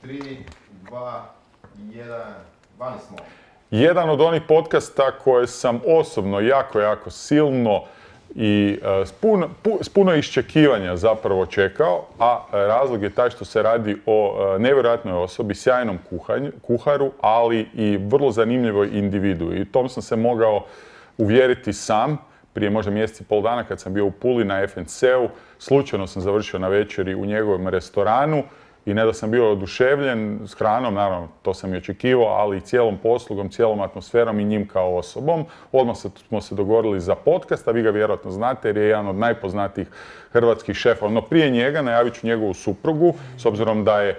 3, 2, 1, vani smo. Jedan od onih podcasta koje sam osobno jako silno i s puno iščekivanja zapravo čekao, a razlog je taj što se radi o nevjerojatnoj osobi, sjajnom kuharu, ali i vrlo zanimljivoj individu. I tom sam se mogao uvjeriti sam prije možda mjesec i pol dana kad sam bio u Puli na FNC-u. Slučajno sam završio na večeri u njegovom restoranu i ne da sam bio oduševljen s hranom, naravno to sam i očekivao, ali i cijelom poslugom, cijelom atmosferom i njim kao osobom. Odmah smo se dogovorili za podcast, a vi ga vjerojatno znate jer je jedan od najpoznatijih hrvatskih šefova. No prije njega najavit ću njegovu suprugu, s obzirom da je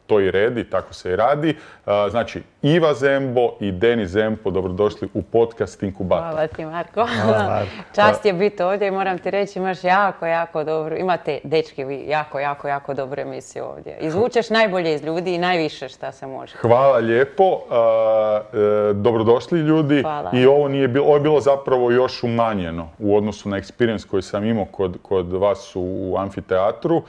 to i red i tako se i radi. Znači, Iva Zembo i Denis Zempo, dobrodošli u podcast Inkubator. Hvala ti, Marko. Čast je biti ovdje i moram ti reći, imaš jako dobro, imate, dečki, vi jako dobru emisiju ovdje. Izvučeš najbolje iz ljudi i najviše šta se može. Hvala lijepo. Dobrodošli ljudi. Hvala. I ovo je bilo zapravo još umanjeno u odnosu na experience koji sam imao kod vas u amfiteatru.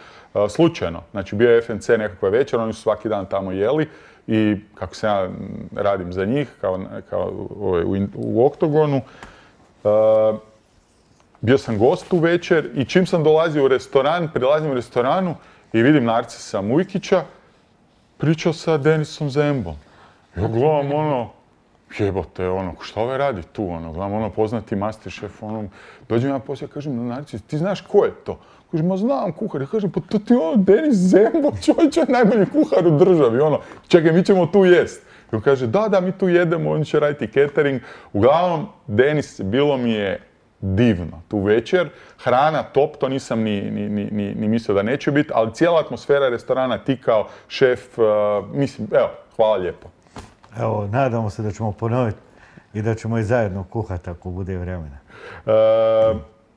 Slučajno. Znači, bio je FNC nekakva večer, oni su svaki dan tamo jeli i kako se ja radim za njih, kao u Oktogonu, bio sam gost u večer i čim sam dolazio u restoran, prilazim u restoranu i vidim Narcisa Mujkića, pričao sa Denisom Zembom. Ja gledam jebote, šta ovaj radi tu, gledam poznati Masterchef, dođem ja poslije, kažem, Narcis, ti znaš ko je to? Kaže, ma znam kuhar. Ja kažem, pa to ti je Denis Zembo, čovječ je najbolji kuhar u državi, čekaj, mi ćemo tu jest. I on kaže, da, mi tu jedemo, on će raditi catering. Uglavnom, Denis, bilo mi je divno tu večer. Hrana top, to nisam ni mislio da neće biti, ali cijela atmosfera restorana, ti kao šef, mislim, evo, hvala lijepo. Evo, nadamo se da ćemo ponoviti i da ćemo i zajedno kuhati ako bude vremena.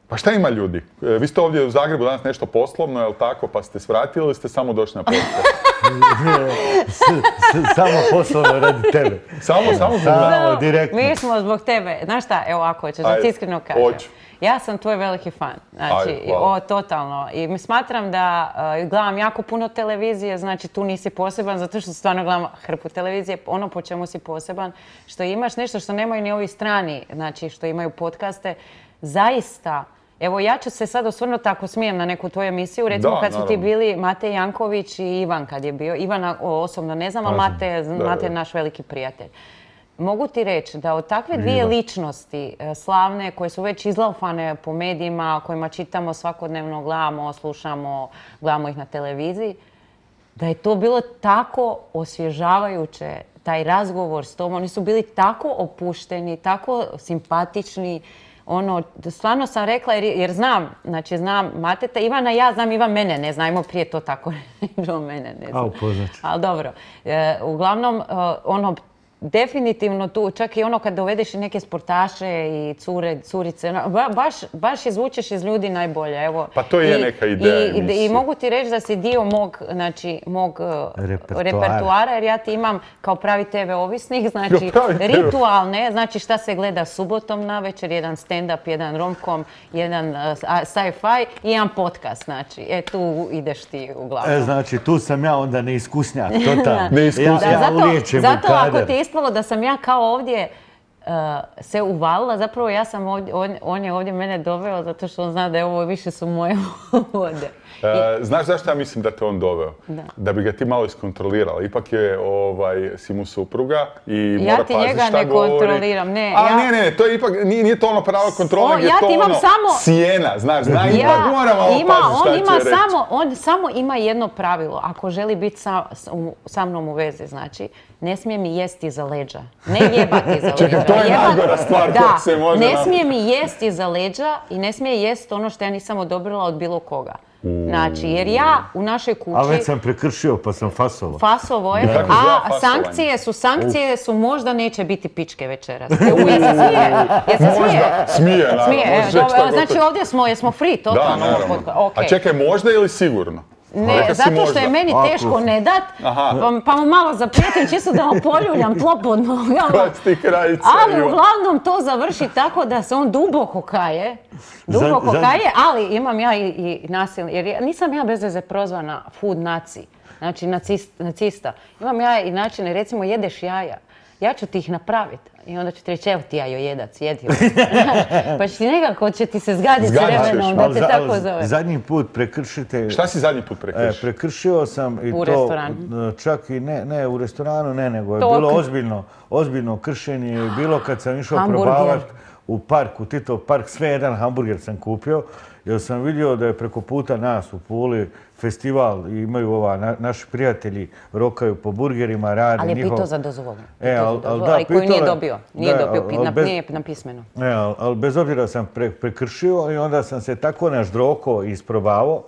Pa šta ima ljudi? Vi ste ovdje u Zagrebu danas nešto poslovno, jel tako, pa ste svratili ili ste samo došli na podcast? Samo poslovno radi tebe. Samo direktno. Mi smo zbog tebe. Znaš šta, evo ako hoćeš, da ti iskreno kažem. Hoću. Ja sam tvoj veliki fan. Znači, totalno. I smatram da gledam jako puno televizije, znači tu nisi poseban, zato što stvarno gledam hrpu televizije. Ono po čemu si poseban, što imaš nešto što nemaju ni ovi strani, znači što imaju podcaste, zaista. Evo, ja ću se sad osvrnuti, ako smijem, na neku tvoju emisiju. Recimo, kad su ti bili Matej Janković i Ivan kad je bio. Ivana osobno ne znam, ali Matej je naš veliki prijatelj. Mogu ti reći da od takve dvije ličnosti slavne, koje su već izlaufane po medijima, kojima čitamo svakodnevno, gledamo, slušamo, gledamo ih na televiziji, da je to bilo tako osvježavajuće, taj razgovor s tom. Oni su bili tako opušteni, tako simpatični. Stvarno sam rekla, jer znam Mateta, Ivana ja znam, Ivan mene ne zna, ajmo prije to tako bilo mene ne zna. Ali dobro, uglavnom, definitivno tu, čak i kad dovedeš i neke sportaše i curice, baš izvučeš iz ljudi najbolje. Evo. Pa to je neka ideja. I mogu ti reći da si dio mog repertoara, jer ja ti imam kao pravi TV ovisnik, znači ritualne, znači šta se gleda subotom navečer, jedan stand-up, jedan romcom, jedan sci-fi i jedan podcast, znači, tu ideš ti uglavnom. Znači, tu sam ja onda neiskusnjak, totalno. Ja ulijećem u kader. Zato ako ti ispalo da sam ja kao ovdje se uvalila, zapravo ja sam on je ovdje mene doveo zato što on zna da je ovo više su moje vode. Znaš zašto ja mislim da te on doveo? Da bi ga ti malo iskontrolirala. Ipak si mu supruga i mora paziti šta govori. Ja ti njega ne kontroliram, ne. Ne, to je ipak, nije to pravo kontrola, nego je to sjena, znaš, ipak mora malo paziti šta će reći. On samo ima jedno pravilo, ako želi biti sa mnom u vezi, znači, ne smije mi jesti iza leđa. Ne jebati iza leđa. Čekaj, to je najgora stvar koja se može... Ne smije mi jesti iza leđa i ne smije jesti ono što ja nisam odobrila od bilo koga. Znači, jer ja u našoj kući... A već sam prekršio pa sam fasovao. Fasovao je, a sankcije su možda neće biti pičke večeras. Jel se smije? Smije, naravno. Znači, ovdje smo free, totalno. Da, naravno. A čekaj, možda ili sigurno? Ne, zato što je meni teško ne dat, pa mu malo zaprijetim čisto da vam poljuljam tlo pod nogama. Ali uglavnom to završi tako da se on duboko kaje, ali imam ja i nasilno, jer nisam ja bez veze prozvana food naci. Znači, nacista. Imam ja i načine, recimo, jedeš jaja. Ja ću ti ih napraviti. I onda ću ti reći, evo ti jajojedac, jedi. Pa će ti se zgaditi s vremenom da te tako zove. Zadnji put prekršite... Šta si zadnji put prekršio? Prekršio sam i u to... restoranu? Čak i ne u restoranu, nego je bilo ozbiljno kršenje. I bilo kad sam išao probavati u park, u Titov park, sve jedan hamburger sam kupio. Jer sam vidio da je preko puta nas u Puli festival i imaju naši prijatelji rokaju po burgerima, radi ali njihov... Ali je pitao za dozvolu. Ali koju nije dobio. Nije napismeno. Ali bez obzira sam prekršio i onda sam se tako naždroko isprobavao.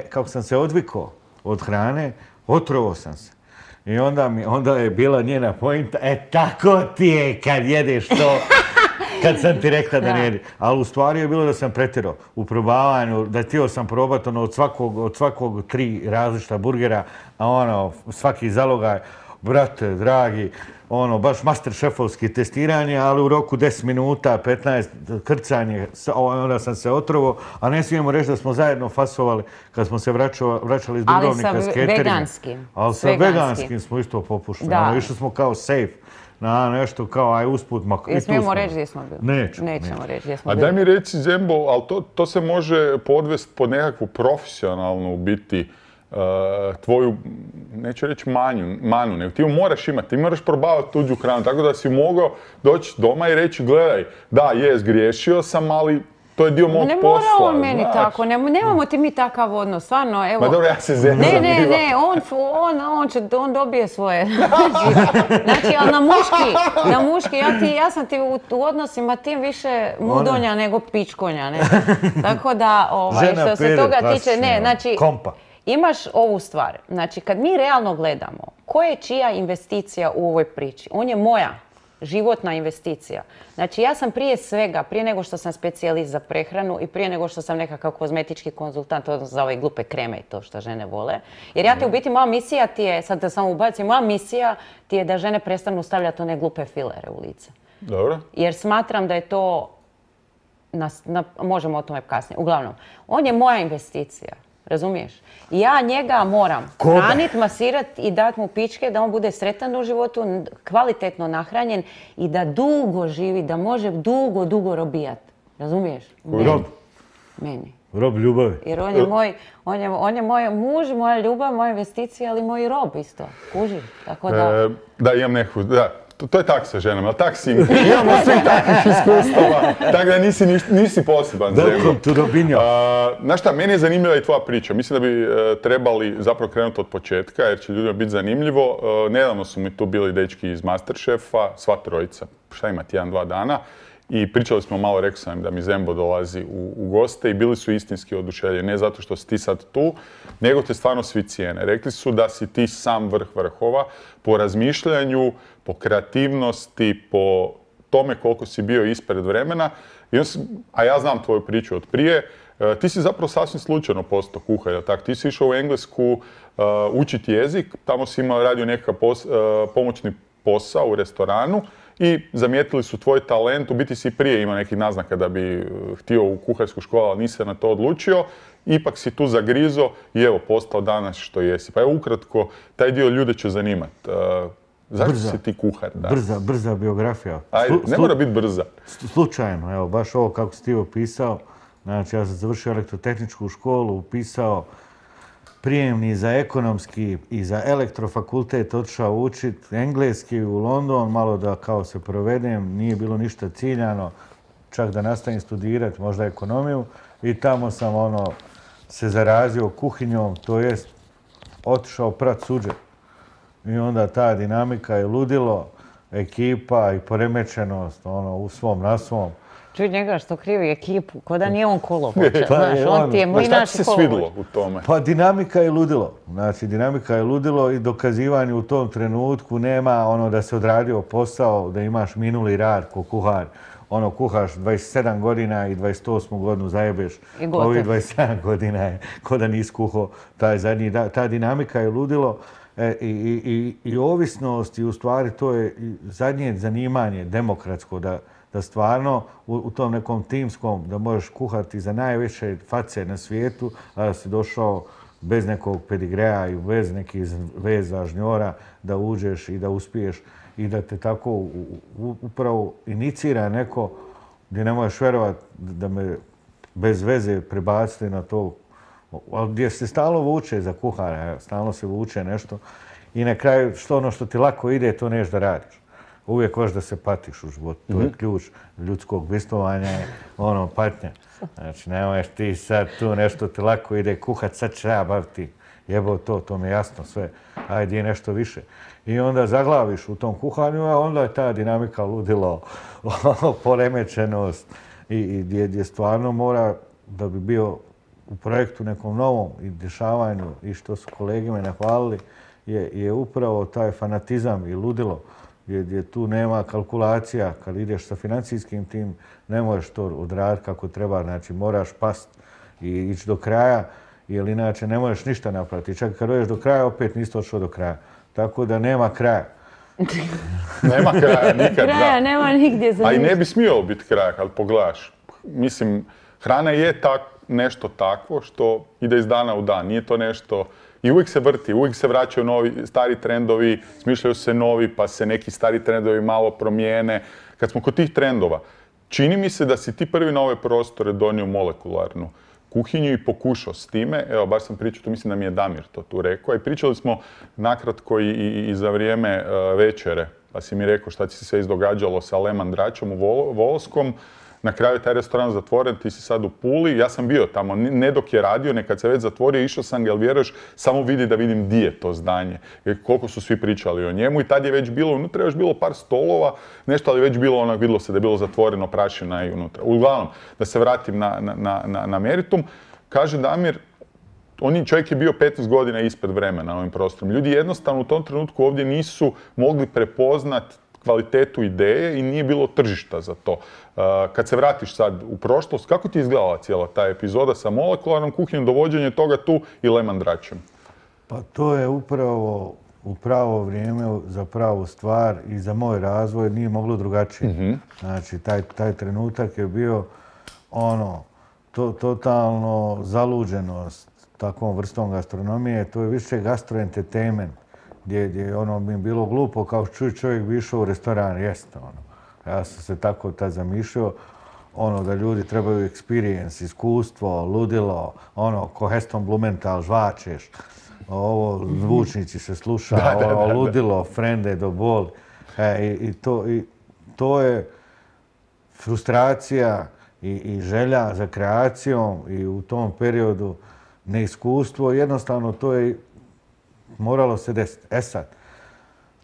Kako sam se odvikao od hrane, otrovao sam se. I onda je bila njena pojenta, tako ti je kad jedeš to... Kad sam ti rekla da ne jedi. Ali u stvari je bilo da sam pretjerao u probavanju, da htio sam probati od svakog 3 različita burgera, a svaki zalogaj, brate, dragi, baš master šefovski testiranje, ali u roku 10 minuta, 15 krcanje, onda sam se otrovao, a ne smijemo reći da smo zajedno fasovali kad smo se vraćali iz Dubrovnika s cateringa. Ali sa veganskim smo isto popušteni. Išli smo kao safe. Nešto kao, aj usput, i smijemo reći gdje smo bili? Nećemo reći gdje smo bili. A daj mi reci, Zembo, ali to se može podvesti pod nekakvu profesionalnu biti tvoju, neću reći manu, nego ti ju moraš imati, ti moraš probavati tuđu hranu, tako da si mogao doći doma i reći, gledaj, da, zgriješio sam, ali to je dio mog posla. Ne mora on meni tako, nemamo ti mi takav odnos, stvarno, evo. Ma dobro, ja se zezam. Ne, on dobije svoje. Znači, ali na muški, ja sam ti u odnosima tim više mudonja nego pičkonja, ne. Tako da, što se toga tiče, ne, znači, imaš ovu stvar. Znači, kad mi realno gledamo, ko je čija investicija u ovoj priči? On je moja životna investicija. Znači, ja sam prije svega, prije nego što sam specijalist za prehranu i prije nego što sam nekakav kozmetički konzultant, odnosno za ove glupe kreme i to što žene vole. Jer ja ti u biti, moja misija ti je, sad da samo ubacim, moja misija ti je da žene prestanu stavljati one glupe filere u lice. Dobro. Jer smatram da je to, možemo o tome kasnije. Uglavnom, on je moja investicija. Razumiješ? Ja njega moram hraniti, masirati i dati mu pičke da on bude sretan u životu, kvalitetno nahranjen i da dugo živi, da može dugo robijati. Razumiješ? Meni. Rob ljubavi. Jer on je moj muž, moja ljubav, moja investicija, ali moj rob isto. Kuži. Tako da... Da, imam neku, da. To je tak sa ženama, ali tak si imamo svi takvih iskustava, tako da nisi poseban. Welcome to Robinho. Znaš šta, meni je zanimljiva i tvoja priča. Mislim da bi trebali zapravo krenuti od početka, jer će ljudima biti zanimljivo. Nedavno su mi tu bili dečki iz Masterchefa, sva trojica, šta ima, 1-2 dana. I pričali smo malo, rekao sam im da mi Zembo dolazi u goste i bili su istinski oduševljeni. Ne zato što si ti sad tu, nego te stvarno svi cijene. Rekli su da si ti sam vrh vrhova po razmišljanju, po kreativnosti, po tome koliko si bio ispred vremena. A ja znam tvoju priču od prije. Ti si zapravo sasvim slučajno postao kuhar, jel tako? Ti si išao u Englesku učiti jezik, tamo si radio nekakav pomoćni posao u restoranu i zamijetili su tvoj talent. U biti si prije imao nekih naznaka da bi htio u kuharsku školu, ali nisi se na to odlučio. Ipak si tu zagrizo i evo, postao danas što jesi. Pa evo ukratko, taj dio ljude će zanimati. Zašto si ti kuhar? Brza biografija. Ajde, ne mora biti brza. Slučajno, evo, baš ovo kako si ti opisao. Znači, ja sam završio elektrotehničku školu, upisao prijemni za ekonomski i za elektrofakultet, otišao učiti engleski u London, malo da kao se provedem, nije bilo ništa ciljano, čak da nastavim studirati, možda ekonomiju. I tamo sam se zarazio kuhinjom, to jest otišao prat suđe. I onda ta dinamika je ludilo, ekipa i poremećenost u svom na svom. Čuj njega što krivi ekipu, ko da nije on kolovođa, znaš, on ti je moj naš kolovođa. Šta ti se svidilo u tome? Pa dinamika je ludilo. Znači, dinamika je ludilo i dokazivanje u tom trenutku nema da se odradio posao, da imaš minuli rad ko kuhar. Kuhaš 27 godina i 28 godinu zajebeš. Ovih 27 godina je ko da nisi kuhao ta dinamika je ludilo. I ovisnost i u stvari to je zadnje zanimanje demokratsko da stvarno u tom nekom timskom da možeš kuhati za najveće face na svijetu, a da si došao bez nekog pedigreja i bez nekih veza, žnjora, da uđeš i da uspiješ i da te tako upravo inicira neko gdje ne možeš vjerovati da me bez veze prebaciti na to, ali gdje se stalno vuče za kuhara, stalno se vuče nešto i na kraju ono što ti lako ide, to neš da radiš. Uvijek hoćeš da se patiš u životu. To je ključ ljudskog bivstvovanja, patnja. Znači, nemoješ ti sad tu nešto ti lako ide kuhat, sad će ja baviti. Jebo to mi je jasno sve. Ajde je nešto više. I onda zaglaviš u tom kuhanju, a onda je ta dinamika ludilo, poremećenost i gdje stvarno mora da bi bio u projektu nekom novom i dešavanju i što su kolege me nahvalili je upravo taj fanatizam i ludilo gdje tu nema kalkulacija. Kad ideš sa financijskim tim, ne možeš to odraditi kako treba. Znači, moraš past i ići do kraja, jer inače ne možeš ništa napraviti. Čak kad dođeš do kraja, opet nisi došao do kraja. Tako da nema kraja. Nema kraja nikad, kraja nema nigdje za a i ne bi smio biti kraja kad pogledaš. Mislim, hrana je nešto takvo što ide iz dana u dan. Nije to nešto... I uvijek se vrti, uvijek se vraćaju novi, stari trendovi, smišljaju se novi, pa se neki stari trendovi malo promijene. Kad smo kod tih trendova, čini mi se da si ti prvi na ove prostore donio molekularnu kuhinju i pokušao s time. Evo, baš sam pričao, tu mislim da mi je Damir to tu rekao. I pričali smo nakratko i za vrijeme večere, pa si mi rekao šta ti se sve izdogađalo sa Lehman Dračom u Volskom. Na kraju je taj restoran zatvoren, ti si sad u Puli. Ja sam bio tamo, ne dok je radio, nekad se već zatvorio, išao sam ga, jel vjeruješ, samo vidi da vidim di je to zdanje. Jer koliko su svi pričali o njemu i tad je već bilo, unutra je još bilo par stolova, nešto, ali već bilo ono, vidjelo se da je bilo zatvoreno, prašina i unutra. Uglavnom, da se vratim na meritum, kaže Damir, čovjek je bio 15 godina ispred vremena na ovim prostorom. Ljudi jednostavno u tom trenutku ovdje nisu mogli prepoznat kvalitetu ideje i nije bilo tržišta za to. Kad se vratiš sad u prošlost, kako ti je izgledala cijela ta epizoda sa molekularnom kuhinjom, dovođenje toga tu i Lehman Dračem? Pa to je upravo u pravo vrijeme za pravu stvar i za moj razvoj nije moglo drugačije. Znači, taj trenutak je bio totalno zaluđenost takvom vrstom gastronomije. To je više gastroentertainment, gdje bi bilo glupo kao čovjek bi išao u restoran, jeste Ja sam se tako tad zamišljao, da ljudi trebaju experience, iskustvo, ludilo, ko Heston Blumenthal, žvačeš, ovo zvučnici se sluša, ludilo, frende do boli. I to je frustracija i želja za kreacijom i u tom periodu neiskustvo. Jednostavno to je moralo se desiti. Sad,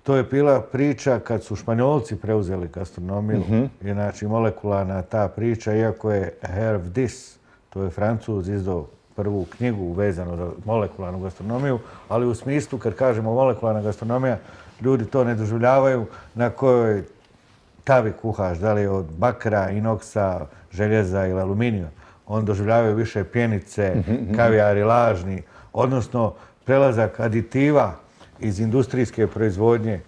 to je bila priča kad su Španjolci preuzeli gastronomiju. Znači, molekularna ta priča, iako je Hervé Diss, to je Francuz, izdao prvu knjigu vezano za molekularnu gastronomiju, ali u smislu, kad kažemo molekularna gastronomija, ljudi to ne doživljavaju na kojoj tavi kuhaš, da li od bakra, inoksa, željeza ili aluminija. On doživljavaju više pjenice, kavijari lažni, odnosno prelazak aditiva iz industrijske proizvodnje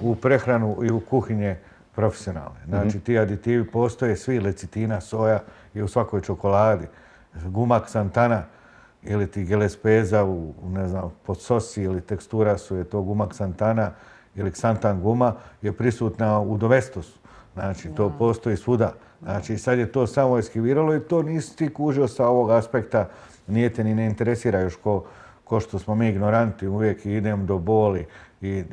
u prehranu i u kuhinje profesionalne. Znači, ti aditivi postoje svi, lecitina, soja i u svakoj čokoladi. Guma ksantana ili ti gelespeza pod sosi ili tekstura su je to guma ksantana ili ksantan guma je prisutna u dovestosu. Znači, to postoji svuda. Znači, sad je to samo eskiviralo i to nisi ti kužio sa ovog aspekta, nije te ni ne interesira još ko što smo mi ignoranti, uvijek idem do boli i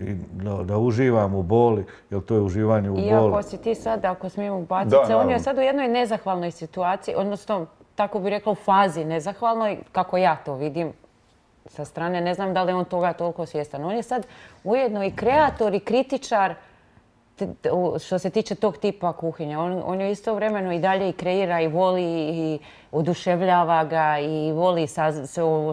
da uživam u boli, jer to je uživanje u boli. Iako si ti sad, ako smijemo ubaciti se, on je sad u jednoj nezahvalnoj situaciji, odnosno, tako bi rekla, u fazi nezahvalnoj, kako ja to vidim sa strane. Ne znam da li on toga toliko svjestan. On je sad ujedno i kreator i kritičar što se tiče tog tipa kuhinja. On je istovremeno i dalje i kreira i voli i oduševljava ga i voli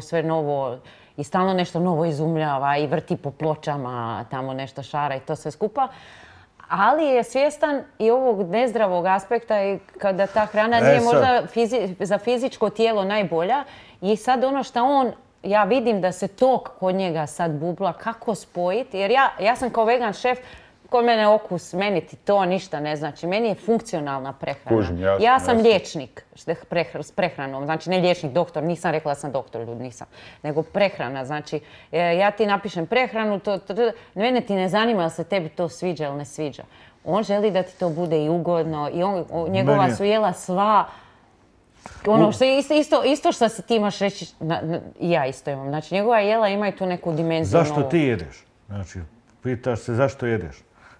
sve novo i stalno nešto novo izumljava i vrti po pločama, tamo nešto šara i to sve skupa. Ali je svjestan i ovog nezdravog aspekta i kada ta hrana nije možda za fizičko tijelo najbolja. I sad ono što ja vidim da se to kod njega sad bubla, kako spojiti. Jer ja sam kao vegan šef kod mene okus, meni ti to ništa ne znači. Meni je funkcionalna prehrana. Kužim, jasno, ja sam jasno. liječnik s prehranom, znači ne liječnik, doktor, nisam rekla da sam doktor, ljudi, nisam. Nego prehrana, znači ja ti napišem prehranu, mene ti ne zanima da se tebi to sviđa ili ne sviđa. On želi da ti to bude i ugodno i njegova su jela sva. Ono što je isto što si ti imaš reći, ja isto imam. Znači njegova jela imaju tu neku dimenziju. Zašto ti jedeš? Znači, pitaš se zašto jedeš.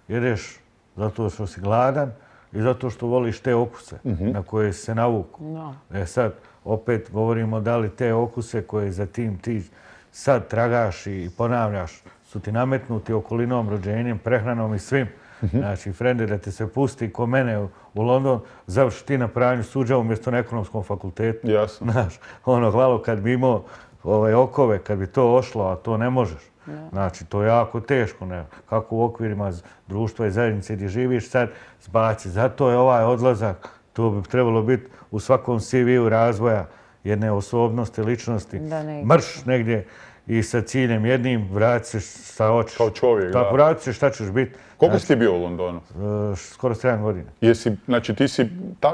Jedeš zato što si gladan i zato što voliš te okuse na koje se navuku. Sad, opet govorimo da li te okuse koje za tim ti sad tragaš i ponavljaš su ti nametnuti okolinom, rođenjem, prehranom i svim. Znači, frende, da te se pusti ko mene u London, završi ti na pravnju suđa umjesto na ekonomskom fakultetu. Jasno. Znaš, hvala kad bi imao okove, kad bi to ošlo, a to ne možeš. Znači, to je jako teško. Kako u okvirima društva i zajednice gdje živiš sad zbaci. Zato je ovaj odlazak, to bi trebalo biti u svakom CV-u razvoja jedne osobnosti, ličnosti. Mrš negdje i sa ciljem jednim, vrati se sa oči. Kao čovjek, da. Vrati se šta ćeš biti. Koliko si ti bio u Londonu? Skoro 7 godina. Znači ti si,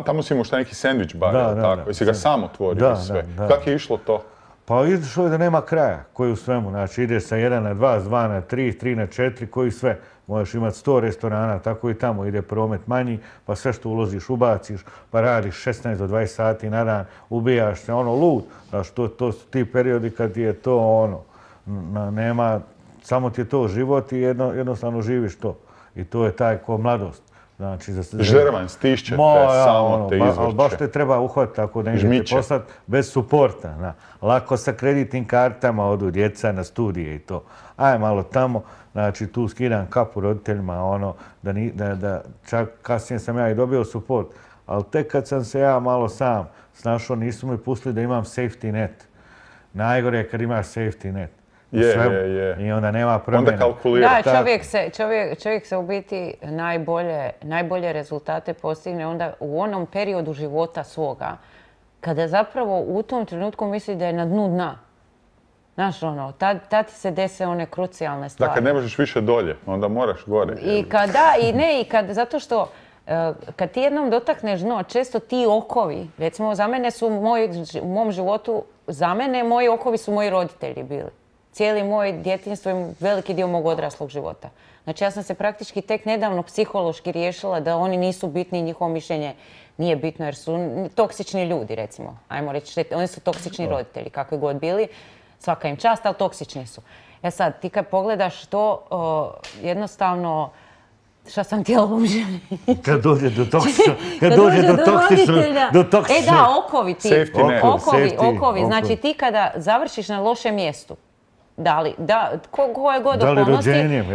tamo si imao šta neki sandvič bar, ili tako? Jesi ga sam otvorio i sve? Kako je išlo to? Pa išlo je da nema kraja, koji u svemu. Znači ideš sa 1 na 2, s 2 na 3, 3 na 4, koji sve. Možeš imati 100 restorana, tako i tamo ide promet manji, pa sve što uložiš ubaciš, pa radiš 16 do 20 sati na dan, ubijaš se, lud. Znači to su ti periodi kad ti je to nema, samo ti je to život i jednostavno živiš to. I to je taj ko mladost. Znači, žrvan, stišće te, samo te izvrće. Ali baš te treba uhvatiti tako da te poslati bez suporta. Lako sa kreditnim kartama odu djeca na studije i to. Aj malo tamo, znači tu skidam kapu roditeljima, da čak kasnije sam ja i dobio suport. Ali tek kad sam se ja malo sam snašao, nisu mi pustili da imam safety net. Najgore je kad imaš safety net. I onda nema promjena. Onda kalkulira. Da, čovjek se u biti najbolje rezultate postigne onda u onom periodu života svoga, kada zapravo u tom trenutku misli da je na dnu dna. Znaš, tad ti se dese one krucijalne stvari. Da, kad ne možeš više dolje, onda moraš gore. Zato što kad ti jednom dotakneš dno, često ti okovi, recimo za mene su u mom životu, moji okovi su moji roditelji bili. Cijeli moj djetinjstvo i veliki dio mog odraslog života. Znači ja sam se praktički tek nedavno psihološki riješila da oni nisu bitni i njihovo mišljenje nije bitno jer su toksični ljudi, recimo. Ajmo reći, oni su toksični roditelji, kakvi god bili. Svaka im čast, ali toksični su. Sad, ti kad pogledaš to, jednostavno, šta sam htjela umželjiti? Kad dođe do toksičnog, da, okovi ti. Okovi. Znači ti kada završiš na lošem mjestu, koje god okolnosti,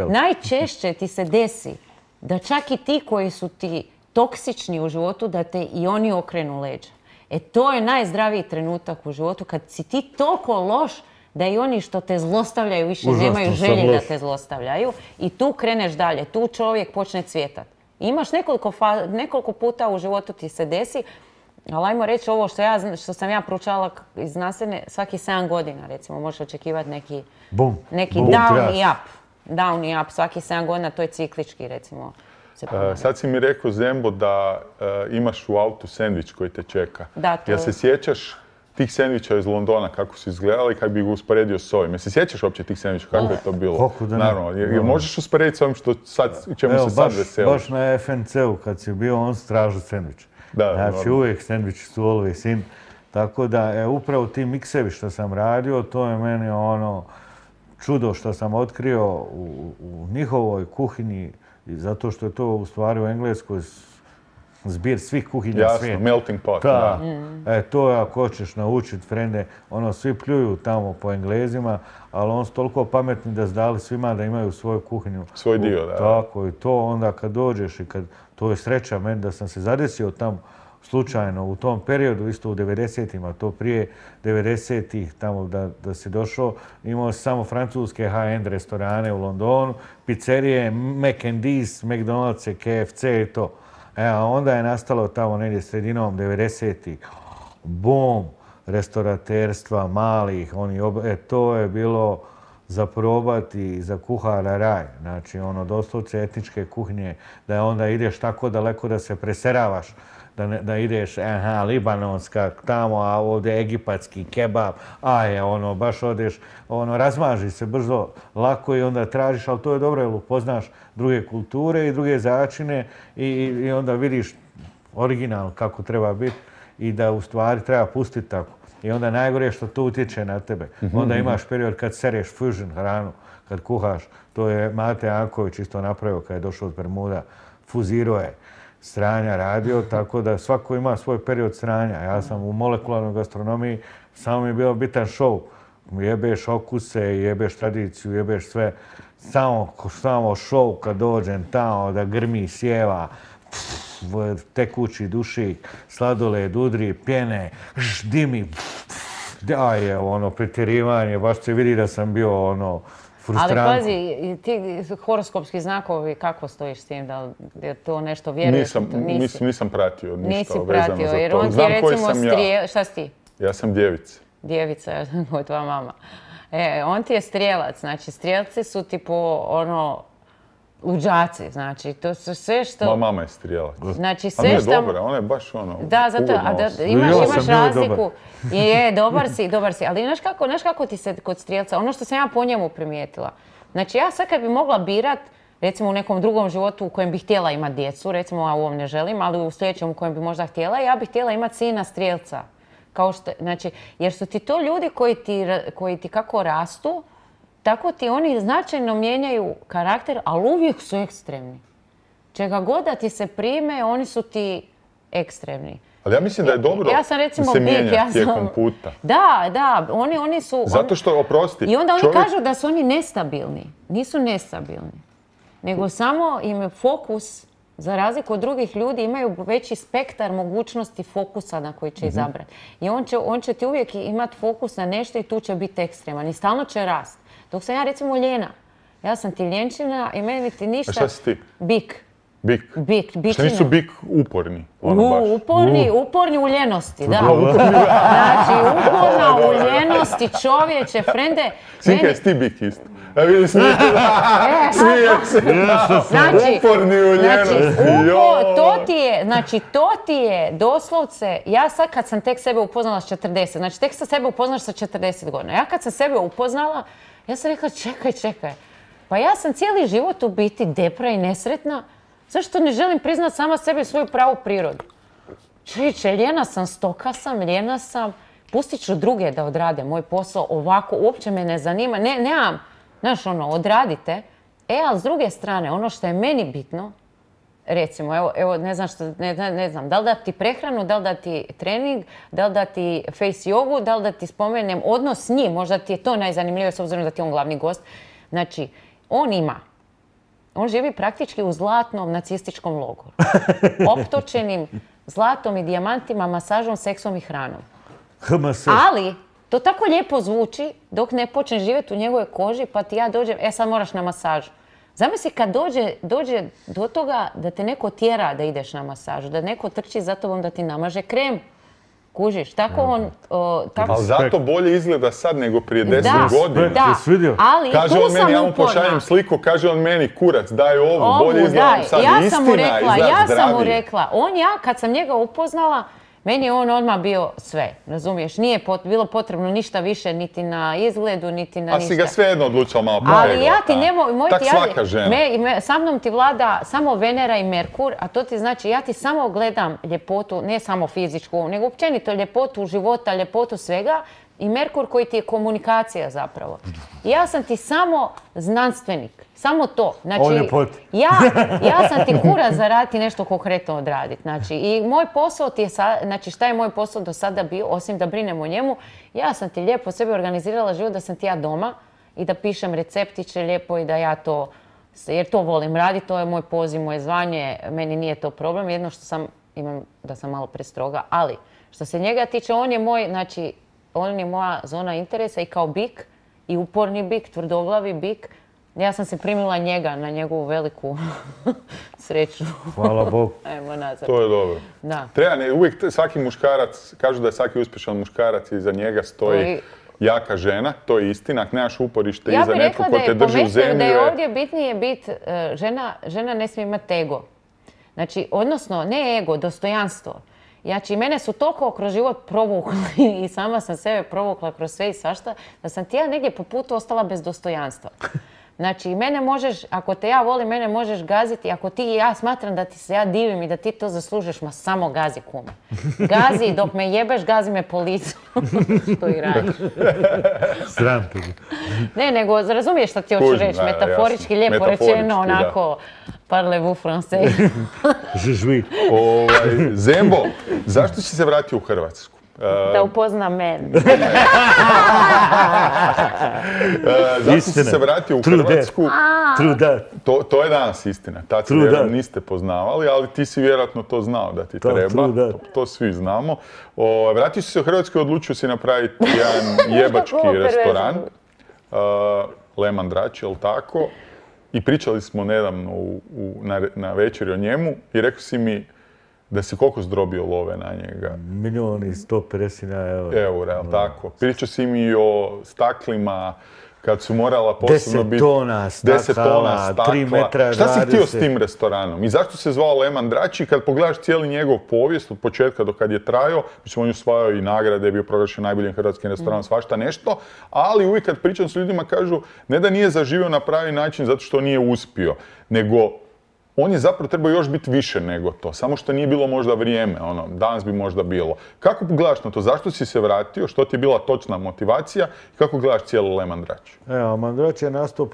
najčešće ti se desi da čak i ti koji su ti toksični u životu, da te i oni okrenu leđa. To je najzdraviji trenutak u životu, kad si ti toliko loš da i oni što te zlostavljaju više nemaju želje da te zlostavljaju i tu kreneš dalje, tu čovjek počne cvjetat. Imaš nekoliko puta u životu ti se desi, ali ajmo reći ovo što sam ja proučavala iz nastavne, svaki 7 godina recimo možeš očekivati neki down i up. Down i up svaki 7 godina, to je ciklički recimo. Sad si mi rekao, Zembo, da imaš u autu sendvič koji te čeka. Jel se sjećaš tih sendviča iz Londona, kako su izgledali, kad bi ga usporedio s ovim? Jel se sjećaš uopće tih sendviča, kako je to bilo? Naravno, jel možeš usporediti s ovim čemu se sad veseliš? Baš na FNC-u kad si bio, on stražu sendvič. Znači uvijek sendviči su always in. Tako da, upravo ti miksevi što sam radio, to je meni čudo što sam otkrio u njihovoj kuhinji, zato što je to u stvari u Engleskoj zbir svih kuhinja svijeta. Jasno, melting pot. To je ako hoćeš naučiti, frende, svi pljuju tamo po Englezima, ali oni su toliko pametni da zdali svima da imaju svoju kuhinju. Svoj dio, da. Tako i to onda kad dođeš i kad, to je sreća meni da sam se zadesio tamo slučajno u tom periodu, isto u 90-ima, to prije 90-ih, tamo da si došao, imao si samo francuske high-end restorane u Londonu, pizzerije, Mac&D's, McDonald's, KFC i to. A onda je nastalo tamo negdje sredinom 90-ih, bum, restoraterstva, malih, to je bilo za probati za kuhara raj. Znači, ono, doslovce etničke kuhnje, da onda ideš tako daleko da se preseravaš, da ideš, libanonska tamo, a ovdje egipatski kebab, ono, baš odeš, ono, razmaži se brzo, lako i onda tražiš, ali to je dobro, jer upoznaš druge kulture i druge začine i onda vidiš original kako treba biti i da u stvari treba pustiti tako. I onda najgore je što to utječe na tebe. Onda imaš period kad sereš fusion hranu, kad kuhaš. To je Mate Janković isto napravio kad je došao od Bermuda. Fuzirao je sranja radio, tako da svako ima svoj period sranja. Ja sam u molekularnoj gastronomiji, samo mi je bio bitan show. Jebeš okuse, jebeš tradiciju, jebeš sve. Samo show kad dođem tamo da grmi, sjeva, tekući dušik, sladoled, udri, pjene, dimi. Da je ono pretjerivanje, baš se vidi da sam bio ono frustranko. Ali pazi, ti horoskopski znakovi, kako stojiš s tim? Da je to nešto vjeruješ? Nisam pratio ništa Nisi vezano pratio, za jer to. on ti Znam je koji recimo sam ja. Šta si ti? Ja sam djevica. Djevica, ja sam kao tvoja mama. On ti je strijelac, znači strijelci su tipo ono luđaci, znači to su sve što... Moja mama je strijelac. Znači sve što... A dobra, ona je baš ono... Da, zato, imaš razliku. Dobar si, ali znaš kako ti se kod strijelca, ono što sam ja po njemu primijetila. Znači ja sad kad bi mogla birat, recimo u nekom drugom životu u kojem bih htjela imati djecu, recimo ja u ovom ne želim, ali u sljedećem u kojem bi možda htjela, ja bih htjela imati sina strijelca. Znači, jer su ti to ljudi koji ti kako rastu, tako ti oni značajno mijenjaju karakter, ali uvijek su ekstremni. Čega god da ti se prime, oni su ti ekstremni. Ali ja mislim da je dobro da se mijenja tijekom puta. Da, oni su... Zato što, oprosti... I onda oni kažu da su oni nestabilni. Nisu nestabilni. Nego samo im je fokus, za razliku od drugih ljudi, imaju veći spektar mogućnosti fokusa na koji će izabrati. I on će ti uvijek imati fokus na nešto i tu će biti ekstreman. I stalno će rast. Dok sam ja recimo ljena. Ja sam ti ljenčina i meni ti ništa... A šta si ti? Bik. Bičina. Šta nisu bik uporni? Uporni u ljenosti, da. Znači, uporna u ljenosti, čovječe, frende... Sinka, jesi ti bik isto? Ja vidim smijek se. Uporni u ljenosti. To ti je doslovce... Ja sad kad sam tek sebe upoznala s 40, znači tek sam sebe upoznaš sa 40 godina. Ja kad sam sebe upoznala, ja sam rekla čekaj. Pa ja sam cijeli život u biti depra i nesretna. Zašto ne želim priznat sama sebi svoju pravu prirodu? Čovječe, ljena sam, stoka sam, ljena sam. Pustit ću druge da odrade moj posao ovako, uopće me ne zanima. Nemam, znaš odradite. Ali s druge strane, ono što je meni bitno, recimo, evo ne znam, da li da ti prehranu, da li da ti trening, da li da ti face jogu, da li da ti spomenem odnos s njim, možda ti je to najzanimljivije s obzirom da ti je on glavni gost. Znači, on živi praktički u zlatnom nacističkom logoru. Optočenim zlatom i dijamantima, masažom, seksom i hranom. Ali, to tako lijepo zvuči dok ne počneš živjeti u njegovoj koži pa ti ja dođem, sad moraš na masažu. Zamisli kad dođe do toga da te neko tjera da ideš na masažu, da neko trči za tobom da ti namaže krem. Kužiš, tako on... Ali zato bolje izgleda sad nego prije 10 godina. Da, ali kaže tu on meni, ja mu uporna. pošaljem sliku, kaže on meni, kurac, daj ovo, bolje izgledam sad. Ja sam mu rekla, kad sam njega upoznala, meni je on odmah bio sve, razumiješ? Nije bilo potrebno ništa više, niti na izgledu, niti na ništa. A si ga svejedno odlučila malo ali ja ti tak svaka žena. Sa mnom ti vlada samo Venera i Merkur, a to ti znači ja ti samo gledam ljepotu, ne samo fizičku, nego općenito ljepotu života, ljepotu svega i Merkur koji ti je komunikacija zapravo. Ja sam ti samo znanstvenik, samo to. Znači, ja sam ti kurac za raditi nešto konkretno odraditi. Znači, i moj posao ti je znači šta je moj posao do sada bio, osim da brinem o njemu, ja sam ti lijepo sebi organizirala život da sam ti ja doma i da pišem receptiće lijepo i da ja to, jer to volim raditi, to je moj poziv, moje zvanje, meni nije to problem, jedno što imam da sam malo prestroga, ali što se njega tiče, on je moj, znači, on je moja zona interesa i kao bik, i uporni bik, tvrdoglavi bik. Ja sam se primila njega na njegovu veliku sreću. Hvala Bogu. Ajmo nazad. To je dobro. Da. Uvijek svaki muškarac, kažu da je svaki uspješan muškarac i za njega stoji jaka žena, to je istina, ako nemaš uporište iza neko ko te drži u zemlji. Ja bih rekla da je ovdje bitnije biti, žena ne smije imati ego. Znači, odnosno, ne ego, dostojanstvo. Znači, mene su toliko kroz život provukli i sama sam sebe provukla kroz sve i svašta, da sam ti ja negdje po putu ostala bez dostojanstva. Znači, mene možeš, ako te ja volim, mene možeš gaziti. Ako ti i ja smatram da ti se ja divim i da ti to zaslužiš, ma samo gazi, kume. Gazi, dok me jebeš, gazi me po licu. Što i radiš. Sram te. Ne, nego razumiješ šta ti hoću reći. Metaforički, lijepo rečeno, onako, parlez-vous français. Žužvi. Zembo, zašto si se vratio u Hrvatsku? Da upozna mene. Zašto si se vratio u Hrvatsku? True that. To je danas istina. Tad se vjerojatno niste poznavali, ali ti si vjerojatno to znao da ti treba. To svi znamo. Vratio si se u Hrvatsku i odlučio si napraviti jedan jebački restoran. Le Mandrači, jel tako? I pričali smo nedavno na večeri o njemu i rekao si mi da si koliko zdrobio love na njega? 1.150.000 eura, jel tako? Pričao si mi o staklima, kad su morala posebno biti 10 tona stakla, 3 metra 20. Šta si htio s tim restoranom? I zašto se zvao Le Mandrači? Kad pogledaš cijeli njegov povijest od početka do kad je trajao, mislim, on je osvajao i nagrade, bio proglašen najboljim hrvatskim restoranom, svašta nešto, ali uvijek kad pričam s ljudima kažu ne da nije zaživio na pravi način zato što nije uspio, nego on je zapravo trebao još biti više nego to, samo što nije bilo možda vrijeme, danas bi možda bilo. Kako gledaš na to? Zašto si se vratio? Što ti je bila točna motivacija? I kako gledaš cijelu Le Mandrači? Evo, Mandrači je nastao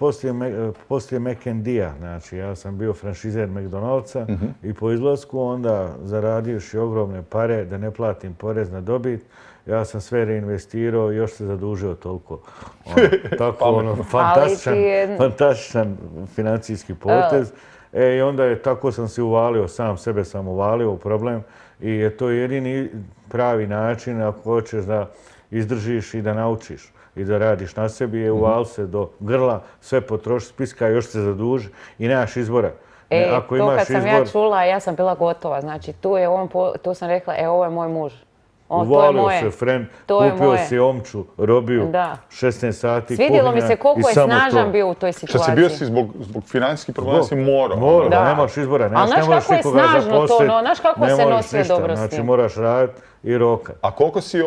poslije McD-a. Znači, ja sam bio franšizer McDonald'sa i po izlasku onda zaradivši ogromne pare da ne platim porez na dobit, ja sam sve reinvestirao i još se zadužio toliko. Tako, fantastičan financijski potez. I onda je tako sam se uvalio, sam sebe sam uvalio u problem i je to jedini pravi način ako hoćeš da izdržiš i da naučiš i da radiš na sebi, je uvali se do grla, sve potroši, spiska, još se zaduži i nemaš izbora. Ako to kad sam ja čula, ja sam bila gotova, znači tu sam rekla, ovo je moj muž. Uvalio se friend, kupio si omču, robiju, 16 sati, kuhinja. Svidjelo mi se koliko je snažan bio u toj situaciji. Što si bio si zbog financijskih problema si morao. Morao, nemaš izbora, ne možeš nikoga zaposliti. Znaš kako se nosio dobro s tim. Znači moraš raditi i roka. A koliko si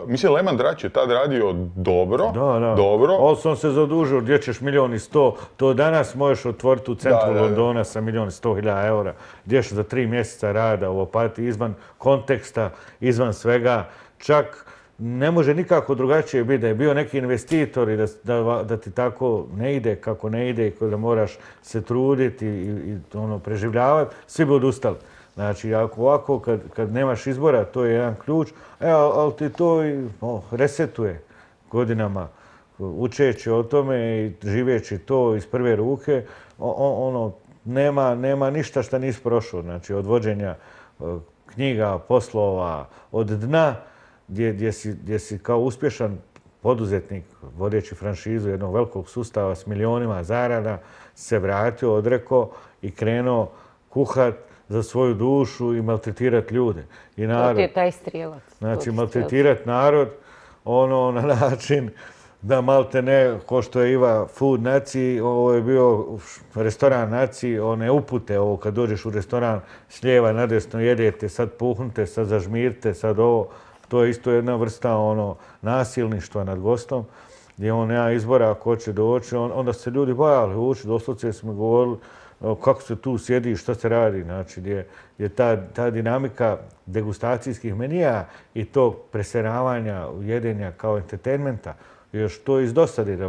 mislim, Le Mandrači je tad radio dobro. Da. Dobro. Ali sam se zadužio, gdje ćeš 1.100.000, to danas možeš otvoriti u centru Londona sa 1.100.000 eura, gdje ćeš za 3 mjeseca rada u Opatiji, izvan konteksta, izvan svega. Čak ne može nikako drugačije biti da je bio neki investitor i da ti tako ne ide kako ne ide i da moraš se truditi i preživljavati, svi bi odustali. Znači, ako ovako, kad nemaš izbora, to je jedan ključ, ali ti to resetuje godinama, učeći o tome i živeći to iz prve ruke, nema ništa što nisi prošao. Znači, od vođenja knjiga, poslova, od dna, gdje si kao uspješan poduzetnik, vodeći franšizu jednog velikog sustava s milionima zarada, se vratio, odrekao i krenuo kuhat za svoju dušu i maltretirati ljude. I narod. To ti je taj strijelac. Znači, maltretirati narod na način da malte ne, ko što je Iva Food Naciji, ovo je bio restoran Naciji, one upute, ovo kad dođeš u restoran s lijeva nadesno jedete, sad puhnite, sad zažmirite, sad ovo. To je isto jedna vrsta nasilništva nad gostom, gdje on nema izbora ako hoće doći. Onda se ljudi bojali ući, doslovce smo govorili kako se tu sjedi, što se radi. Znači, gdje je ta dinamika degustacijskih menija i tog preseravanja, jedenja kao entertainmenta, još to iz dosadi, da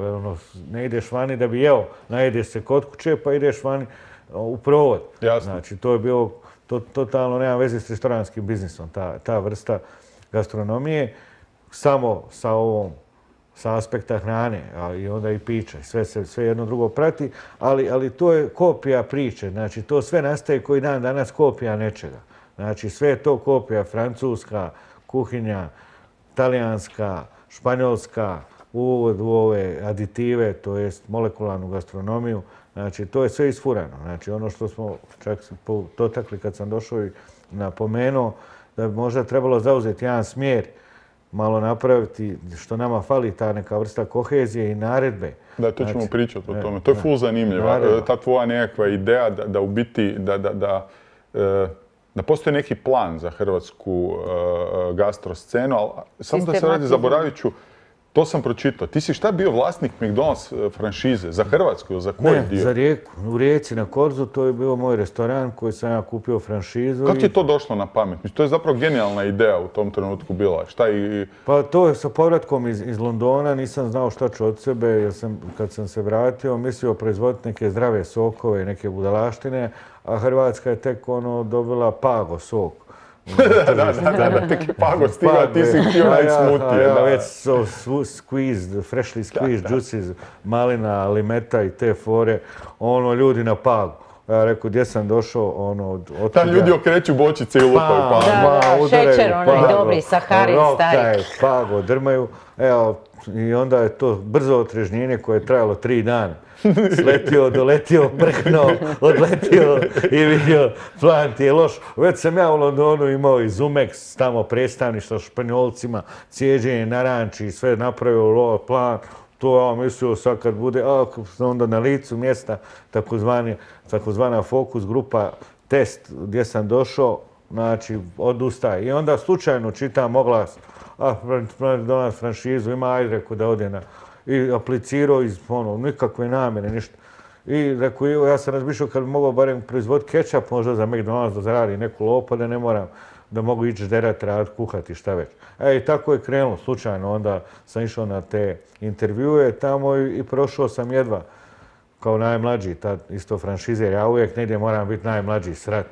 ne ideš vani da bi jeo, najedeš se kod kuće pa ideš vani u provod. Jasno. Znači, to je bilo totalno nema veze s restoranskim biznisom, ta vrsta gastronomije, samo sa aspekta hrane i onda i pića. Sve jedno drugo prati, ali to je kopija priče. Znači, to sve nastaje koji dan danas kopija nečega. Znači, sve je to kopija francuska, kuhinja, talijanska, španjolska, uvod u ove aditive, to jest molekularnu gastronomiju. Znači, to je sve isfurano. Znači, ono što smo čak dotakli kad sam došao i napomenuo, da bi možda trebalo zauzeti jedan smjer malo napraviti, što nama fali, ta neka vrsta kohezije i naredbe. Da, to ćemo pričati o tome. To je ful zanimljivo. Ta tvoja nekakva ideja da u biti, da postoji neki plan za hrvatsku gastroscenu, ali samo da se radi, zaboravit ću, to sam pročitao. Ti si šta bio vlasnik McDonald's franšize? Za Hrvatsku ili za koji dio? Ne, za Rijeku. U Rijeci na Korzu to je bio moj restoran koji sam ja kupio franšizu. Kako ti je to došlo na pamet? To je zapravo genijalna ideja u tom trenutku bila. Pa to je sa povratkom iz Londona, nisam znao šta ću od sebe, jer kad sam se vratio mislio proizvoditi neke zdrave sokove i neke budalaštine, a Hrvatska je tek dobila Pago sok. Da, tek je Pago stigao, ti si htio najti smutije. Ja već squeezed, freshly squeezed juices, malina, limeta i te fore, ljudi na Pagu. Ja rekao, gdje sam došao, od tam ljudi okreću bočice i lupaju Pago. Da, šećer, onaj dobri, saharin, stari. Pago, drmaju. Evo, i onda je to brzo otrežnjenje koje je trajalo 3 dana. Sletio, doletio, brknuo, odletio i vidio, plan ti je loš. Već sam ja u Londonu imao i Zumex, tamo predstavništvo Španjolcima, cijeđenje naranči, sve napravio plan. To ja mislio sad kad bude, onda na licu mjesta, takozvana fokus grupa, test gdje sam došao, znači odustaje. I onda slučajno čitam oglas, McDonald's franšizu, ima, ajde, rekao da ode i aplicirao iz nikakve namjere, ništa. I rekao, ja sam razmišljao kad bi mogao barem proizvoditi kečap možda za McDonald's da zaradi neku lopu, da ne moram, da mogu ići žderat, raditi, kuhati, šta već. I tako je krenulo, slučajno. Onda sam išao na te intervjue tamo i prošao sam jedva kao najmlađi, isto franšizer. Ja uvijek negdje moram biti najmlađi, srat.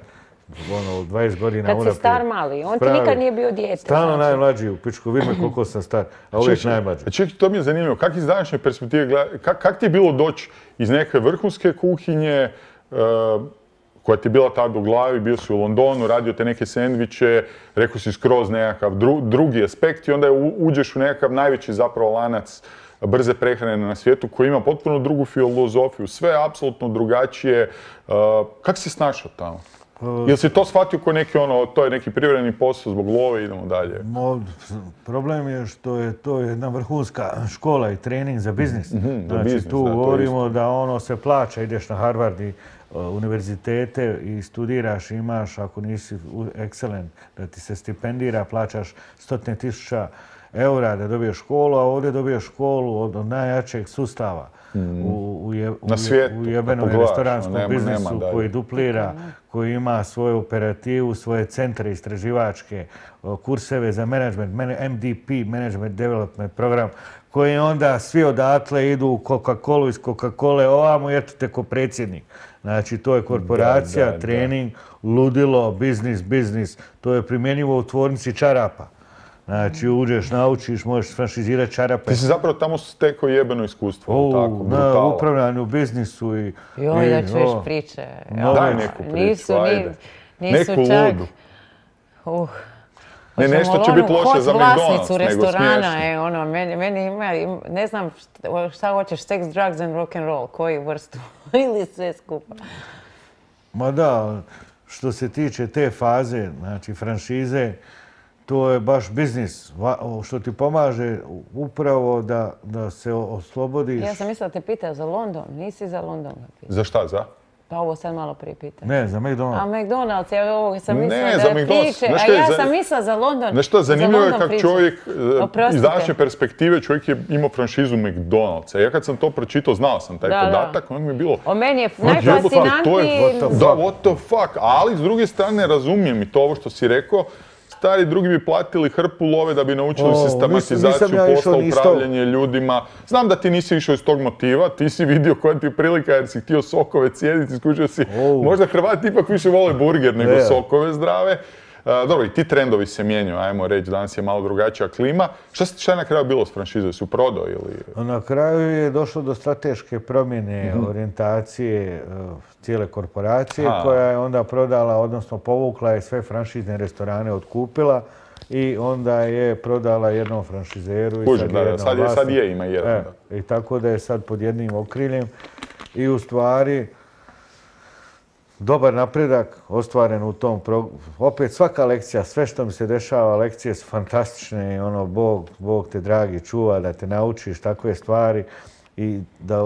20 godina unaprijed. Kad si star mali, on ti nikad nije bio dijete. Stalno najmlađi u pičku, vidi me koliko sam star, a uvijek najmlađi. Čekaj, to mi je zanimljivo, kako iz današnje perspektive gledati, kako ti je bilo doći iz neke vrhunske kuhinje, koja ti je bila tad u glavi, bio si u Londonu, radio te neke sendviče, rekao si skroz nekakav drugi aspekt i onda uđeš u nekakav najveći zapravo lanac brze prehrane na svijetu koji ima potpuno drugu filozofiju, sve je apsolutno drugačije. Kako si snašao tamo? Jel si to shvatio kao neki to je neki privremeni posao zbog love, idemo dalje? Problem je što je to jedna vrhunska škola i trening za biznis. Znači tu govorimo da se plaća, ideš na Harvard i univerzitete i studiraš, imaš, ako nisi excellent, da ti se stipendira, plaćaš 100.000 eura da dobiješ školu, a ovdje dobiješ školu od najjačeg sustava u jebenom restoranskom biznisu koji duplira, koji ima svoju operativu, svoje centre istraživačke, kurseve za management, MDP, Management Development program, koji onda svi odatle idu u Coca-Colu, iz Coca-Cole ovamo i eto te ko predsjednik. Znači, to je korporacija, trening, ludilo, biznis. To je primjenjivo u tvornici čarapa. Znači, uđeš, naučiš, možeš franšizirati čarape. Ti si zapravo tamo stekao jebeno iskustvo, tako, brutalo. Na upravljanju biznisu i... Joj, da čuješ priče. Daj neku priču, ajde. Neku ludu. Ne, nešto će biti loše za McDonald's, nego smiješno. Meni ima, ne znam šta hoćeš, sex, drugs and rock and roll, koju vrstu ili sve skupa. Ma da, što se tiče te faze, znači franšize, to je baš biznis, što ti pomaže upravo da se oslobodiš. Ja sam mislila da te pitao za London, nisi za London. Za šta, za? Pa ovo sad malo prije pitao. Ne, za McDonald's. A McDonald's, ja ovo sam mislila da je priče, a ja sam mislila za London. Znaš što, zanimljivo je kako čovjek, iz današnje perspektive čovjek je imao franšizu McDonald'sa. Ja kad sam to pročitao, znao sam taj podatak, onda mi je bilo... O meni je najfascinantniji... Da, what the fuck, ali s druge strane razumijem i to ovo što si rekao, stari drugi bi platili hrpu love da bi naučili sistematizaciju posla, upravljanje ljudima. Znam da ti nisi išao iz tog motiva, ti si vidio koja ti je prilika jer si htio sokove cijediti, skušao si, možda Hrvati ipak više vole burger nego sokove zdrave. Dobro, i ti trendovi se mijenjaju, ajmo reći, danas je malo drugačija klima. Šta je na kraju bilo s franšizom? Su prodao ili... Na kraju je došlo do strateške promjene orijentacije cijele korporacije koja je onda prodala, odnosno povukla je sve franšizne restorane, otkupila i onda je prodala jednom franšizeru i sad ima jedan. I tako da je sad pod jednim okriljem i u stvari dobar napredak ostvaren u tom opet svaka lekcija, sve što mi se dešava, lekcije su fantastične i ono, Bog te dragi čuva da te naučiš takve stvari i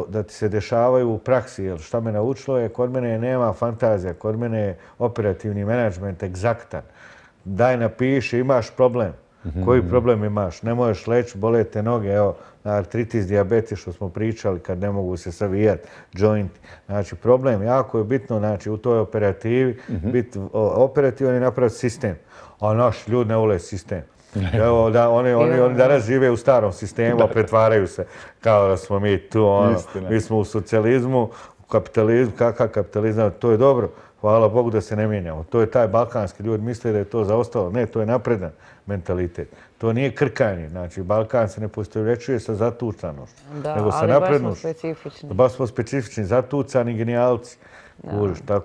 da ti se dešavaju u praksi. Jer šta me naučilo je, kod mene nema fantazija, kod mene je operativni menadžment egzaktan. Daj napiši, imaš problem. Koji problem imaš? Ne možeš leći, bole te noge, evo, artritis, dijabetes, što smo pričali, kad ne mogu se savijati, joint. Znači, problem jako je bitno, znači, u toj operativi, biti operativan i napraviti sistem. A naš ljudi ne vole sistem. Evo, oni danas žive u starom sistemu, a pretvaraju se kao da smo mi tu, mi smo u socijalizmu, u kapitalizmu, kakav kapitalizam, to je dobro. Hvala Bogu da se ne mijenjamo. To je taj balkanski, ljudi misle da je to zaostalo. Ne, to je napredan mentalitet. To nije krkanje. Znači, Balkan se ne poistovjećuje sa zatucanošću, nego sa naprednošću. Baš smo specifični, zatucani genijalci.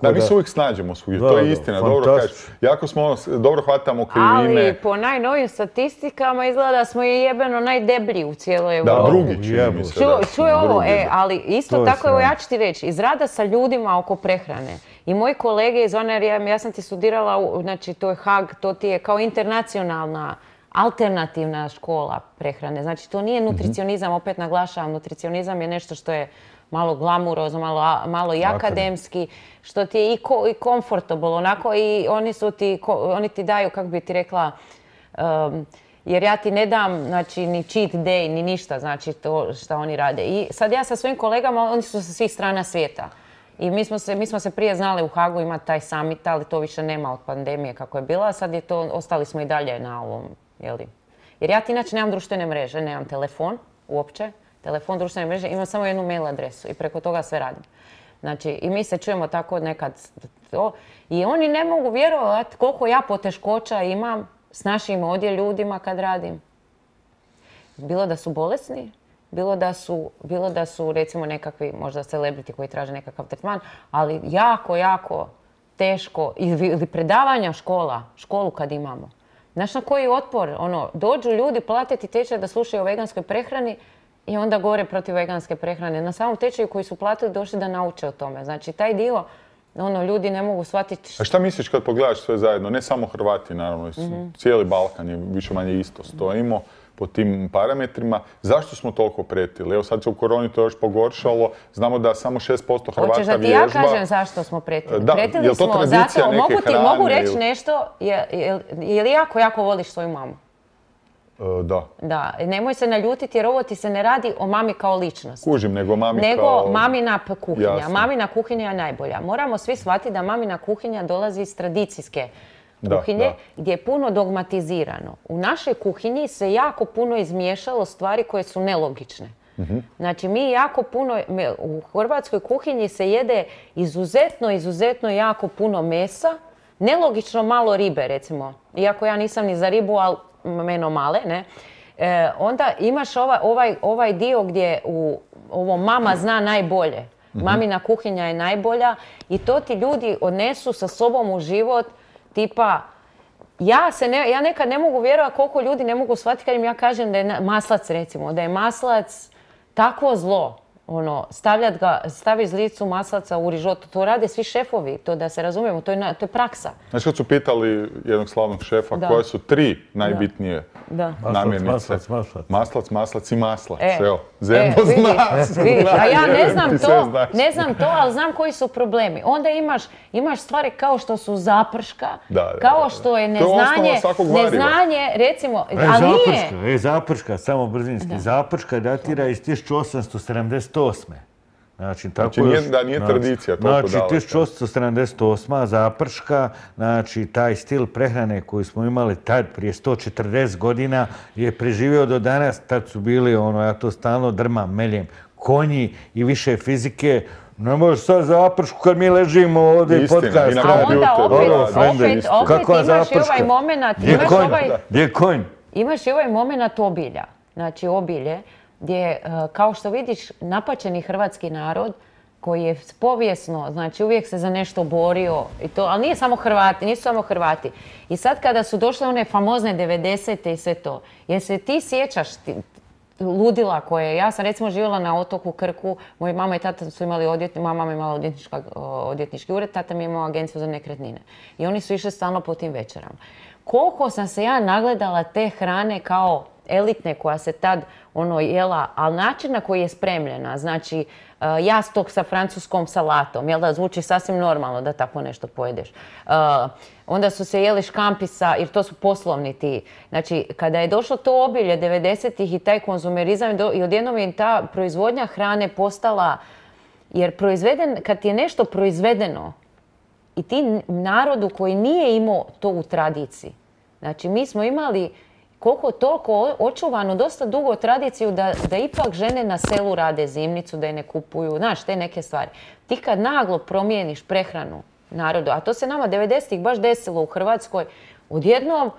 Da, mi se uvijek snađemo svugdje, to je istina, dobro kažeš. Jako smo, dobro hvatamo krivine. Ali po najnovim statistikama izgleda da smo jebeno najdeblji u cijeloj Evropi. Da, drugi čini mi se. Čuje ovo, ali isto tako, evo ja ću ti reći, iz rada sa ljudima oko prehrane. I moji kolege iz one, ja sam ti studirala, znači to je Hag, to ti je kao internacionalna, alternativna škola prehrane. Znači to nije nutricionizam, opet naglašavam, nutricionizam je nešto što je malo glamurozno, malo i akademski, što ti je i comfortable, onako i oni ti daju, kako bi ti rekla, jer ja ti ne dam, znači, ni cheat day, ni ništa, znači, to što oni rade. I sad ja sa svojim kolegama, oni su sa svih strana svijeta. I mi smo se prije znali u Hagu, ima taj summit, ali to više nema od pandemije kako je bila, a sad je to, ostali smo i dalje na ovom, jeli. Jer ja ti inače nemam društvene mreže, nemam telefon uopće, telefon, društvene mreže, imam samo jednu mail adresu i preko toga sve radim. Znači, i mi se čujemo tako nekad to. I oni ne mogu vjerovati koliko ja poteškoća imam s našim ovdje ljudima kad radim. Bilo da su bolesni, bilo da su recimo nekakvi možda celebrity koji traže nekakav tretman, ali jako, jako teško. Ili predavanja školu kad imamo. Znaš na koji otpor? Dođu ljudi platiti tečaj da slušaju o veganskoj prehrani i onda govore protiv veganske prehrane. Na samom tečaju koji su platili došli da nauče o tome. Znači, taj dio, ljudi ne mogu shvatiti. A šta misliš kad pogledaš sve zajedno? Ne samo Hrvati, naravno, cijeli Balkan je više manje isto stojimo po tim parametrima. Zašto smo toliko pretili? Evo sad se u koroni to još pogoršalo. Znamo da samo 6% Hrvata vježba. Hoćeš da ti ja kažem zašto smo pretili? Da, pretili smo zato, mogu reći nešto, je li jako voliš svoju mamu? Da. Da, nemoj se naljutiti jer ovo ti se ne radi o mami kao ličnost. Kužim, nego mami nego mamina kuhinja. Jasno. Mamina kuhinja je najbolja. Moramo svi shvatiti da mamina kuhinja dolazi iz tradicijske kuhinje gdje je puno dogmatizirano. U našoj kuhinji se jako puno izmiješalo stvari koje su nelogične. Znači mi jako puno, u hrvatskoj kuhinji se jede izuzetno jako puno mesa, nelogično malo ribe recimo. Iako ja nisam ni za ribu, ali meno male, ne? Onda imaš ovaj dio gdje ovo mama zna najbolje. Mamina kuhinja je najbolja i to ti ljudi odnesu sa sobom u život. Tipa, ja nekad ne mogu vjerovati koliko ljudi ne mogu shvatiti kad im ja kažem da je maslac, recimo, da je maslac takvo zlo. Staviš zlicu maslaca u rižotu, to rade svi šefovi, to da se razumijemo, to je praksa. Znači kad su pitali jednog slavnog šefa koje su 3 najbitnije namirnice? Maslac i maslac. Evo, zemljo zna. A ja ne znam to, ali znam koji su problemi. Onda imaš stvari kao što su zaprška, kao što je neznanje, recimo, ali nije. Zaprška, samo brzinski. Zaprška datira iz 1878. Znači, da nije tradicija toliko daleka. Znači, 1878. zaprška, znači, taj stil prehrane koji smo imali tad prije 140 godina je preživio do danas. Tad su bili, ja to stalno drmam, meljem, konji i više fizike. Ne možeš sad zapršku kad mi ležimo ovdje i podcast. A onda opet imaš i ovaj moment, gdje je konj? Imaš i ovaj moment obilja. Znači, obilje gdje, kao što vidiš, napaćeni hrvatski narod koji je povijesno, znači uvijek se za nešto borio, ali nisu samo Hrvati. I sad kada su došle one famozne 90. i sve to, jer se ti sjećaš ludila koje, ja sam recimo živjela na otoku Krku, moja mama i tata su imali moja mama je imala odvjetnički ured, tata mi je imao agenciju za nekretnine. I oni su išli stalno po tim večerama. Koliko sam se ja nagledala te hrane kao elitne koja se tad jela, ali način na koji je spremljena, znači jastok sa francuskom salatom, jel da, zvuči sasvim normalno da tako nešto pojedeš. Onda su se jeli škampi jer to su poslovni ti. Znači, kada je došlo to obilje 90-ih i taj konzumerizam i odjednom je ta proizvodnja hrane postala, jer kad ti je nešto proizvedeno i ti narodu koji nije imao to u tradiciji, znači mi smo imali koliko toliko očuvanu dosta dugo tradiciju da ipak žene na selu rade zimnicu, da je ne kupuju, znaš, te neke stvari. Ti kad naglo promijeniš prehranu narodu, a to se nama 90-ih baš desilo u Hrvatskoj, odjednom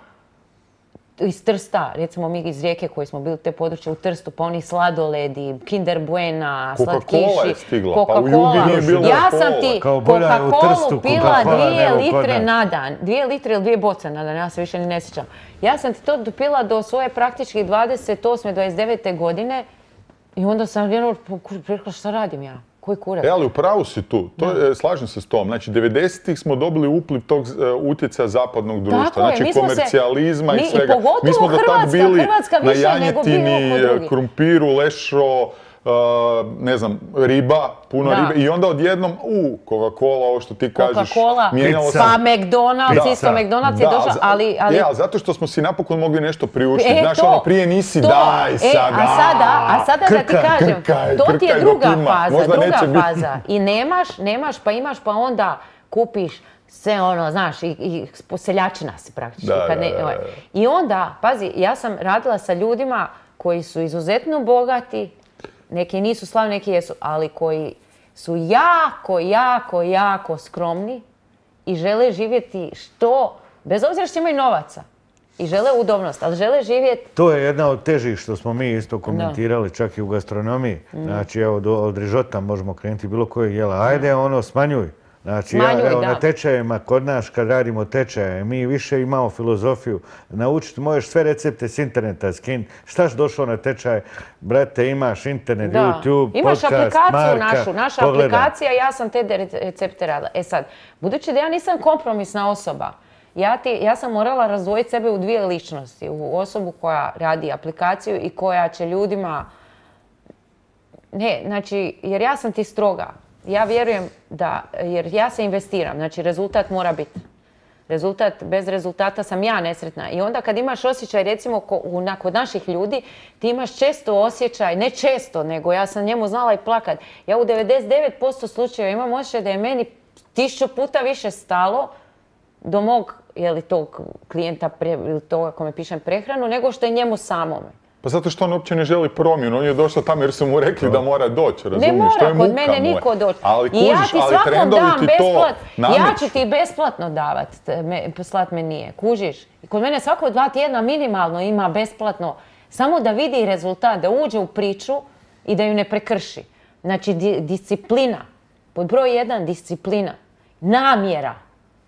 iz Trsta, recimo mi iz Rijeke koji smo bili te područje u Trstu, pa oni sladoledi, Kinder Buena, slatkiši, Coca-Cola je stigla, Coca-Cola. pa u Jugi nije bilo Ja sam ti Coca-Colu pila 2 litre dan. na dan. 2 litre ili 2 boce na dan, ja se više ni ne sjećam. Ja sam ti to dopila do svoje praktički 28. 29. godine i onda sam jedno rekla šta radim ja. Koji kurac? Ali upravo si tu, slažem se s tom. Znači, 90-ih smo dobili upliv tog utjecaja zapadnog društva, znači komercijalizma i svega. Mi smo do tad bili na janjetini, krumpiru, lešo, ne znam, riba, puno ribe i onda odjednom, Coca-Cola, ovo što ti kažeš, mijenjalo se. Pa McDonald's, isto McDonald's je došao, ali... zato što smo si napokon mogli nešto priuštiti. Znaš, prije nisi daj sada. A sada da ti kažem, to ti je druga faza. I nemaš, pa imaš, pa onda kupiš sve znaš, i seljačina si praktički. I onda, pazi, ja sam radila sa ljudima koji su izuzetno bogati, neki nisu slavni, neki jesu, ali koji su jako skromni i žele živjeti bez obzira što imaju novaca i žele udobnost, ali žele živjeti... To je jedna od težih što smo mi isto komentirali čak i u gastronomiji. Znači, evo, od rižota možemo krenuti bilo kojeg jela. Ajde, smanjuj. Znači, na tečajima, kod nas kad radimo tečaje, mi više imamo filozofiju. Naučiti možeš sve recepte s interneta skin. Štaš došao na tečaj, brate, imaš internet, YouTube, podcast, Imaš aplikaciju naša aplikacija, ja sam te recepte radila. Sad, budući da ja nisam kompromisna osoba, ja sam morala razdvojiti sebe u 2 ličnosti. U osobu koja radi aplikaciju i koja će ljudima... Ne, znači, jer ja sam ti stroga. Ja vjerujem jer ja se investiram, znači rezultat mora biti. Bez rezultata sam ja nesretna. I onda kad imaš osjećaj, recimo kod naših ljudi, ti imaš često osjećaj, ne često, nego ja sam njemu znala i plakat. Ja u 99% slučajeva imam osjećaj da je meni 1000 puta više stalo do mog, tog klijenta ili toga kome pišem prehranu, nego što je njemu samome. Pa zato što on uopće ne želi promjenu, on je došao tamo jer su mu rekli da mora doći, razumiješ? Ne mora, kod mene niko doći. I ja ti svakom dam besplatno, ja ću ti besplatno davati, slat me nije, kužiš? I kod mene svako 2 tjedna minimalno ima besplatno, samo da vidi rezultat, da uđe u priču i da ju ne prekrši. Znači, disciplina, pod broj 1 disciplina,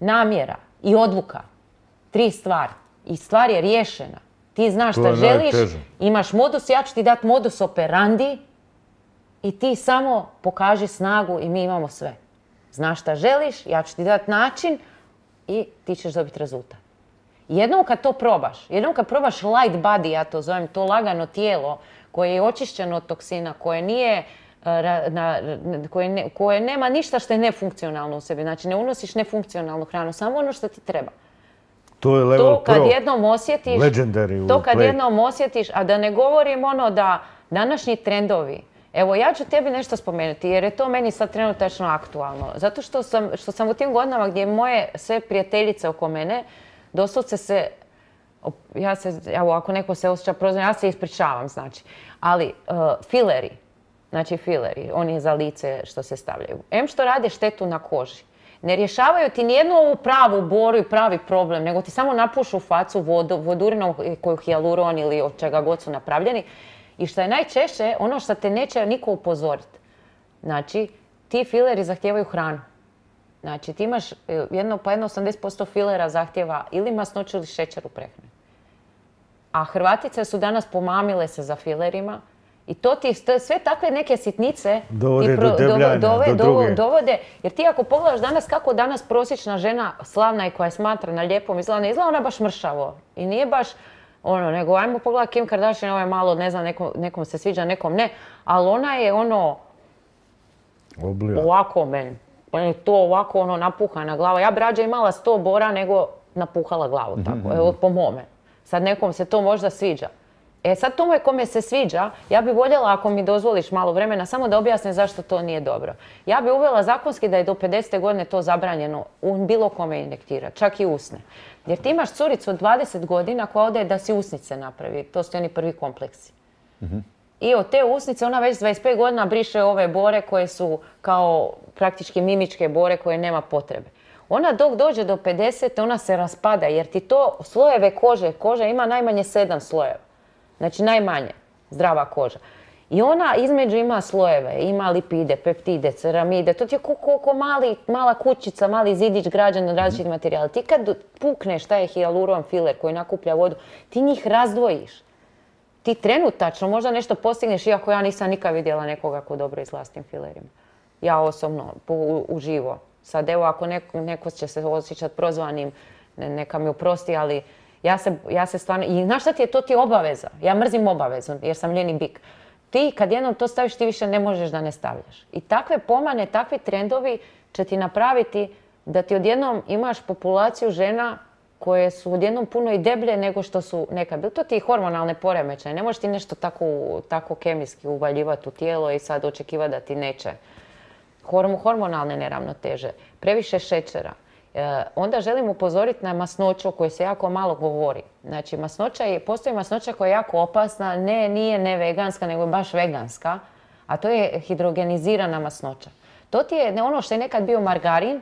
namjera i odluka, 3 stvari. I stvar je riješena. Ti znaš šta želiš, imaš modus, ja ću ti dati modus operandi i ti samo pokaži snagu i mi imamo sve. Znaš šta želiš, ja ću ti dati način i ti ćeš dobiti rezultat. Jednom kad to probaš, jednom kad probaš light body, ja to zovem, to lagano tijelo koje je očišćeno od toksina, koje nije, koje nema ništa što je nefunkcionalno u sebi. Znači ne unosiš nefunkcionalnu hranu, samo ono što ti treba. To kad jednom osjetiš, a da ne govorim da današnji trendovi, evo ja ću tebi nešto spomenuti jer je to meni sad trenutačno aktualno. Zato što sam u tim godinama gdje moje sve prijateljice oko mene, doslovce ako neko se osjeća prozvan, ja se ispričavam znači. Ali fileri, oni za lice što se stavljaju, što rade štetu na koži. Ne rješavaju ti nijednu ovu pravu boru i pravi problem, nego ti samo napušu facu vodurinom koju hijaluron ili od čega god su napravljeni. I što je najčešće, ono što te neće niko upozoriti. Znači, ti fileri zahtijevaju hranu. Znači, ti imaš jedno 80% filera zahtjeva ili masnoću ili šećer u prehrani. a Hrvatice su danas pomamile se za filerima. I to ti sve takve neke sitnice dovode, jer ti ako pogledaš danas kako danas prosječna žena slavna i koja je smatrana lijepom izgleda, izgleda ona baš mršavo. I nije baš nego ajmo pogledati Kim Kardashian, ovo je malo, ne znam, nekom se sviđa, nekom ne, ali ona je ovako meni. On je to ovako napuhana glava. Ja bi rađe imala 100 bora nego napuhala glavu tako, evo po mome. Sad nekom se to možda sviđa. Sad tome kome se sviđa, ja bi voljela, ako mi dozvoliš malo vremena, samo da objasnim zašto to nije dobro. Ja bi uvela zakonski da je do 50. godine to zabranjeno bilo kome injektirati, čak i usne. Jer ti imaš curicu od 20 godina koja ode da si usnice napravi, to su oni prvi kompleksi. I od te usnice ona već 25 godina briše ove bore koje su kao praktički mimičke bore koje nema potrebe. Ona dok dođe do 50. ona se raspada jer ti to slojeve koža ima najmanje 7 slojeva. Znači najmanje zdrava koža. I ona između ima slojeve, ima lipide, peptide, ceramide, to ti je koliko mala kućica, mali zidić građan od različitih materijala. Ti kad pukneš taj hijaluron filer koji nakuplja vodu, ti njih razdvojiš. Ti trenutačno možda nešto postigneš, iako ja nisam nikad vidjela nekoga ko dobro izgleda s tim filerima. Ja osobno, uživo. Sad evo ako neko će se osjećati prozvanim, neka mi oprosti, ali ja se stvarno, i znaš šta ti je, to ti je obaveza. Ja mrzim obavezu jer sam ljeni bik. Ti kad jednom to staviš, ti više ne možeš da ne stavljaš. I takve pomane, takvi trendovi će ti napraviti da ti odjednom imaš populaciju žena koje su odjednom puno i deblje nego što su nekad bili. To ti je hormonalne poremećaje. Ne možeš ti nešto tako kemijski uvaljivati u tijelo i sad očekivati da ti neće. Hormonalne neravnoteže, previše šećera. Onda želim upozoriti na masnoću o kojoj se jako malo govori. Znači, postoji masnoća koja je jako opasna, nije neveganska, nego je baš veganska, a to je hidrogenizirana masnoća. To ti je ono što je nekad bio margarin,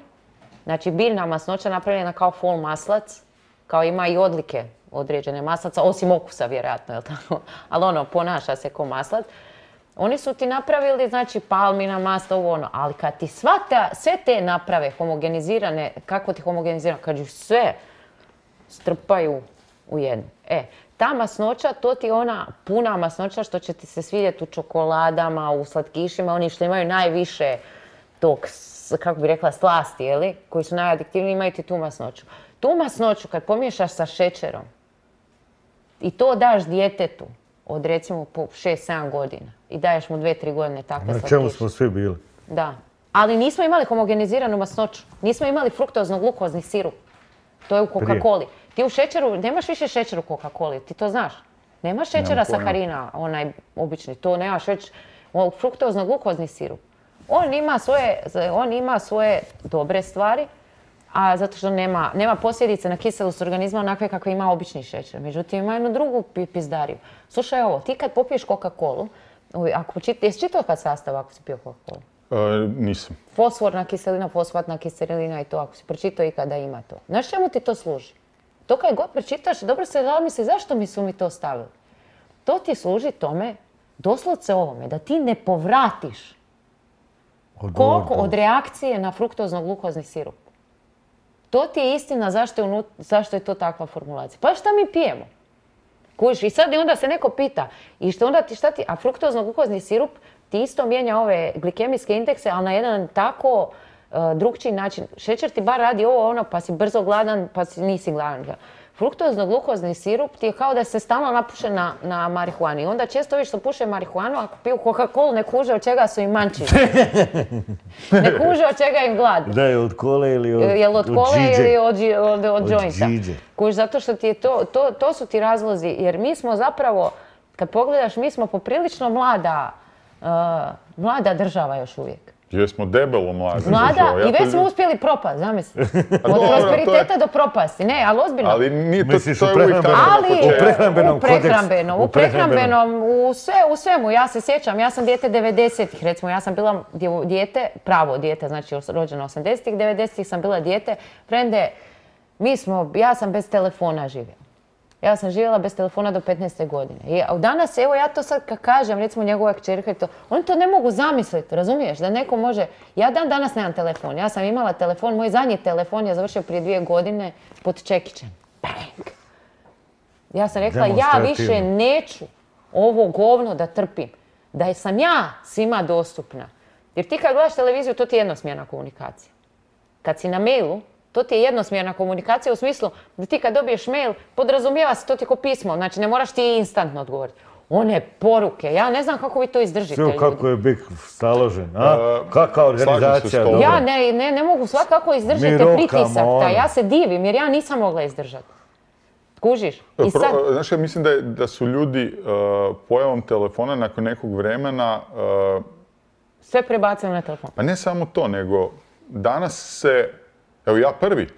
znači biljna masnoća napravljena kao fol maslac, kao ima i odlike određene maslaca, osim okusa vjerojatno, jel tako? Ali ponaša se kao maslac. Oni su ti napravili, znači, palmina masla, ali kad ti sve te naprave homogenizirane, kako ti homogenizirane, kad ju sve strpaju u jednu. Ta masnoća, to ti je ona puna masnoća što će ti se svidjeti u čokoladama, u slatkišima, oni što imaju najviše tog, kako bi rekla, slasti, jeli, koji su najadiktivniji, imaju ti tu masnoću. Tu masnoću kad pomiješaš sa šećerom i to daš djetetu, od recimo po 6-7 godina i daješ mu 2-3 godine takve slatkiše. Na čemu smo svi bili? Da. Ali nismo imali homogeniziranu masnoću. Nismo imali fruktozno-glukozni sirup. To je u Coca-Coli. Ti u šećeru, nemaš više šećera u Coca-Coli, ti to znaš. Nemaš šećera saharina, onaj obični, to nemaš već fruktozno-glukozni sirup. On ima svoje dobre stvari, a zato što nema posljedice na kiselost organizma onakve kakve ima obični šećer. Međutim, ima jednu drugu pizdariju. Slušaj ovo, ti kad popiješ Coca-Colu, jesi čitao kad sastava ako si pio Coca-Colu? Nisam. Fosforna kiselina, fosfatna kiselina i to, ako si pročitao ikada ima to. Znaš čemu ti to služi? To kad god pročitaš, dobro se zamisli zašto su mi to stavili. To ti služi tome, doslovce ovome, da ti ne povratiš koliko od reakcije na fruktozno-glukozni sirup. To ti je istina zašto je to takva formulacija. Pa šta mi pijemo? Kužiš, i sad onda se neko pita, i a fruktozno-glukozni sirup ti isto mijenja ove glikemijske indekse, ali na jedan tako drugčiji način. Šećer ti bar radi pa si brzo gladan, pa nisi gladan. Fruktozno-glukozni sirup ti je kao da se stalno napuše na marihuani. Onda često viš što puše marihuanu, ako piju Coca-Colu, ne kuže od čega su im manči. Ne kuže od čega im glad. Da je od kole ili od Jel od kole ili od jointa. Kuž, zato što ti je to su ti razlozi. Jer mi smo zapravo, kad pogledaš, mi smo poprilično mlada država još uvijek. Jesmo debelo mlada i već smo uspjeli propast, zamisli. Od prosperiteta do propasti. Ne, ali ozbiljno. Ali nije to je uvijek tako na početku. U prehrambenom, u svemu. Ja se sjećam, ja sam dijete 90-ih, recimo. Ja sam bila dijete, pravo dijete, znači rođena 80-ih, 90-ih sam bila dijete. Frende, ja sam bez telefona živjela. Ja sam živjela bez telefona do 15. godine. I danas, evo ja to sad kad kažem, recimo njegova kćerka i to, oni to ne mogu zamisliti, razumiješ? Da neko može, ja danas nemam telefon, ja sam imala telefon, moj zadnji telefon je završio prije 2 godine pod čekićem. Bang! Ja sam rekla, ja više neću ovo govno da trpim. Da sam ja svima dostupna. Jer ti kad gledaš televiziju, to ti je jednosmjerna komunikacija. Kad si na mailu, to ti je jednosmjerna komunikacija u smislu da ti kad dobiješ mail, podrazumijeva se, to ti je ko pismo. Znači, ne moraš ti instantno odgovoriti. One poruke, ja ne znam kako vi to izdržite, ljudi. Kako je BIK staložen, a? Kakva organizacija? Ja ne mogu kako izdržite pritisak taj. Ja se divim jer ja nisam mogla izdržati. Kužiš? Znaš, ja mislim da su ljudi pojavom telefona nakon nekog vremena... Sve prebacili na telefon. Pa ne samo to, nego danas se... Evo ja prvi,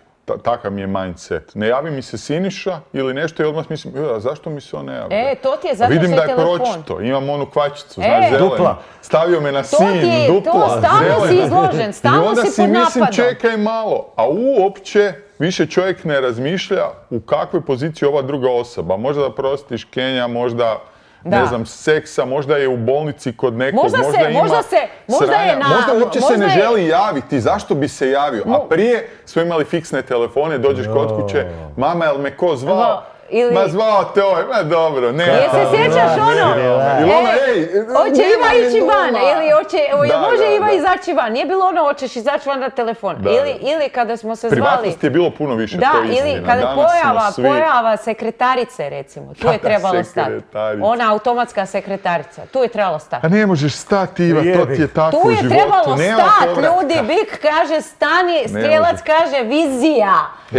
takav mi je mindset. Ne javi mi se Siniša ili nešto i odmah mislim, zašto mi se on ne javi? To ti je zato što je telefon. Vidim da je pročito, imam onu kvačicu, znaš, zelenu. Dupla. Stavio me na sin, dupla, to stalno si izložen, stalno si pod napadom. I onda si mislim, čekaj malo, a uopće više čovjek ne razmišlja u kakvoj poziciji ova druga osoba. Možda da prostiš Kenja, možda... Ne znam, seksa, možda je u bolnici kod nekog, možda uopće se ne želi javiti, zašto bi se javio? A prije smo imali fiksne telefone, dođeš kod kuće, mama, jel me ko zvao? Ma zvao te ovaj, ma dobro, ne. Jel se sjećaš ono? Hoće Iva ići van, ili može Iva izaći van. Nije bilo ono, hoćeš izaći van na telefon. Ili kada smo se zvali... Privatnosti je bilo puno više, to je istina. Ili kada pojava sekretarice, recimo, tu je trebalo stati. Ona automatska sekretarica, tu je trebalo stati. A ne možeš stati, Iva, to ti je tako u životu. Tu je trebalo stati, ljudi, Bik kaže stani, strijelac kaže vizija.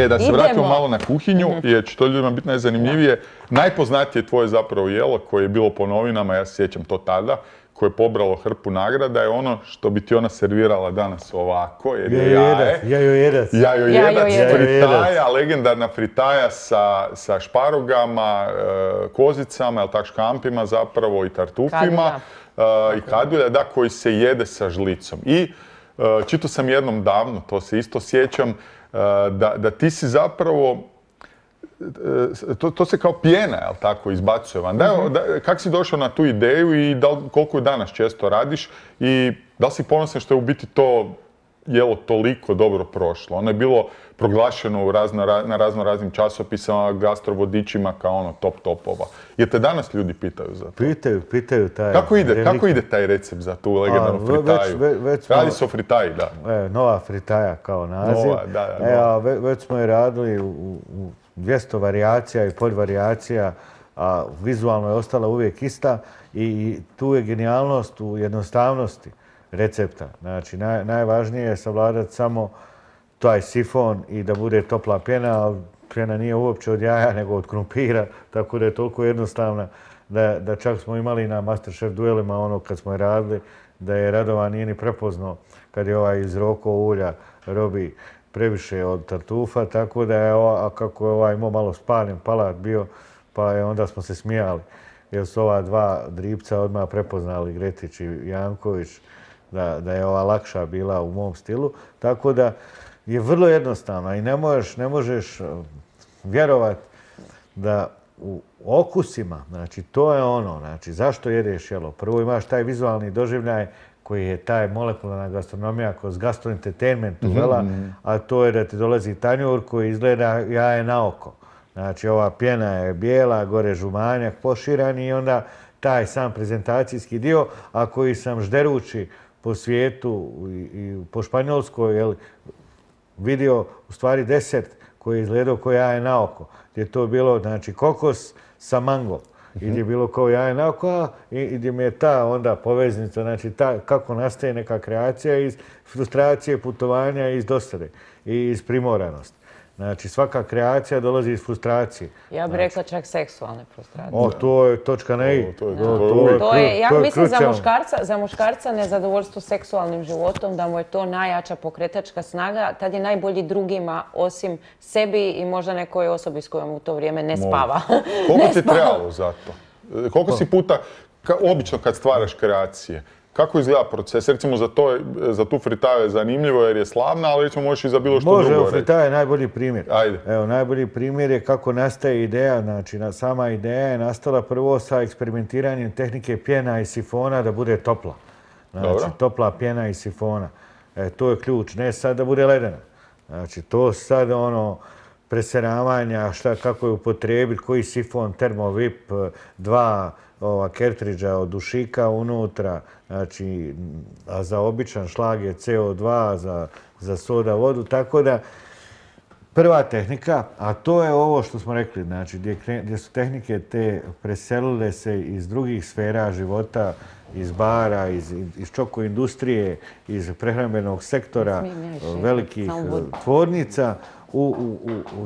Da se vratimo malo na kuhinju, jer će to ljudima biti najzanimljivije. Najpoznatije tvoje zapravo jelo koje je bilo po novinama, ja se sjećam to tada, koje je pobralo hrpu nagrada, je ono što bi ti ona servirala danas ovako, jer je jajojedac. Jajojedac, fritaja, legendarna fritaja sa šparogama, kozicama, jel tak, škampima zapravo i tartufima i kadulja, da, koji se jede sa žlicom. I čitao sam jednom davno, to se isto sjećam, da ti si zapravo, to se kao pjena, jel tako, izbacuje van. Kako si došao na tu ideju i koliko ju danas često radiš i da li si ponosan što je u biti to jelo toliko dobro prošlo? Ono je bilo proglašeno na raznim časopisama, gastrovodičima kao ono top topova. Jer te danas ljudi pitaju za to? Pitaju taj... Kako ide taj recept za tu legendarnu fritaju? Radi se o fritaji, da. Nova fritaja kao naziv. Već smo je radili u 200 varijacija i podvarijacija, a vizualno je ostala uvijek ista i tu je genijalnost u jednostavnosti recepta. Znači, najvažnije je savladati samo taj sifon i da bude topla pjena, ali pjena nije uopće od jaja, nego od krumpira, tako da je toliko jednostavna da čak smo imali na Masterchef duelima ono kad smo je radili, da je Radovan nije ni prepoznao kad je ovaj iz Roko ulja robi previše od tartufa, tako da je kako je ovaj imao malo spaljen palat bio, pa je onda smo se smijali. Jer su ova dva dripca odmah prepoznali, Gretić i Janković, da je ova lakša bila u mom stilu. Tako da je vrlo jednostavno i ne možeš vjerovati da u okusima, znači to je ono, znači zašto jedeš jelo? Prvo imaš taj vizualni doživljaj koji je taj molekularna gastronomija kroz gastroentertainment uvela, a to je da ti dolazi tanjur koji izgleda jaje na oko. Znači ova pjena je bijela, gore žumanjak poširan i onda taj sam prezentacijski dio, a koji sam žderući po svijetu i po Španjolskoj vidio u stvari desert koji je izgledao kao jaje na oko. Gdje je to bilo, znači, kokos sa mango. I gdje je bilo kao jaje na oko i gdje mi je ta onda poveznica, znači kako nastaje neka kreacija iz frustracije, putovanja, iz dosade i iz primoranosti. Znači, svaka kreacija dolazi iz frustracije. Ja bih rekla čak seksualne frustracije. To je točka na i. Ja mislim za muškarca nezadovoljstvo seksualnim životom, da mu je to najjača pokretačka snaga, tad je najbolji drugima osim sebi i možda nekoj osobi s kojom u to vrijeme ne spava. Koliko ti je trebalo za to? Koliko si puta, obično kad stvaraš kreacije, kako izgleda proces? Recimo za tu fritaju je zanimljivo jer je slavna, ali recimo možeš i za bilo što drugo reći. Može, fritaja je najbolji primjer. Ajde. Evo, najbolji primjer je kako nastaje ideja. Znači, sama ideja je nastala prvo sa eksperimentiranjem tehnike pjena i sifona da bude topla. Znači, topla pjena i sifona. To je ključ. Ne sad da bude ledena. Znači, to sad preseravanja, kako je upotrijebiti, koji sifon, termovip, 2 kertridža od dušika unutra, znači, a za običan šlag je CO2, za soda vodu, tako da prva tehnika, a to je ovo što smo rekli, znači, gdje su tehnike te preselile se iz drugih sfera života, iz bara, iz čoko industrije, iz prehrambenog sektora, velikih tvornica,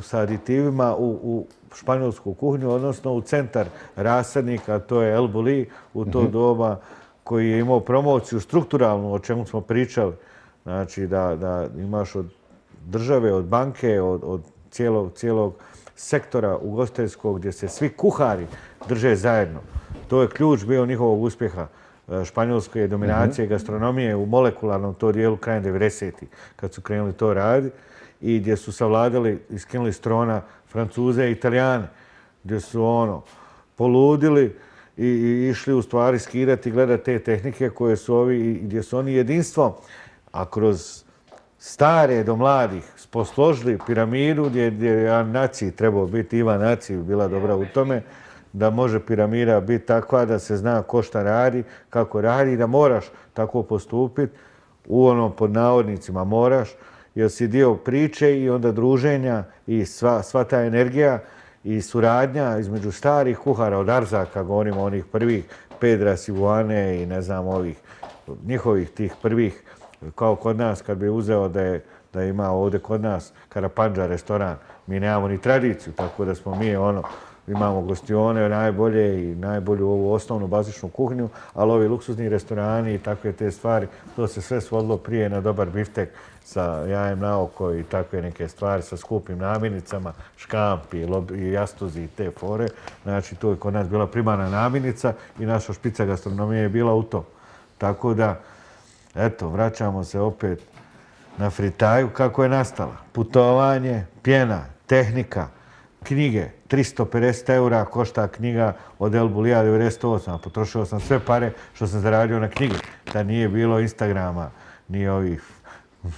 sa aditivima u španjolsku kuhinju, odnosno u centar rasadnika, to je El Bulli u to doba, koji je imao promociju strukturalnu, o čemu smo pričali. Znači da imaš od države, od banke, od cijelog sektora ugostiteljskog gdje se svi kuhari drže zajedno. To je ključ bio njihovog uspjeha španjolske dominacije gastronomije u molekularnom to dijelu krajem 90-ih, kad su krenuli to raditi i gdje su savladali i skinuli s trona Francuze i Italijane, gdje su poludili i išli u stvari skidati i gledati te tehnike koje su ovi, gdje su oni jedinstvo, a kroz stare do mladih posložili piramidu gdje je naciji trebao biti, Iva naciji bila dobra u tome, da može piramida biti takva da se zna ko šta radi, kako radi, da moraš tako postupiti, pod navodnicima moraš, jer si dio priče i onda druženja i sva ta energija i suradnja između starih kuhara od Arzaka, govorimo onih prvih, Pedra, Sivuane i ne znam njihovih tih prvih, kao kod nas kad bi uzeo da ima ovdje kod nas Karapandža restoran, mi nemamo ni tradiciju, tako da smo mi imamo gostione najbolje i najbolju ovu osnovnu bazičnu kuhinju, ali ovi luksuzni restorani i takve te stvari, to se sve svodilo prije na dobar biftek sa jajem na oko i takve neke stvari sa skupim namirnicama, škampi i jastuzi i te fore. Znači, to je kod nas bila primarna namirnica i naša špica gastronomije je bila u tom. Tako da, eto, vraćamo se opet na fritaju kako je nastala. Putovanje, pjena, tehnika, knjige. 350 eura košta knjiga od El Bullija 98. Potrošio sam sve pare što sam zaradio na knjige. Da nije bilo Instagrama, ni ovih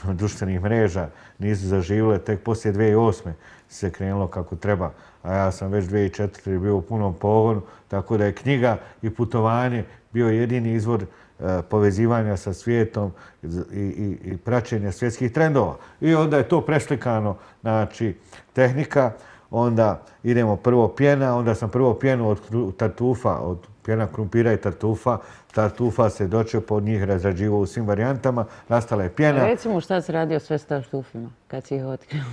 društvenih mreža, nisu zaživile. Tek poslije 2008. se krenulo kako treba. A ja sam već 2004. bio u punom pogonu, tako da je knjiga i putovanje bio jedini izvor povezivanja sa svijetom i praćenja svjetskih trendova. I onda je to preslikano, znači, tehnika, onda idemo prvo pjena, onda sam prvo pjenu od tartufa, od pjena krumpira i tartufa. Tartufa se dočeo pod njih razrađivao u svim varijantama, nastala je pjena. Recimo šta si radio sve s tartufima, kad si ih otkrio?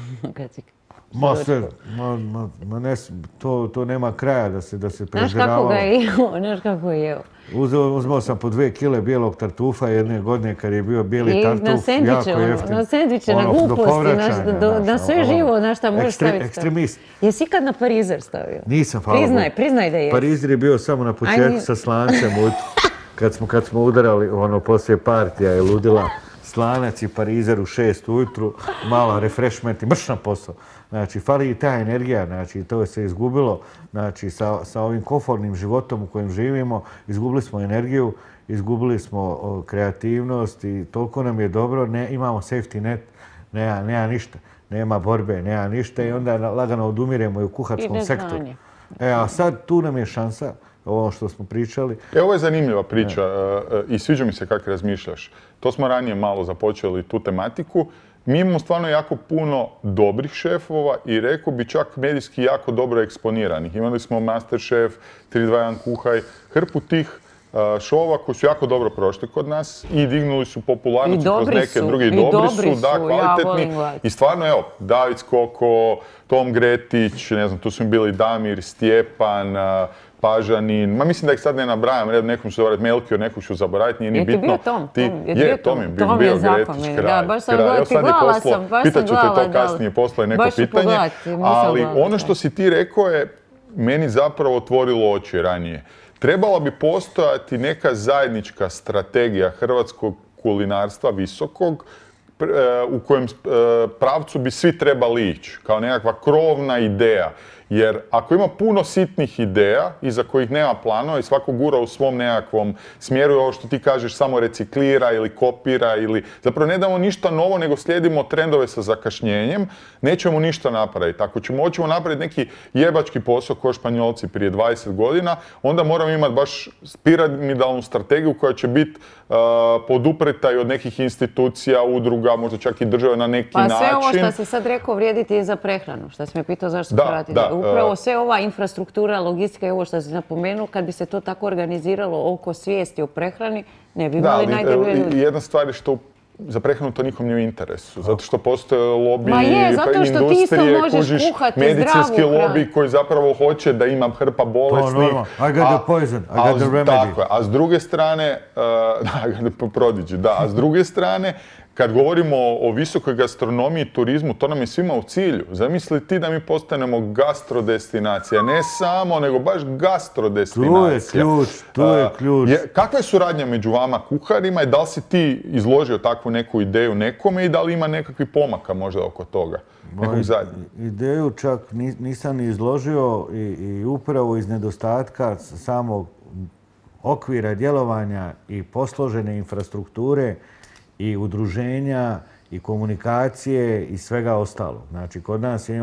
To nema kraja da se prezbiravalo. Znaš kako ga je jeo? Znaš kako je jeo? Uzmao sam po 2 kile bijelog tartufa jedne godine kad je bio bijeli tartuf, jako jeftin. Na sendviče, na gluposti, na sve živo, na šta možeš staviti. Ekstremist. Jesi ikad na parizer stavio? Nisam, hvala Bogu. Priznaj da jesi. Parizer je bio samo na početku sa slancem, kad smo udarali poslije partija je ludila. Slanac i parizer u 6 ujutru, mala refreshment i mrš na posao. Znači, fali i ta energija, znači, to se izgubilo, znači, sa ovim komfortnim životom u kojem živimo, izgubili smo energiju, izgubili smo kreativnost i toliko nam je dobro, imamo safety net, nema ništa, nema borbe, nema ništa i onda lagano odumiremo i u kuharskom sektoru. A sad tu nam je šansa, ovo što smo pričali. Ovo je zanimljiva priča i sviđa mi se kako razmišljaš. To smo ranije malo započeli tu tematiku. Mi imamo stvarno jako puno dobrih šefova i rekao bi čak medijski jako dobro eksponiranih. Imali smo Masterchef, 3-2-1 kuhaj, hrpu tih šova koji su jako dobro prošli kod nas i dignuli su popularnost kroz neke druge i dobri su, da, kvalitetni. I stvarno, evo, David Skoko, Tom Gretić, ne znam, tu su mi bili Damir, Stjepan, Pažanin, mislim da ih sad ne nabrajam, nekom ću zaboraviti Melchior, nekog ću zaboraviti, nije ni bitno. Je ti bio Tom? Tom je Gretić, kralj. Baš sam gledala, pitat ću te to kasnije, poslije neko pitanje. Ali ono što si ti rekao je meni zapravo otvorilo oči ranije. Trebala bi postojati neka zajednička strategija hrvatskog kulinarstva visokog u kojem pravcu bi svi trebali ići, kao nekakva krovna ideja. Jer ako ima puno sitnih ideja iza kojih nema planova i svako gura u svom nekakvom smjeru, ovo što ti kažeš samo reciklira ili kopira ili zapravo ne damo ništa novo nego slijedimo trendove sa zakašnjenjem, nećemo ništa napraviti. Ako hoćemo napraviti neki jebački posao kao Španjolci prije 20 godina, onda moramo imati baš piramidalnu strategiju koja će biti podupreta i od nekih institucija, udruga, možda čak i države na neki način. Pa sve ovo što si sad rekao vrijediti i za prehranu, što si me pitao zašto se pratiti. Upravo sve ova infrastruktura, logistika i ovo što si napomenuo, kad bi se to tako organiziralo oko svijesti o prehrani, ne bi imali najdeblje ljudi. Jedna stvar je što za prehranu to nikom nije u interesu, zato što postoje lobby, industrije, medicinski lobby koji zapravo hoće da ima hrpa bolesnih. I got the poison, I got the remedy. Tako je, a s druge strane, a s druge strane, kad govorimo o visokoj gastronomiji i turizmu, to nam je svima u cilju. Zamisli ti da mi postanemo gastrodestinacija, ne samo, nego baš gastrodestinacija. Tu je ključ. Kakva je suradnja među vama kuharima i da li si ti izložio takvu neku ideju nekome i da li ima nekakvih pomaka možda oko toga? Ideju čak nisam ni izložio i upravo iz nedostatka samog okvira djelovanja i posložene infrastrukture i udruženja i komunikacije i svega ostalo. Znači, kod nas je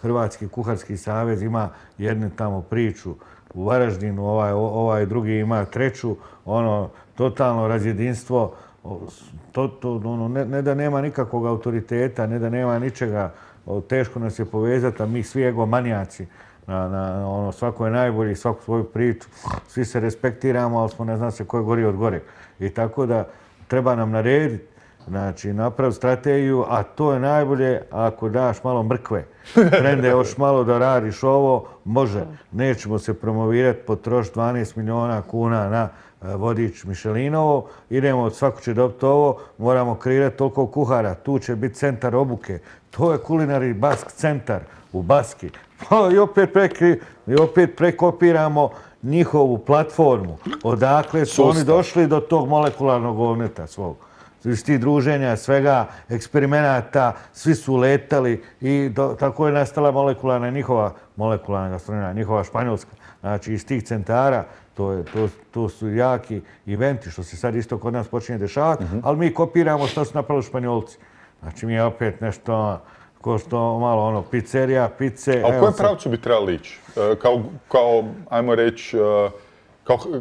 Hrvatski kuharski savez ima jednu tamo priču u Varaždinu, ovaj drugi ima treću, totalno razjedinstvo, ne da nema nikakvog autoriteta, ne da nema ničega, teško nas je povezati, a mi svi egomanijaci, svako je najbolji, svaku svoju priču, svi se respektiramo, ali smo ne zna se ko je gori od gore. I tako da treba nam narediti, znači napraviti strategiju, a to je najbolje ako daš malo mrkve. Trende još malo da radiš ovo, može. Nećemo se promovirati, potrošiti 12 miliona kuna na vodič Mišelinovo, idemo, svako će dobiti ovo, moramo kreirati toliko kuhara, tu će biti centar obuke. To je Culinary Bask centar u Baski. I opet prekopiramo njihovu platformu. Odakle su oni došli do tog molekularnog ovneta svog. Iz tih druženja, svega, eksperimenata, svi su letali i tako je nastala njihova molekularna gastronomija, njihova španjolska. Znači, iz tih centara, to su jaki eventi, što se sad isto kod nas počinje dešavati, ali mi kopiramo što su napravili Španjolci. Znači, mi je opet nešto ko što malo pizzerija, pice. A u kojem pravcu bi trebali ići? Kao, ajmo reći,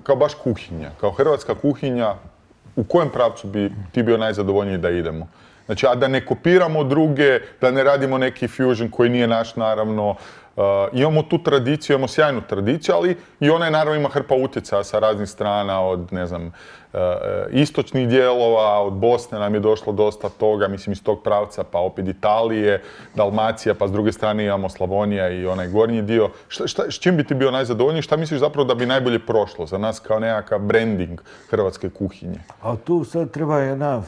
kao baš kuhinja, kao hrvatska kuhinja, u kojem pravcu bi ti bio najzadovoljniji da idemo? Znači, a da ne kopiramo druge, da ne radimo neki fusion koji nije naš, naravno. Imamo tu tradiciju, imamo sjajnu tradiciju, ali i ona je naravno ima hrpa utjecaja sa raznih strana, od, ne znam, istočnih dijelova, od Bosne nam je došlo dosta toga, mislim iz tog pravca, pa opet Italije, Dalmacija, pa s druge strane imamo Slavonija i onaj gornji dio. S čim bi ti bio najzadovoljniji? Šta misliš zapravo da bi najbolje prošlo za nas kao nekakav branding hrvatske kuhinje? A tu sad treba jedna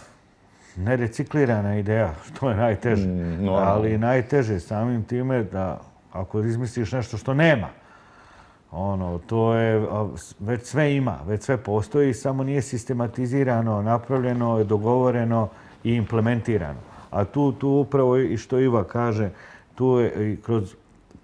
nereciklirana ideja, što je najteže. Ali najteže samim time da ako izmisliš nešto što nema, to je, već sve ima, već sve postoji, samo nije sistematizirano, napravljeno, dogovoreno i implementirano. A tu upravo i što Iva kaže, tu je i kroz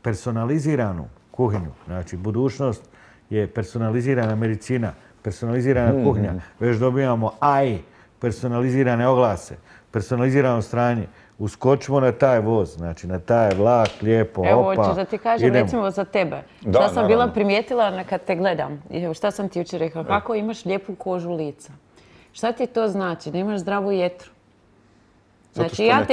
personaliziranu kuhinju. Znači, budućnost je personalizirana medicina, personalizirana kuhinja. Već dobijamo AI, personalizirane oglase, personalizirano stranje. Uskočimo na taj voz, znači na taj vlak, lijepo, opa. Evo, hoćeš da ti kažem, recimo za tebe. Šta sam bila primijetila kad te gledam? Šta sam ti jučer rekla? Kako imaš lijepu kožu lica? Šta ti to znači? Da imaš zdravu jetru? Znači, ja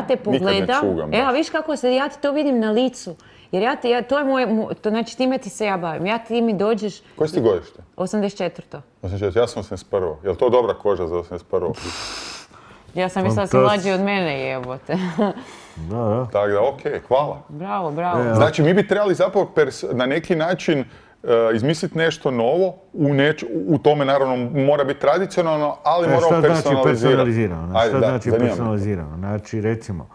te pogledam, evo, viš kako ja ti to vidim na licu. Jer to je moje, znači time ti se ja bavim. Ti mi dođeš... Koje si ti godište? 84. 84, ja sam 81. Je li to dobra koža za 81? Ja sam mislila da si mlađi od mene, jebote. Da. Tako da, okej, hvala. Bravo. Znači, mi bi trebali zapravo na neki način izmisliti nešto novo, u tome naravno mora biti tradicionalno, ali moramo personalizirano. Šta znači personalizirano? Znači, recimo,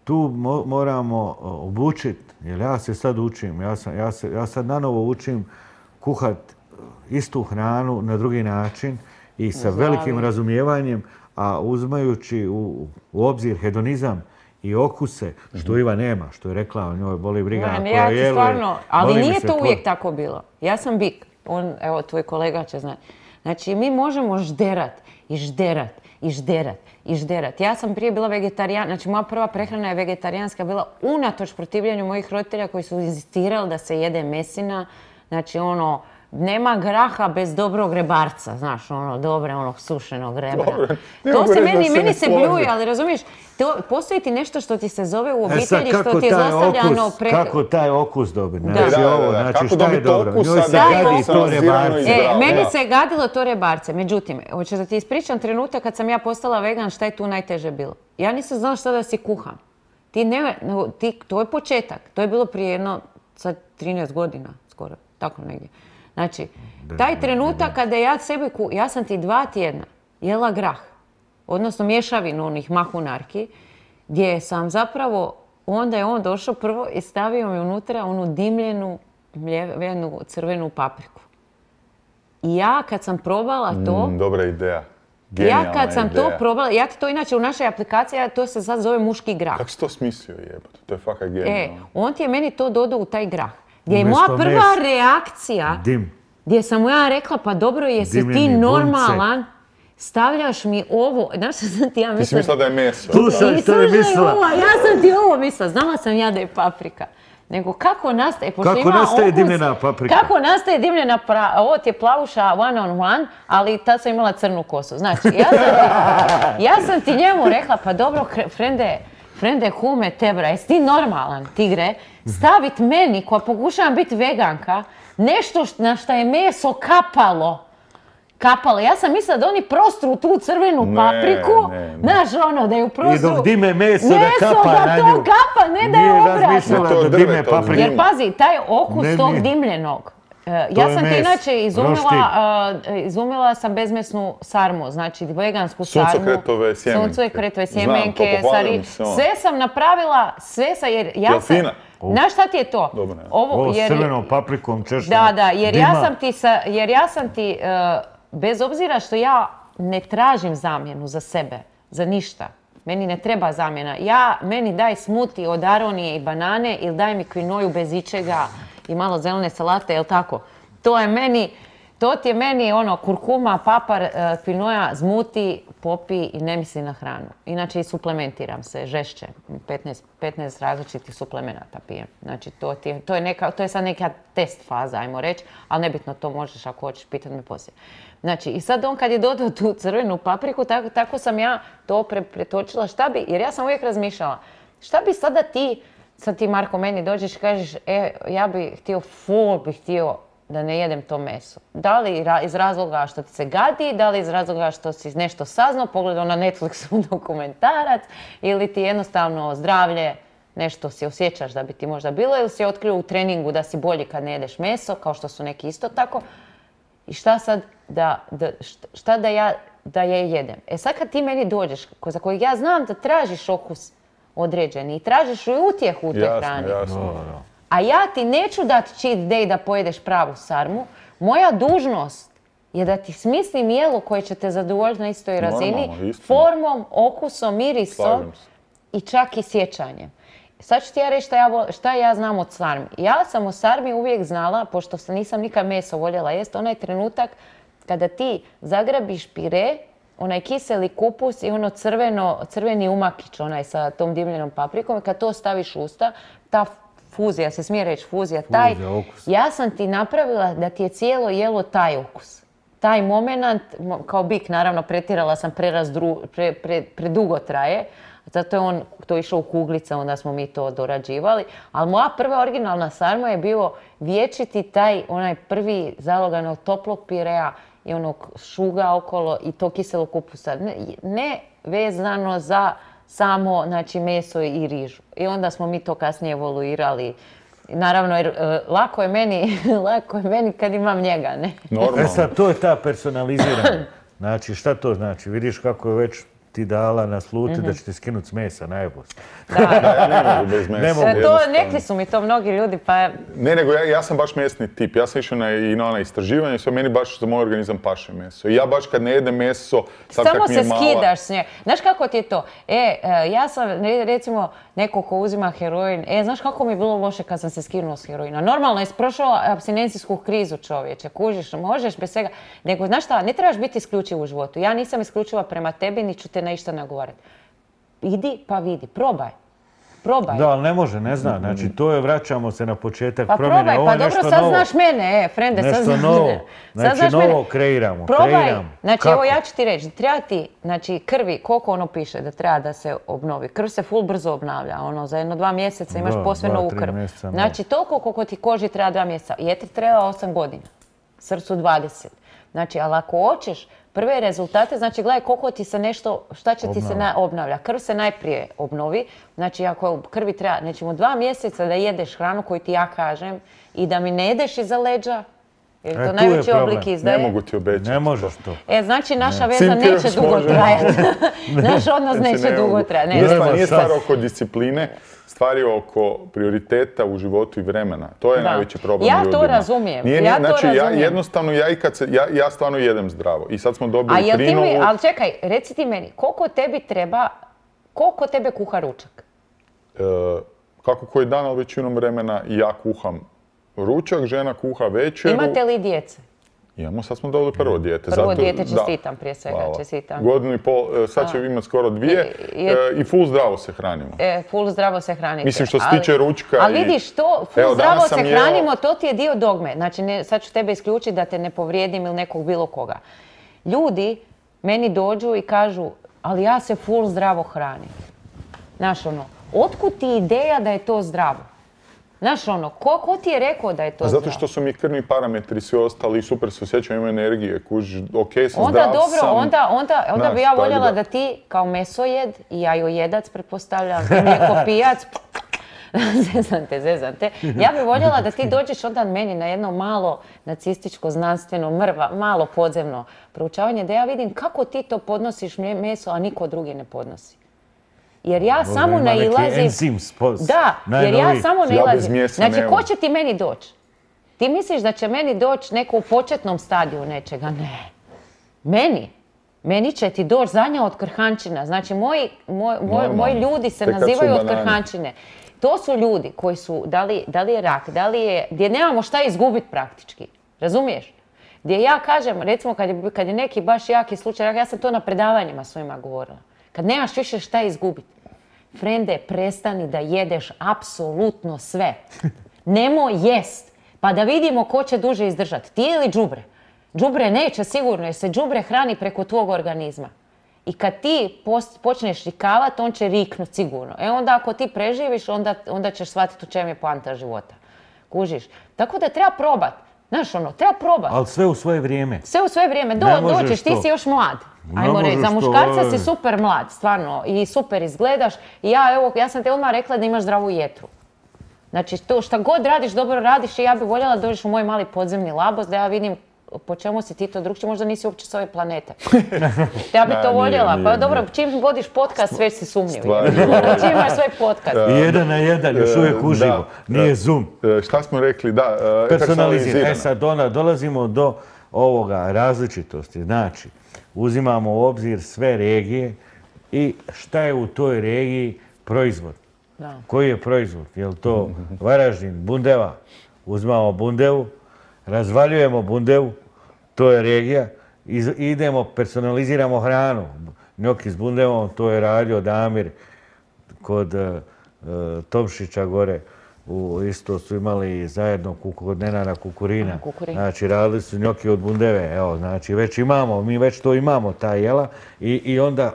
tu moramo obučiti, jer ja se sad učim, ja sad nanovo učim kuhat istu hranu na drugi način i sa velikim razumijevanjem, a uzimajući u obzir hedonizam i okuse, što Iva nema, što je rekla, o njoj boli briga. Ali nije to uvijek tako bilo. Ja sam bik, evo tvoj kolega će znati. Znači mi možemo žderat i žderat i žderat i žderat. Ja sam prije bila vegetarijan, znači moja prva prehrana je vegetarijanska bila unatoč protivljenju mojih roditelja koji su inzistirali da se jede mesina. Znači nema graha bez dobrog rebarca, znaš, dobre, sušenog rebra. To se meni se bljuje, ali razumiješ, postoji ti nešto što ti se zove u obitelji, što ti je zlostavljano kako taj okus dobiti? Znači, šta je dobro? Njoj se gadi to rebarce. Meni se gadilo to rebarce, međutim, hoćeš da ti ispričam trenutak kad sam ja postala vegan, šta je tu najteže bilo? Ja nisam znala šta da si kuham. To je početak, to je bilo prije 13 godina, skoro, tako negdje. Znači, taj trenutak kada ja sam ti 2 tjedna jela grah, odnosno mješavinu onih mahunarki, gdje sam zapravo, onda je on došao prvo i stavio mi unutra onu dimljenu crvenu papriku. I ja kad sam probala to... Dobra ideja. Ja kad sam to probala, ja ti to inače u našoj aplikaciji, to se sad zove muški grah. Kako si to smislio jebate? To je fakat genijalno. On ti je meni to dodao u taj grah. Gdje je moja prva reakcija, gdje sam mu ja rekla, pa dobro, jesi ti normalan, stavljaš mi ovo, znaš što sam ti ja mislila? Ti si mislila da je meso. Slušaj što je mislila. Ja sam ti ovo mislila, znala sam ja da je paprika. Nego kako nastaje, kako nastaje dimljena paprika? Kako nastaje dimljena paprika? Ovo ti je plavuša one on one, ali tad sam imala crnu kosu. Znači, ja sam ti njemu rekla, pa dobro, frende hume tebra, jesi ti normalan, tigre, stavit meni, koja pokušavam biti veganka, nešto na šta je meso kapalo. Ja sam mislila da oni prostru tu crvenu papriku, znaš da je u prostoru... I dok dime meso da kapa na nju. Meso da to kapa, ne da je obratno. Nije razmišljala da dime papriku. Jer pazi, taj okus tog dimljenog. Ja sam ti inače izumila sam bezmesnu sarmu, znači vegansku sarmu. Suncokretove sjemenke. Sve sam napravila, jer ja sam... Znaš šta ti je to? Ovo s crvenom paprikom češljeno. Da, jer ja sam ti, bez obzira što ja ne tražim zamjenu za sebe, za ništa. Meni ne treba zamjena. Meni daj smuti od aronije i banane ili daj mi kvinoju bez ičega i malo zelene salate, jel tako? To ti je meni kurkuma, papar, kvinoja, zmuti, popi i ne misli na hranu. Inače i suplementiram se žešće. 15 različitih suplemenata pijem. Znači to je sad neka test faza, ajmo reći, ali nebitno to možeš ako hoćeš pitati me poslije. Znači i sad on kad je dodao tu crvenu papriku, tako sam ja to pretočila. Jer ja sam uvijek razmišljala, šta bi sada ti Marko meni dođeš i kažeš, ja bih htio da ne jedem to meso. Da li iz razloga što ti se gadi, da li iz razloga što si nešto saznao, pogledao na Netflixu dokumentarac, ili ti jednostavno zdravlje, nešto si osjećaš da bi ti možda bilo, ili si otkrio u treningu da si bolji kad ne jedeš meso, kao što su neki isto tako. I šta sad da ja jedem? Sad kad ti meni dođeš, za kojeg ja znam da tražiš okus određeni i tražiš i utjehu u toj hrani. Jasno. A ja ti neću dati cheat day da pojedeš pravu sarmu. Moja dužnost je da ti smislim jelo koje će te zadovoljiti na istoj razini, formom, okusom, mirisom i čak i sjećanjem. Sad ću ti ja reći šta ja znam od sarmi. Ja sam o sarmi uvijek znala, pošto nisam nikad meso voljela jest, onaj trenutak kada ti zagrabiš pire, onaj kiseli kupus i crveni umakić, onaj sa tom dimljenom paprikom, i kad to staviš u usta, ta fuzija, se smije reći fuzija, ja sam ti napravila da ti je cijelo jelo taj okus. Taj moment, kao bik, naravno, pretjerala sam, predugo traje, zato je on to išao u kuglice, onda smo mi to dorađivali. Ali moja prva originalna sarma je bio vječiti onaj prvi zalogan toplog pirea i onog šuga okolo i to kiselo kupusa. Ne vezano za samo, znači, meso i rižu. I onda smo mi to kasnije evoluirali. Naravno, jer lako je meni kad imam njega, ne? Normalno. Sad, to je ta personalizirana. Znači, šta to znači? Vidiš kako je već ti dala nasluti da će ti skinuti s mesa, najbolje. Ja ne mogu bez mesa. Nekli su mi to mnogi ljudi, pa... Ne, nego ja sam baš mesni tip. Ja sam išao i na ona istraživanja i sve, meni baš za moj organizam paše meso. I ja baš kad ne jedem meso, sad samo kak mi je se mala... skidaš s nje. Znaš kako ti je to? Ja sam, recimo, neko ko uzima heroin, znaš kako mi je bilo loše kad sam se skinuo s heroina? Normalno je prošao apstinencijsku krizu, čovječe, kužiš, možeš bez svega. Nego, znaš šta, ne trebaš biti isključiv u životu. Ja nisam isključiva prema tebi, ni ću te na išta nagovarati. Idi pa vidi, probaj. Da, ali ne može, ne zna. Znači, to je, vraćamo se na početak pa promjene. Probaj, pa dobro, sad znaš mene, frende, sad znaš novo. mene. Znači, novo kreiramo. Probaj, znači, evo ja ću ti reći, treba ti, znači, krvi, koliko ono piše da treba da se obnovi. Krv se full brzo obnavlja, za 1-2 mjeseca imaš posve novu krv. Znači, toliko koliko ti koži treba 2 mjeseca. Jetri treba 8 godina, srcu 20. Znači, ali ako hoćeš prve rezultate, znači gledaj koliko ti se nešto, šta će ti se obnavlja. Krv se najprije obnovi, znači ako krvi treba, nećemo 2 mjeseca da jedeš hranu koju ti ja kažem i da mi ne jedeš iza leđa, jer to najveći oblik izdaje. Ne mogu ti obećati. Ne možeš to. Znači naša veza neće dugo trajati. Naš odnos neće dugo trajati. Nije stvar oko discipline, stvar je oko prioriteta u životu i vremena. To je najveći problem ljudima. Ja to razumijem. Znači, jednostavno, ja stvarno jedem zdravo. I sad smo dobili prinovu... Ali čekaj, reci ti meni, koliko tebi treba, koliko tebe kuha ručak? Kako koji dan, ali većinom vremena ja kuham ručak, žena kuha večeru. Imate li djece? Imamo, sad smo dobili prvo dijete. Prvo dijete, čestitam prije svega, čestitam. 1,5 godina, sad će imati skoro 2 i full zdravo se hranimo. Full zdravo se hranite. Mislim što se tiče ručka. Ali vidiš, to full zdravo se hranimo, to ti je dio dogme. Znači, sad ću tebe isključiti da te ne povrijedim ili nekog bilo koga. Ljudi meni dođu i kažu, ali ja se full zdravo hranim. Znaš otkud ti ideja da je to zdravo? Znaš ko ti je rekao da je to zdravo? Zato što su mi krvni parametri svi ostali, super se osjećam, imam energije, kužiš, okej sam, zdrav sam. Onda bi ja voljela da ti kao mesojed i jajojedac, pretpostavljam, ti mlijeko pijac, zezam te. Ja bi voljela da ti dođeš onda meni na jedno malo nacističko, znanstveno, malo podzemno proučavanje, da ja vidim kako ti to podnosiš meso, a niko drugi ne podnosi. Jer ja samo nailazim... Da, jer ja samo nailazim. Znači, ko će ti meni doći? Ti misliš da će meni doći neko u početnom stadiju nečega? Ne. Meni će ti doći zadnja od krhančina. Znači, moji ljudi se nazivaju od krhančine. To su ljudi koji su, da li je rak, gdje nemamo šta izgubiti praktički. Razumiješ? Gdje ja kažem, recimo kad je neki baš jaki slučaj, ja sam to na predavanjima svojima govorila. Kad nemaš više šta izgubiti. Frende, prestani da jedeš apsolutno sve. Nemoj jest. Pa da vidimo ko će duže izdržati. Ti ili đubre. Đubre neće sigurno jer se đubre hrani preko tvog organizma. I kad ti počneš rikavati, on će riknuti sigurno. Onda ako ti preživiš, onda ćeš shvatiti u čem je poanta života. Kužiš? Tako da treba probati. Znaš treba probati. Ali sve u svoje vrijeme. Sve u svoje vrijeme. Dođeš, ti si još mlad. Ajmo reći, za muškarca si super mlad, stvarno, i super izgledaš. I ja sam te odmah rekla da imaš zdravu jetru. Znači, to šta god radiš, dobro radiš i ja bih voljela da dođeš u moj mali podzemni labos, da ja vidim po čemu si ti to drugčiji, možda nisi uopće s ove planete. Ja bih to voljela, pa dobro, čim vodiš podcast, već si sumnjiv. Čim imaš svoj podcast. 1 na 1, još uvijek uživo, nije Zoom. Šta smo rekli, da, personalizirano. Sad dolazimo do ovoga različitosti, znači, uzimamo u obzir sve regije i šta je u toj regiji proizvod. Koji je proizvod? Je li to Varaždin, Bundeva? Uzimamo Bundevu, razvaljujemo Bundevu, to je regija, idemo, personaliziramo hranu. Njoki s Bundevom, to je radio Damir kod Tomšića gore. Isto su imali zajedno kod Nenada Kukurina. Znači, radili su njoki od Bundeve. Evo, znači, već imamo, mi već to imamo, ta jela.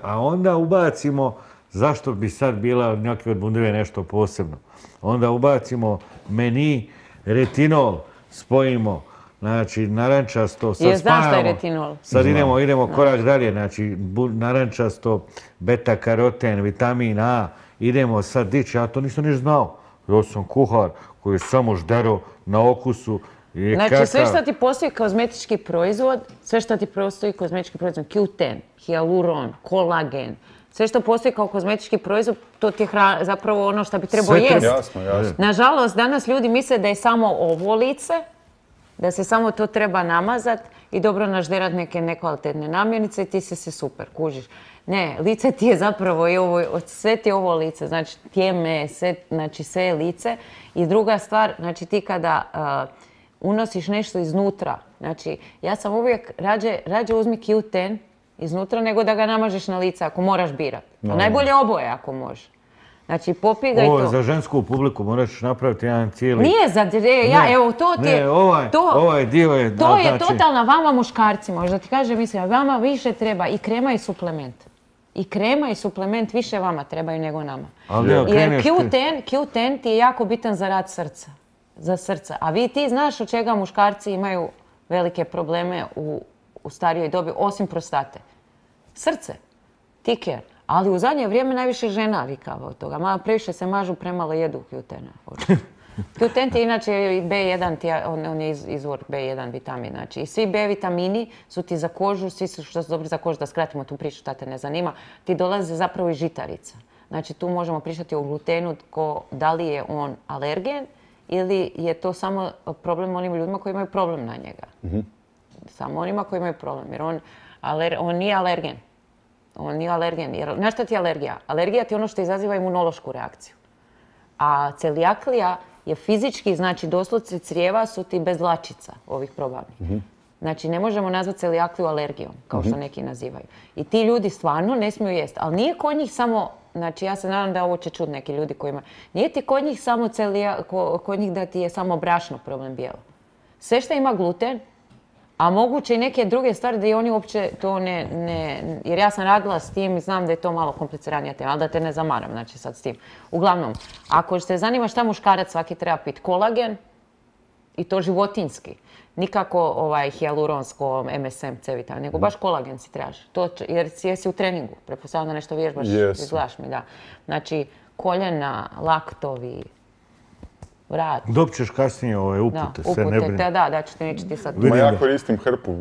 A onda ubacimo, zašto bi sad bila njoki od Bundeve nešto posebno? Onda ubacimo meni, retinol, spojimo, znači, narančasto, sad znaš šta je retinol? Sad idemo korak dalje, znači, narančasto, beta-karoten, vitamin A, idemo sad dići, ja to nisam niš znao. Ja sam kuhar koji je samo ždero na okusu Znači, sve što ti postoji kozmetički proizvod, Q10, hijaluron, kolagen, sve što postoji kao kozmetički proizvod, to ti je zapravo ono što bi trebao jesti. Jasno. Nažalost, danas ljudi misle da je samo ovo lice, da se samo to treba namazat i dobro nažderat neke nekvalitetne namirnice i ti se super, kužiš. Ne, lice ti je zapravo i ovo, sve ti je ovo lice, znači tijeme, znači sve je lice. I druga stvar, znači ti kada unosiš nešto iznutra, znači ja sam uvijek rađe uzmi Q10 iznutra nego da ga namažeš na lice ako moraš birat. No. Najbolje oboje ako možeš. Znači, popij ga i to. Ovo je za žensku publiku, moraš napraviti jedan cijeli... Nije za... evo, to ti je... Ne, ovaj dio je... To je totalna vama muškarcima, možda ti kažem, mislim, vama više treba i krema i suplement. I krema i suplement više vama trebaju nego nama. Jer Q10 ti je jako bitan za rad srca. Za srce. A ti znaš od čega muškarci imaju velike probleme u starijoj dobi, osim prostate. Srce. Tiker. Ali u zadnje vrijeme najviše žena vikava od toga. Malo previše se mažu, premalo jedu Q10. Q10 je inače B1, on je izvor B1 vitamin. Znači, i svi B vitamini su ti za kožu, svi su što su dobri za kožu, da skratimo tu priču, šta te ne zanima, ti dolaze zapravo iz žitarica. Znači, tu možemo pričati o glutenu, da li je on alergen ili je to samo problem onim ljudima koji imaju problem na njega. Samo onima koji imaju problem, jer on nije alergen. On nije alergen. Jer, znaš šta ti je alergija? Alergija ti je ono što izaziva imunološku reakciju. A celijaklija je fizički, znači doslovce crijeva su ti bez dlačica ovih probavnih. Znači ne možemo nazvati celijakliju alergijom, kao što neki nazivaju. I ti ljudi stvarno ne smiju jesti. Ali nije kod njih samo, znači ja se nadam da ovo će čuti neki ljudi koji imaju, nije ti kod njih samo kod njih da ti je samo brašno problem bijelo. Sve što ima gluten, a moguće i neke druge stvari da i oni uopće to ne... Jer ja sam radila s tim i znam da je to malo kompliciranija tema, ali da te ne zamaram, znači sad s tim. Uglavnom, ako te zanima šta muškarac svaki treba piti, kolagen i to životinjski. Nikako hijaluronsko, MSM, C vitamin, nego baš kolagen si trebaš. Jer jesi u treningu, pretpostavljam da nešto vježbaš, izgledaš mi, da. Znači, koljena, laktovi, vrat. Dobit ćeš kasnije ove upute, se ne brini. Da, ću ti neću ti sad... Ja koristim hrpu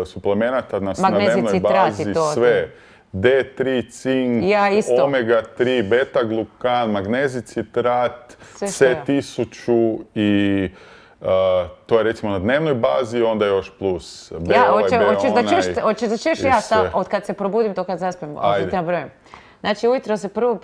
suplemenata na dnevnoj bazi, sve. D3, cink, omega-3, beta-glukan, magnezij citrat, C1000 i to je recimo na dnevnoj bazi, onda još plus B, Hoćeš da čuješ ja od kad se probudim do kad zaspem, ovdje ti nabrojem. Znači, ujutro se prvo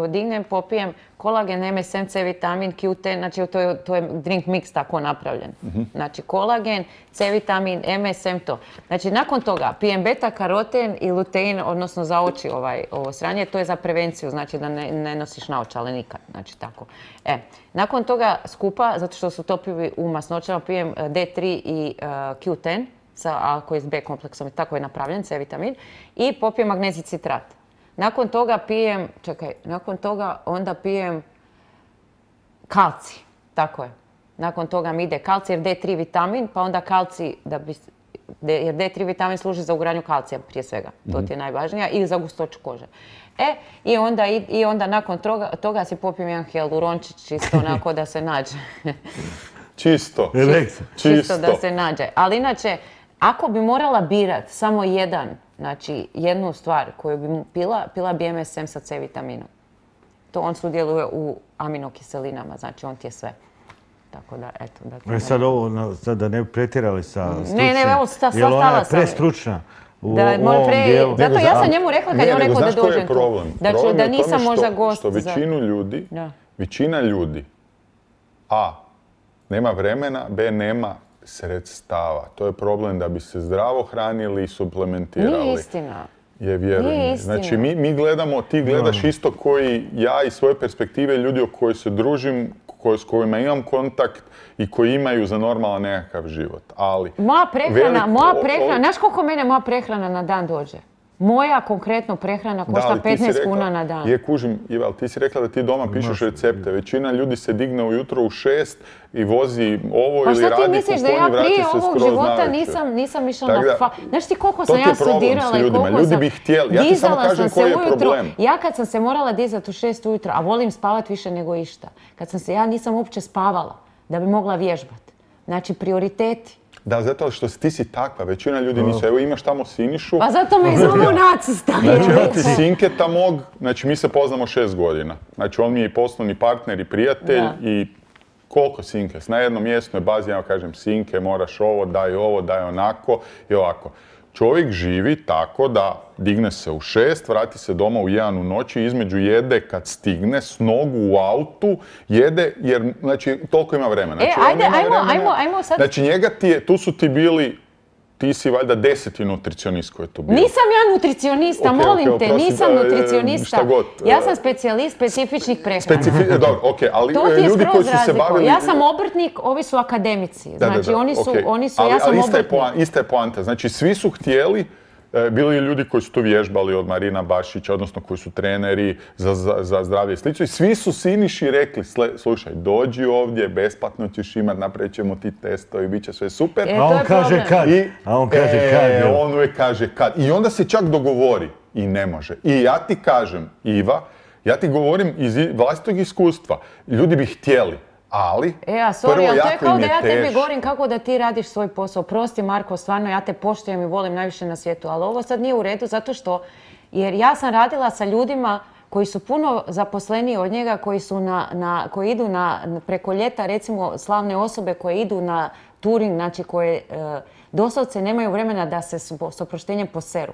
dignem, popijem kolagen, MSM, C vitamin, Q10, znači to je drink mix tako napravljen. Znači, kolagen, C vitamin, MSM, to. Znači, nakon toga pijem beta-karoten i lutein, odnosno za oči ovo sranje, to je za prevenciju, znači da ne nosiš naočale nikad, znači tako. Nakon toga skupa, zato što su topivi u masnoćama, pijem D3 i Q10, koji je s B kompleksom, tako je napravljen, C vitamin, i popijem magnezij citrat. Nakon toga onda pijem kalcij, tako je. Nakon toga mi ide kalcij jer D3 vitamin, pa onda kalcij, jer D3 vitamin služi za ugradnju kalcija prije svega, to ti je najvažnija, i za gustoću kože. I onda nakon toga si popijem jedan hijalurončić, čisto onako da se nađe. Čisto da se nađe. Ali inače, ako bi morala birat samo znači jednu stvar koju bi pila bi MSM sa C vitaminom. To on sudjeluje u aminokiselinama, znači on ti je sve. Tako da, eto. Sad ovo, da ne bi pretjerali sa stručnim. Ne, evo, stala sam. Jer ona je prestručna u ovom dijelu. Zato ja sam njemu rekla kad je on rekao da dođem tu. Da nisam možda gost. Što većina ljudi, A, nema vremena, B, nema sredstava. To je problem da bi se zdravo hranili i suplementirali. Nije istina. Vjerujem. Znači, mi gledamo, ti gledaš isto koji ja iz svoje perspektive ljudi o kojoj se družim, s kojima imam kontakt i koji imaju za normalan nekakav život. Ali... Moja prehrana, znaš koliko mene moja prehrana na dan dođe? Moja konkretno prehrana košta 15 kuna na dan. Kužim, Iva, ti si rekla da ti doma pišeš recepte. Većina ljudi se digne ujutro u 6 i vozi ovo ili radi kuponi, vraća se skroz navečer. Pa šta ti misliš da ja prije ovog života nisam išla na Znaš ti koliko sam ja studirala i koliko sam... Ljudi bi htjeli. Ja ti samo kažem koji je problem. Ja kad sam se morala dizati u 6 ujutro, a volim spavat više nego išta, ja nisam uopće spavala da bi mogla vježbati. Znači, prioriteti. Da, zato što ti si takva, većina ljudi nisu. Evo imaš tamo Sinišu. Pa zato me zovu nacista. Znači, evo ti Sinketa mog, znači mi se poznamo 6 godina. Znači, on mi je i poslovni partner i prijatelj i koliko Sinke? Na jednom mjestu je bazi, ja kažem Sinke, moraš ovo, daj onako i ovako. Čovjek živi tako da digne se u 6, vrati se doma u 1 u noći, između jede kad stigne, s nogu u autu, jede jer, znači, toliko ima vremena. Znači, ajmo sad. Znači, njega tu su ti bili, ti si valjda 10. nutricionist koji je tu bio. Nisam ja nutricionista, molim te, nisam nutricionista. Šta god. Ja sam specijalist specifičnih prehrana. Dobro, okej, ali to ti je ljudi koji su se bavili... Ja sam obrtnik, ovi su akademici. Znači, oni su, ja sam obrtnik. Ista je poanta. Znači, svi su htjeli, bili ljudi koji su to vježbali od Marina Bašića, odnosno koji su treneri za zdravlje i slično. I svi su Siniši rekli, slušaj, dođi ovdje, besplatno ćeš imati, napravit ćemo ti testovi, bit će sve super. A on kaže kad. On uvijek kaže kad. I onda se čak dogovori i ne može. I ja ti kažem, Iva, ja ti govorim iz vlastitog iskustva. Ljudi bi htjeli, ali prvo jako im je teško. To je kao da ja tebi govorim kako da ti radiš svoj posao. Prosti Marko, stvarno ja te poštujem i volim najviše na svijetu, ali ovo sad nije u redu zato što, jer ja sam radila sa ljudima koji su puno zaposleniji od njega, koji idu preko ljeta, recimo slavne osobe koje idu na touring, znači koje doslovce nemaju vremena da se s oproštenjem poseru.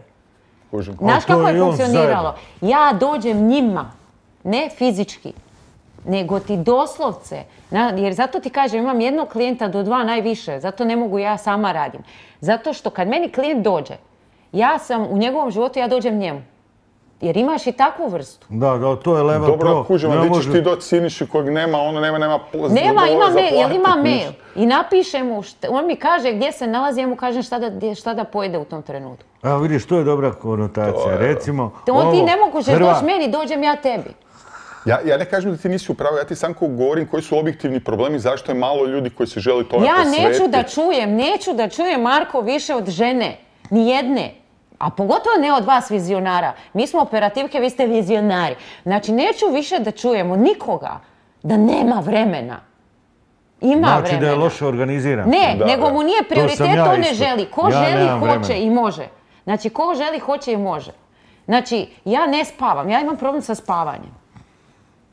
Znaš kako je funkcioniralo? Ja dođem njima, ne fizički, nego ti doslovce, jer zato ti kažem, imam jednog klijenta do 2 najviše, zato ne mogu ja sama radim. Zato što kad meni klijent dođe, ja sam u njegovom životu, ja dođem njemu. Jer imaš i takvu vrstu. Da, to je level pro. Dobro, kužemo, gdje ćeš ti doći Siniši kojeg nema, ono nema ima mail, jel ima mail. I napiše mu, on mi kaže gdje se nalazi, ja mu kažem šta da pojede u tom trenutku. Evo vidiš, to je dobra konotacija, recimo. Ti ne mogućeš doći meni, dođem ja tebi. Ja ne kažem da ti nisi u pravu, ja ti sam govorim koji su objektivni problemi, zašto je malo ljudi koji se želi tome posvetiti. Ja neću da čujem Marko više od žene, ni jedne. A pogotovo ne od vas vizionara. Mi smo operativke, vi ste vizionari. Znači, neću više da čujemo nikoga da nema vremena. Ima vremena. Znači da je loše organiziran. Ne, nego mu nije prioritet, to ne želi. Ko želi, hoće i može. Znači, ko želi, hoće i može. Znači, ja ne spavam, ja imam problem sa spavanjem.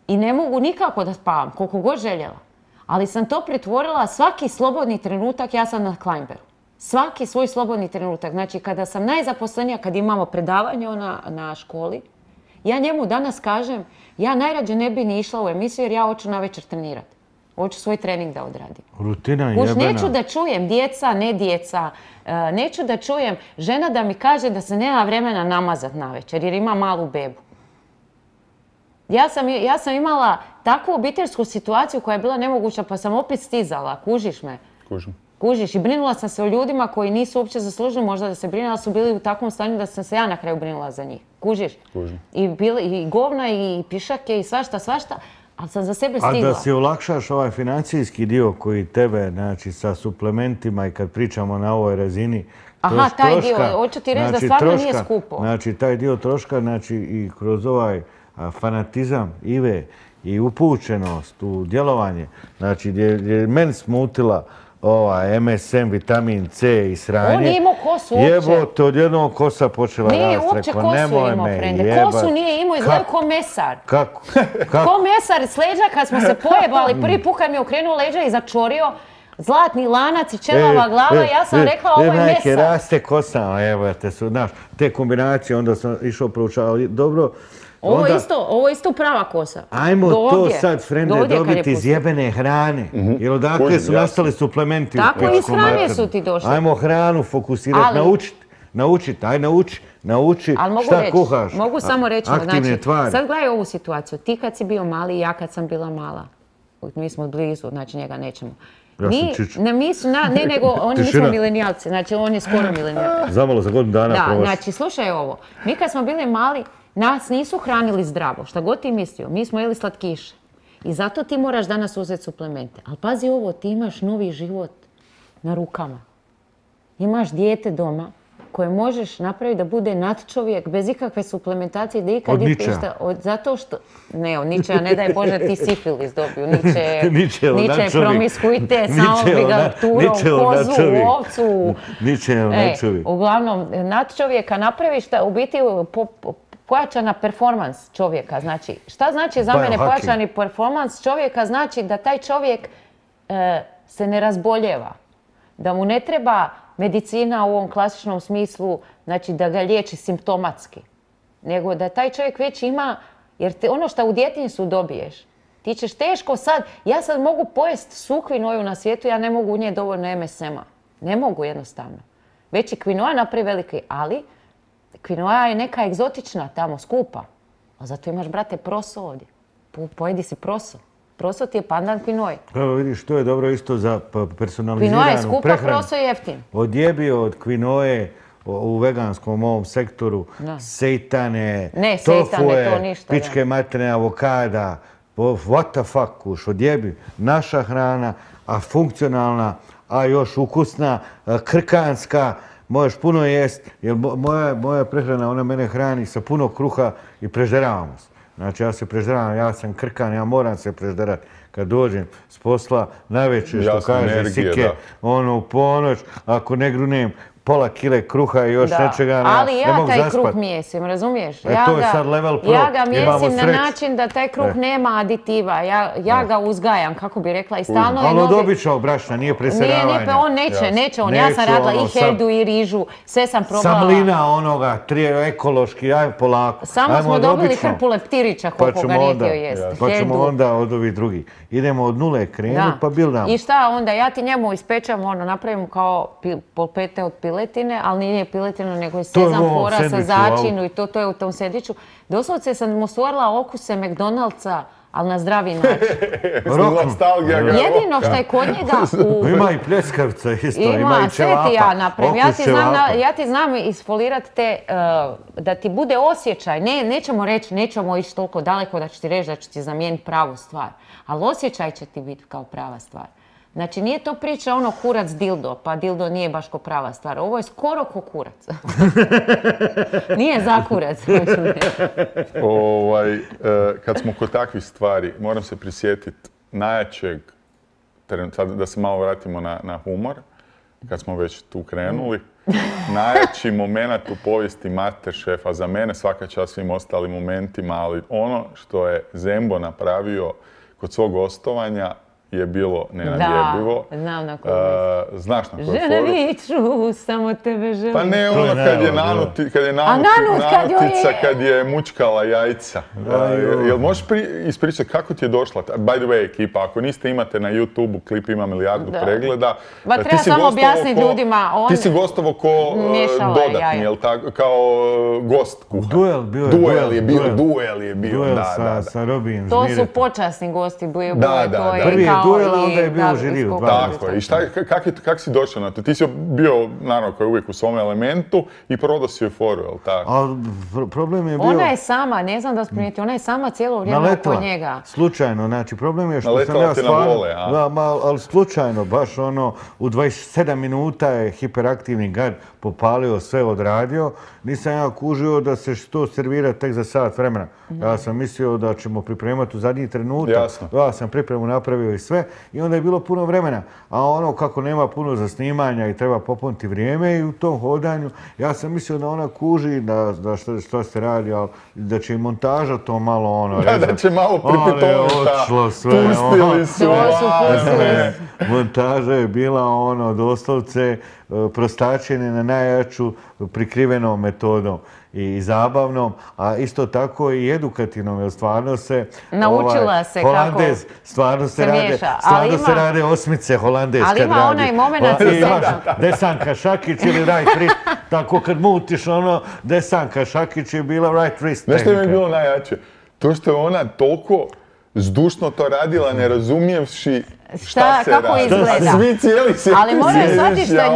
I ne mogu nikako da spavam, koliko god željela. Ali sam to pretvorila, svaki slobodni trenutak, ja sam na Kleinberu. Svaki svoj slobodni trenutak. Znači, kada sam najzaposlenija, kad imamo predavanje na školi, ja njemu danas kažem, ja najrađe ne bi ni išla u emisiju jer ja hoću navečer trenirati. Hoću svoj trening da odradim. Rutina jebena. Neću da čujem djeca, ne djeca. Neću da čujem žena da mi kaže da se nema vremena namazat navečer jer ima malu bebu. Ja sam imala takvu obiteljsku situaciju koja je bila nemoguća pa sam opet stizala. Kužiš me? Kužiš. I brinula sam se o ljudima koji nisu uopće zaslužili možda da se brine, ali su bili u takvom stanju da sam se ja na kraju brinula za njih. Kužiš? I govna i pišake i svašta, ali sam za sebe stigla. A da si olakšaš ovaj financijski dio koji tebe, znači sa suplementima i kad pričamo na ovoj razini, aha, taj dio, hoću ti reći da stvarno nije skupo. Znači, taj dio troška, znači i kroz ovaj fanatizam Ive i upućenost u djelovanje, znači gdje je meni smutila MSM, vitamin C i sranje. On nije imao kosu uopće. Jebote, od jednog kosa počela rast. Nije uopće kosu imao, frende. Kosu nije imao, izgledao ko mesar. Kako? Ko mesar s leđa kad smo se pojebali. Prvi put kad mi je okrenuo leđa i začorio zlatni lanac i čelava glava, ja sam rekla ovo je mesar. Raste kosa, evo te su, znaš, te kombinacije, onda sam išao proučavati. Dobro. Ovo je isto prava kosa. Ajmo to sad, frende, dobiti iz jebene hrane. Jer odakle su nastali suplementi. Tako iz hrane su ti došli. Ajmo hranu fokusirati, naučiti, nauči šta kuhaš. Mogu samo reći, aktivne tvari. Sad gledaj ovu situaciju. Ti kad si bio mali i ja kad sam bila mala. Mi smo blizu, znači njega nećemo. Nego oni nismo milenijalci, znači on je skoro milenijalac. Zamalo za godinu dana prošlo. Da, znači slušaj ovo. Mi kad smo bili mali, nas nisu hranili zdravo, šta god ti mislio. Mi smo jeli slatkiše. I zato ti moraš danas uzeti suplemente. Ali pazi ovo, ti imaš novi život na rukama. Imaš dijete doma koje možeš napraviti da bude nadčovjek bez ikakve suplementacije, da ikad Od Ničea. Zato što... Ne, od Ničea, ne daj Bože ti sifilis dobiju. Ničev Niče promiskuitet, samo bi ga turao kozu, ovcu. Ničev nadčovjek. Uglavnom, nadčovjeka napraviš u biti pojačana performans čovjeka. Znači, šta znači za mene pojačani performans čovjeka? Znači da taj čovjek se ne razboljeva. Da mu ne treba medicina u ovom klasičnom smislu, znači da ga liječi simptomatski. Nego da taj čovjek već ima, jer ono što u djetinjstvu dobiješ, ti ćeš teško sad, ja sad mogu pojest svu kvinoju na svijetu, ja ne mogu u nje dovoljno MSM-a. Ne mogu jednostavno. Već i kvinoa napravi veliki, ali kvinoa je neka egzotična tamo, skupa. A zato imaš, brate, proso ovdje. Pojedi si proso. Proso ti je pandan kvinoji. Evo vidiš, to je dobro isto za personaliziranu Kvinoa je skupa, prehranu. proso je jeftin. Odjebio od kvinoje u veganskom ovom sektoru sejtane, Ne, sejtane, to ništa, pičke materne, avokada. What the fuck, kuš, odjebi. Naša hrana, a funkcionalna, a još ukusna, krkanska. Možeš puno jest, jer moja prehrana, ona mene hrani sa puno kruha i prežderavamo se. Znači ja se prežderavam, ja sam krkan, ja moram se prežderati. Kad dođem s posla, najveće što kaže Sike, ono u ponoć, ako ne grunem pola kile kruha i još nečega, ne mogu zaspat. Ali ja taj kruh mijesim, razumiješ? To je sad level pro, ja ga mijesim na način da taj kruh nema aditiva. Ja ga uzgajam, kako bi rekla, i stalno je novi... Ali od običnog brašna, nije preseravanje. Nije, on neće on. Ja sam radila i hedu i rižu, sve sam probala. Samlina onoga, ekološki, aj polako. Samo smo dobili hrpu leptirića koliko ga nije htio jesti. Pa ćemo onda od ovih drugih. Idemo od nule krenuti pa bildamo. I šta onda, ja ti njemu ispečem, napravim kao polpete od piletine, ali nije piletina, nego je sezam fora sa začinu i to je u tom sendviču. Doslovce sam mu stvorila okuse McDonald'sa, ali na zdravi način. Jedino što je kod njega Ima i pljeskavica isto, ima i sve ti ja napravim. Ja ti znam isfolirati te, da ti bude osjećaj. Nećemo ići toliko daleko da ću ti reći da ću ti zamijeniti pravu stvar. Ali osjećaj će ti biti kao prava stvar. Znači, nije to priča kurac dildo, pa dildo nije baš ko prava stvar. Ovo je skoro ko kurac. Nije za kurac. Kad smo kod takvih stvari, moram se prisjetiti najjačeg, sad da se malo vratimo na humor, kad smo već tu krenuli, najjači moment u povijesti Masterchefa, za mene svaka čast svim ostalim momentima, ali ono što je Zembo napravio kod svog gostovanja je bilo nenadjebivo. Da, znam na koju znaš na koju žene viču, samo tebe želim. Pa ne, ono kad je nanutica, kad je mučkala jajca. Jel možeš ispričati kako ti je došla? By the way, ekipa, ako niste imate na YouTube-u, klip ima milijardu pregleda. Ba treba samo objasniti ljudima. Ti si gostovo ko dodatni, jel tako? Kao gost kuha. Duel je bio. Duel sa Robijem To su počasni gosti. Prvi je duel, a onda je bio u žiriju. Tako je. I kak si došao na to? Ti si bio, naravno, kao uvijek u svom elementu i prodao si joj foru, jel tako? A problem je bio... Ona je sama, ne znam da vas primijeti, ona je sama cijelo vrijeme oko njega. Slučajno, znači problem je što sam ja stvarno... ali slučajno, baš u 27 minuta je hiperaktivni gad popalio, sve odradio. Nisam ja kužio da se to servira tek za sat vremena. Ja sam mislio da ćemo pripremati u zadnji trenutak. Ja sam pripremu napravio i sve i onda je bilo puno vremena. A kako nema puno za snimanja i treba popuniti vrijeme i u tom hodanju, ja sam mislio da ona kuži da što se radi, ali da će i montaža to malo da će malo pripitovati. Odšlo sve. Pustili su. Montaža je bila doslovce prostačenje na najjaču prikrivenom metodom i zabavnom, a isto tako i edukativnom, jer stvarno se naučila se kako stvarno se rade osmice holandez kad radi. Ali ima onaj moment Desanka Šakić ili right wrist, tako kad mutiš Desanka Šakić je bila right wrist. Znaš što mi je bilo najjače? To što je ona toliko zdušno to radila, ne razumijevši šta se kako radi. Izgleda. Svi cijeli se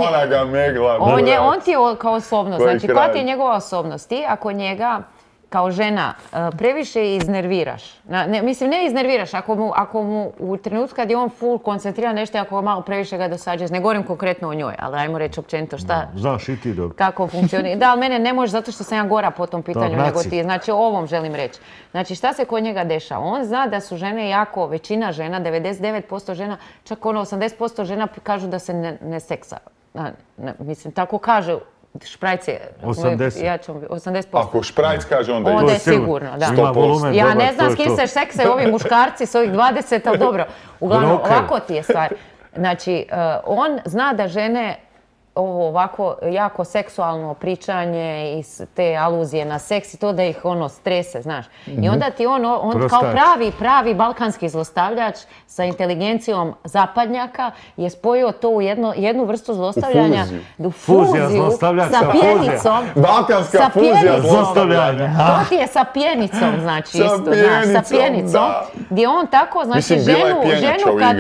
ona ga megla. On ti je kao osobnost, znači koja ti je njegova osobnost? Ti ako njega kao žena previše iznerviraš. Mislim, ne iznerviraš, ako mu u trenutku kad je on full koncentriran nešto, ako malo previše ga dosađaš, ne govorim konkretno o njoj, ali ajmo reći općenito šta... Znaš i ti dobro. Kako funkcionira. Da, ali mene ne može zato što sam ja gora po tom pitanju nego ti. Znači, o ovom želim reći. Znači, šta se kod njega dešava? On zna da su žene jako, većina žena, 99% žena, čak 80% žena kažu da se ne seksa. Mislim, tako kaže Šprajc je 80%. Ako Šprajc kaže onda je sigurno, da. 100%. Ja ne znam s kim se seksaju ovi muškarci s ovih 20, ali dobro. Uglavnom, ovako ti je stvar. Znači, on zna da žene ovo ovako jako seksualno pričanje i te aluzije na seks i to da ih strese, znaš. I onda ti on kao pravi balkanski zlostavljač sa inteligencijom zapadnjaka je spojio to u jednu vrstu zlostavljanja. Fuziju sa pjenicom. Balkanska fuzija zlostavljanja. To ti je sa pjenicom, znači isto. Sa pjenicom. Gdje on tako, znači ženu kad,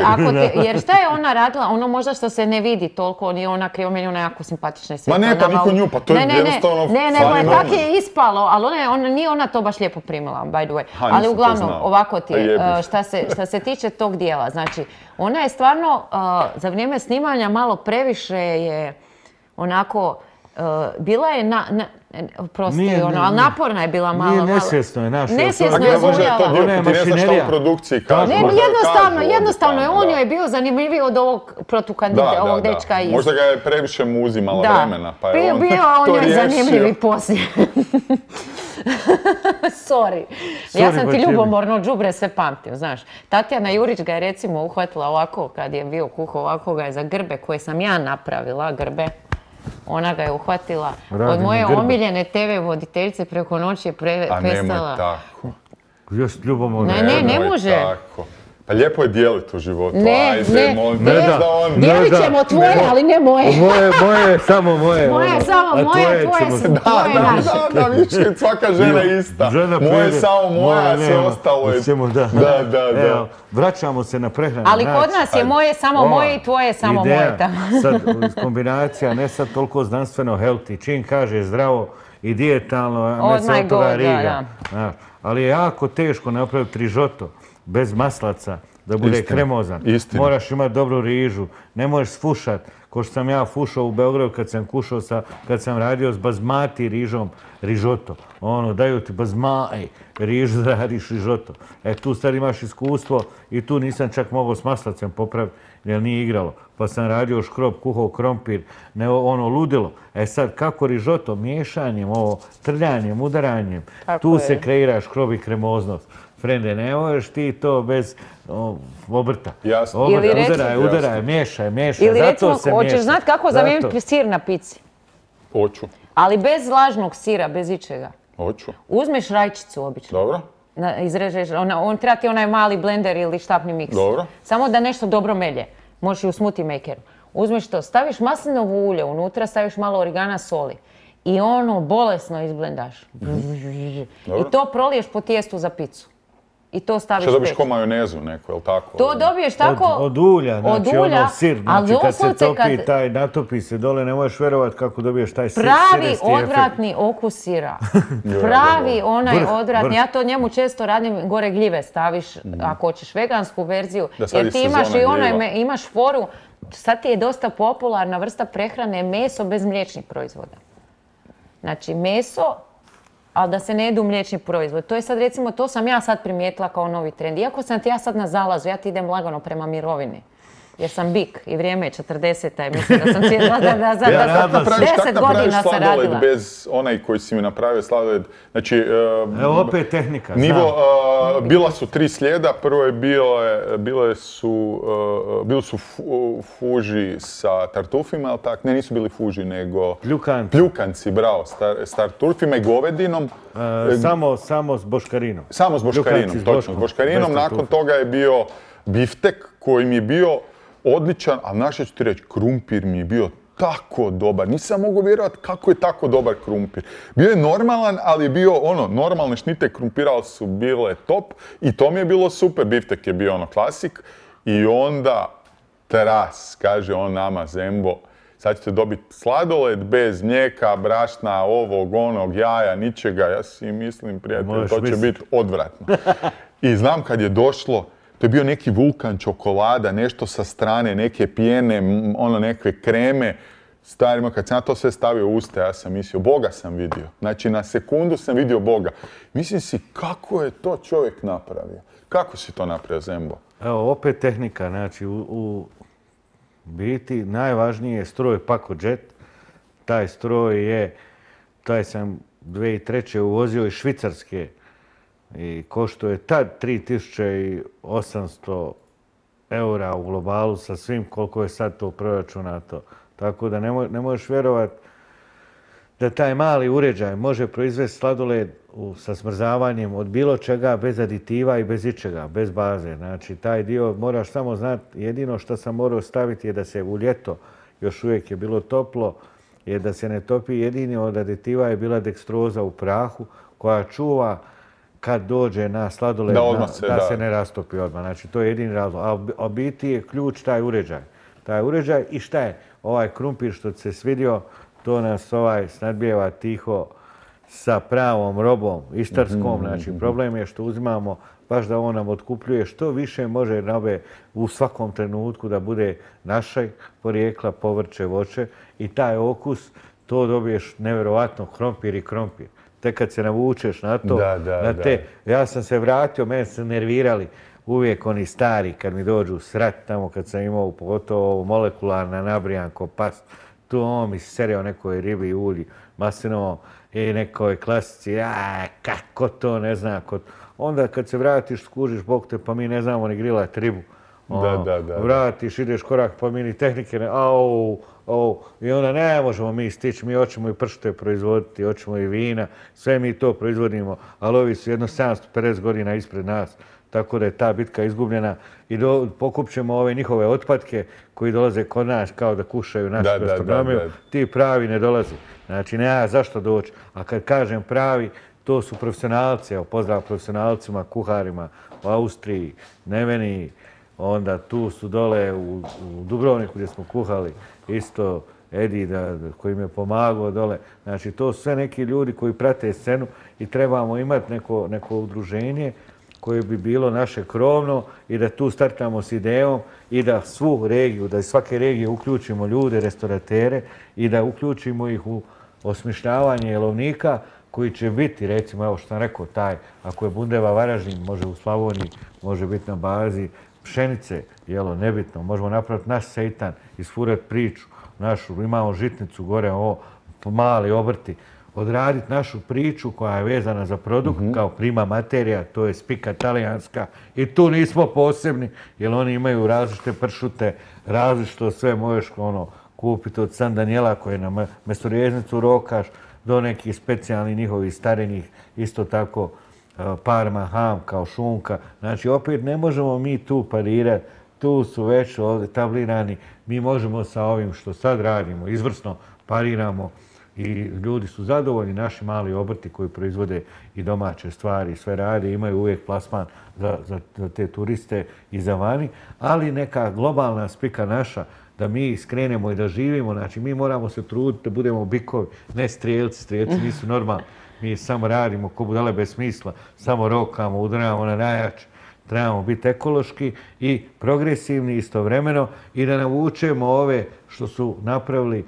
jer šta je ona radila, ono možda što se ne vidi toliko, nije ona krivo, meni ona jako simpatična i sve. Ma ne, pa niko nju, pa to je jednostavno... Ne, tako je ispalo, ali nije ona to baš lijepo primila, by the way. Ali uglavnom, ovako ti je, šta se tiče tog dijela, znači, ona je stvarno, za vrijeme snimanja malo previše je onako, bila je ali naporna je bila malo. Nije nesvjesno je naša. Nesvjesno je zujala. Ona je mašinerija. Jednostavno je, on joj je bio zanimljiviji od ovog protukandidata, ovog dečka iz... Možda ga je previše mu uzimala vremena, pa je on to riješio. Bio on joj zanimljivi poslije. Sorry. Ja sam ti ljubomorno đubre sve pamtim, znaš. Tatjana Jurić ga je recimo uhvatila ovako, kad je bio kuhao, ovako ga je za grbe koje sam ja napravila, grbe. Ona ga je uhvatila. Od moje omiljene TV voditeljice preko noći je prestala. A nemoj tako. Još ljubomorno. Ne može. Pa lijepo je dijeliti u životu. Ajde, molim te. Dijelit ćemo tvoje, ali ne moje. Moje je samo moje. Moje je samo moje, tvoje naše. Da, više svaka žena je ista. Moje je samo moja, a sve ostalo je... Da. Vraćamo se na prehranu. Ali kod nas je moje samo moje i tvoje samo moje. Sad kombinacija, ne sad toliko znanstveno healthy. Čim kaže zdravo i dijetalno, me se od toga riga. Ali je jako teško napraviti rižoto bez maslaca, da bude kremozan. Moraš imati dobru rižu, ne možeš sfušat, ko što sam ja fušao u Beogradu kad sam radio s bazmati rižom, rižoto. Daju ti bazmati rižu da radiš rižoto. Tu sad imaš iskustvo i tu nisam čak mogao s maslacem popraviti, jer nije igralo. Pa sam radio škrob, kuhao krompir, ludilo. Sad kako rižoto, miješanjem, trljanjem, udaranjem, tu se kreira škrob i kremoznost. Frende, ne možeš ti to bez obrta. Jasno. Udaraj, miješaj. Ili recimo, hoćeš znati kako zamijeniti sir na pici? Hoću. Ali bez vlažnog sira, bez ičega. Hoću. Uzmeš rajčicu obično. Dobro. Izrežeš, on treba ti onaj mali blender ili štapni miks. Dobro. Samo da nešto dobro melje. Možeš i u smoothie makeru. Uzmeš to, staviš maslinovo ulje, unutra staviš malo origana, soli. I bolesno izblendaš. I to proliješ po tijestu za picu. I to staviš što dobiš ko majonezu neko, jel tako? To dobiješ tako... Od ulja, znači sir, znači kad se topi, natopi se dole, ne možeš vjerovat kako dobiješ taj sir. Pravi odvratni okus sira. Pravi onaj odvratni, ja to njemu često radim, gore gljive staviš, ako hoćeš vegansku verziju, jer ti imaš i imaš foru, sad ti je dosta popularna vrsta prehrane meso bez mliječnih proizvoda. Znači meso, ali da se ne jedu mliječni proizvod. To je sad recimo, to sam ja sad primijetila kao novi trend. Iako sam ti ja sad na zalazu, ja ti idem lagano prema mirovini. Jer sam bik i vrijeme je 40-a i mislim da sam cijela da za 10 godina sam radila. Bez onaj koji si mi napravio sladoled, znači... Evo opet tehnika. Bila su 3 slijeda, prvo je bili su fuži sa tartufima, ali tak? Ne, nisu bili fuži, nego... Pljukanci, bravo, s tartufima i govedinom. Samo s boškarinom. Samo s boškarinom, točno, s boškarinom. Nakon toga je bio biftek koji mi je bio odličan, a naše ću ti reći, krumpir mi je bio tako dobar. Nisam mogao vjerovati kako je tako dobar krumpir. Bio je normalan, ali je bio normalne šnite krumpira su bile top i to mi je bilo super. Biftek je bio klasik i onda tras, kaže on nama Zembo, Sad ćete dobiti sladoled bez mlijeka, brašna, ovog, onog, jaja, ničega. Ja si mislim, prijatelj, to će biti odvratno. I znam kad je došlo, to je bio neki vulkan čokolada, nešto sa strane, neke pjene, neke kreme. Starima, kad sam ja to sve stavio u usta, ja sam mislio, Boga sam vidio. Znači, na sekundu sam vidio Boga. Mislim si, kako je to čovjek napravio? Kako si to napravio, Zembo? Evo, opet tehnika. Znači, u biti najvažniji je stroj Pacojet. Taj stroj sam 2003. uvozio iz Švicarske i košto je tad 3800 eura u globalu sa svim koliko je sad to proračunato. Tako da ne možeš vjerovati da taj mali uređaj može proizvesti sladoled sa smrzavanjem od bilo čega, bez aditiva i bez ičega, bez baze. Znači, taj dio moraš samo znati, jedino što sam morao staviti je da se u ljeto, još uvijek je bilo toplo, je da se ne topi. Jedini od aditiva je bila dekstroza u prahu koja čuva kad dođe na sladoled da se ne rastopi odmah. Znači, to je jedini razlog. A biti je ključ taj uređaj. Taj uređaj i šta je? Ovaj krumpir što se svidio, to nas snadbijeva tiho sa pravom robom, istarskom. Znači, problem je što uzimamo baš da on nam otkupljuje što više može robe u svakom trenutku da bude naše porijekla, povrće, voće i taj okus, to dobiješ nevjerovatno krompir i krompir. Tek kad se navučeš na to, ja sam se vratio, mene su nervirali uvijek oni stari kad mi dođu srat tamo kad sam imao pogotovo molekularna nabrijanko pas, tu on mi serio nekoj ribi i ulji maslinovom i nekoj klasici, kako to ne znam. Onda kad se vratiš, skužiš Bog te, pa mi ne znamo ni grilat ribu. Vratiš, ideš korak, pa mi ni tehnike ne, i onda ne možemo mi stići, mi hoćemo i pršte proizvoditi, hoćemo i vina, sve mi to proizvodimo, ali ovi su jedno 750 godina ispred nas. Tako da je ta bitka izgubljena i pokupćemo ove njihove otpadke koji dolaze kod nas kao da kušaju našu gastronomiju. Ti pravi ne dolazi. Znači, nema zašto doći. A kad kažem pravi, to su profesionalci. Evo, pozdrav profesionalcima, kuharima u Austriji, Neveniji. Onda tu su dole u Dubrovniku gdje smo kuhali isto Edi koji mi je pomagao dole. Znači, to su sve neki ljudi koji prate scenu i trebamo imati neko udruženje koje bi bilo naše krovno i da tu startamo s idejom i da svu regiju, da iz svake regije uključimo ljude, restoratere i da uključimo ih u osmišljavanje jelovnika koji će biti, recimo, evo što sam rekao, ako je bundeva Varaždin, može u Slavoniji, može biti na bazi pšenice, jelo, nebitno, možemo napraviti naš seitan, isfurati priču, imamo žitnicu gore, mali obrti, odraditi našu priču koja je vezana za produkt kao prima materija, to je spika talijanska i tu nismo posebni jer oni imaju različite pršute, različito sve možeš kupiti od San Daniela koje na mestorjeznicu rokaš do nekih specijalnih njihovih starenih, isto tako parma, ham kao šunka. Znači opet ne možemo mi tu parirati, tu su već etablirani, mi možemo sa ovim što sad radimo, izvrsno pariramo. I ljudi su zadovoljni, naši mali obrti koji proizvode i domaće stvari, sve rade, imaju uvijek plasman za te turiste i za vani, ali neka globalna spika naša, da mi skrenemo i da živimo, znači mi moramo se truditi da budemo bikovi, ne strijelci, strijelci nisu normalni, mi samo radimo ko budale bez smisla, samo rokamo, udaramo na najjače. Trebamo biti ekološki i progresivni istovremeno i da navučemo ove što su napravili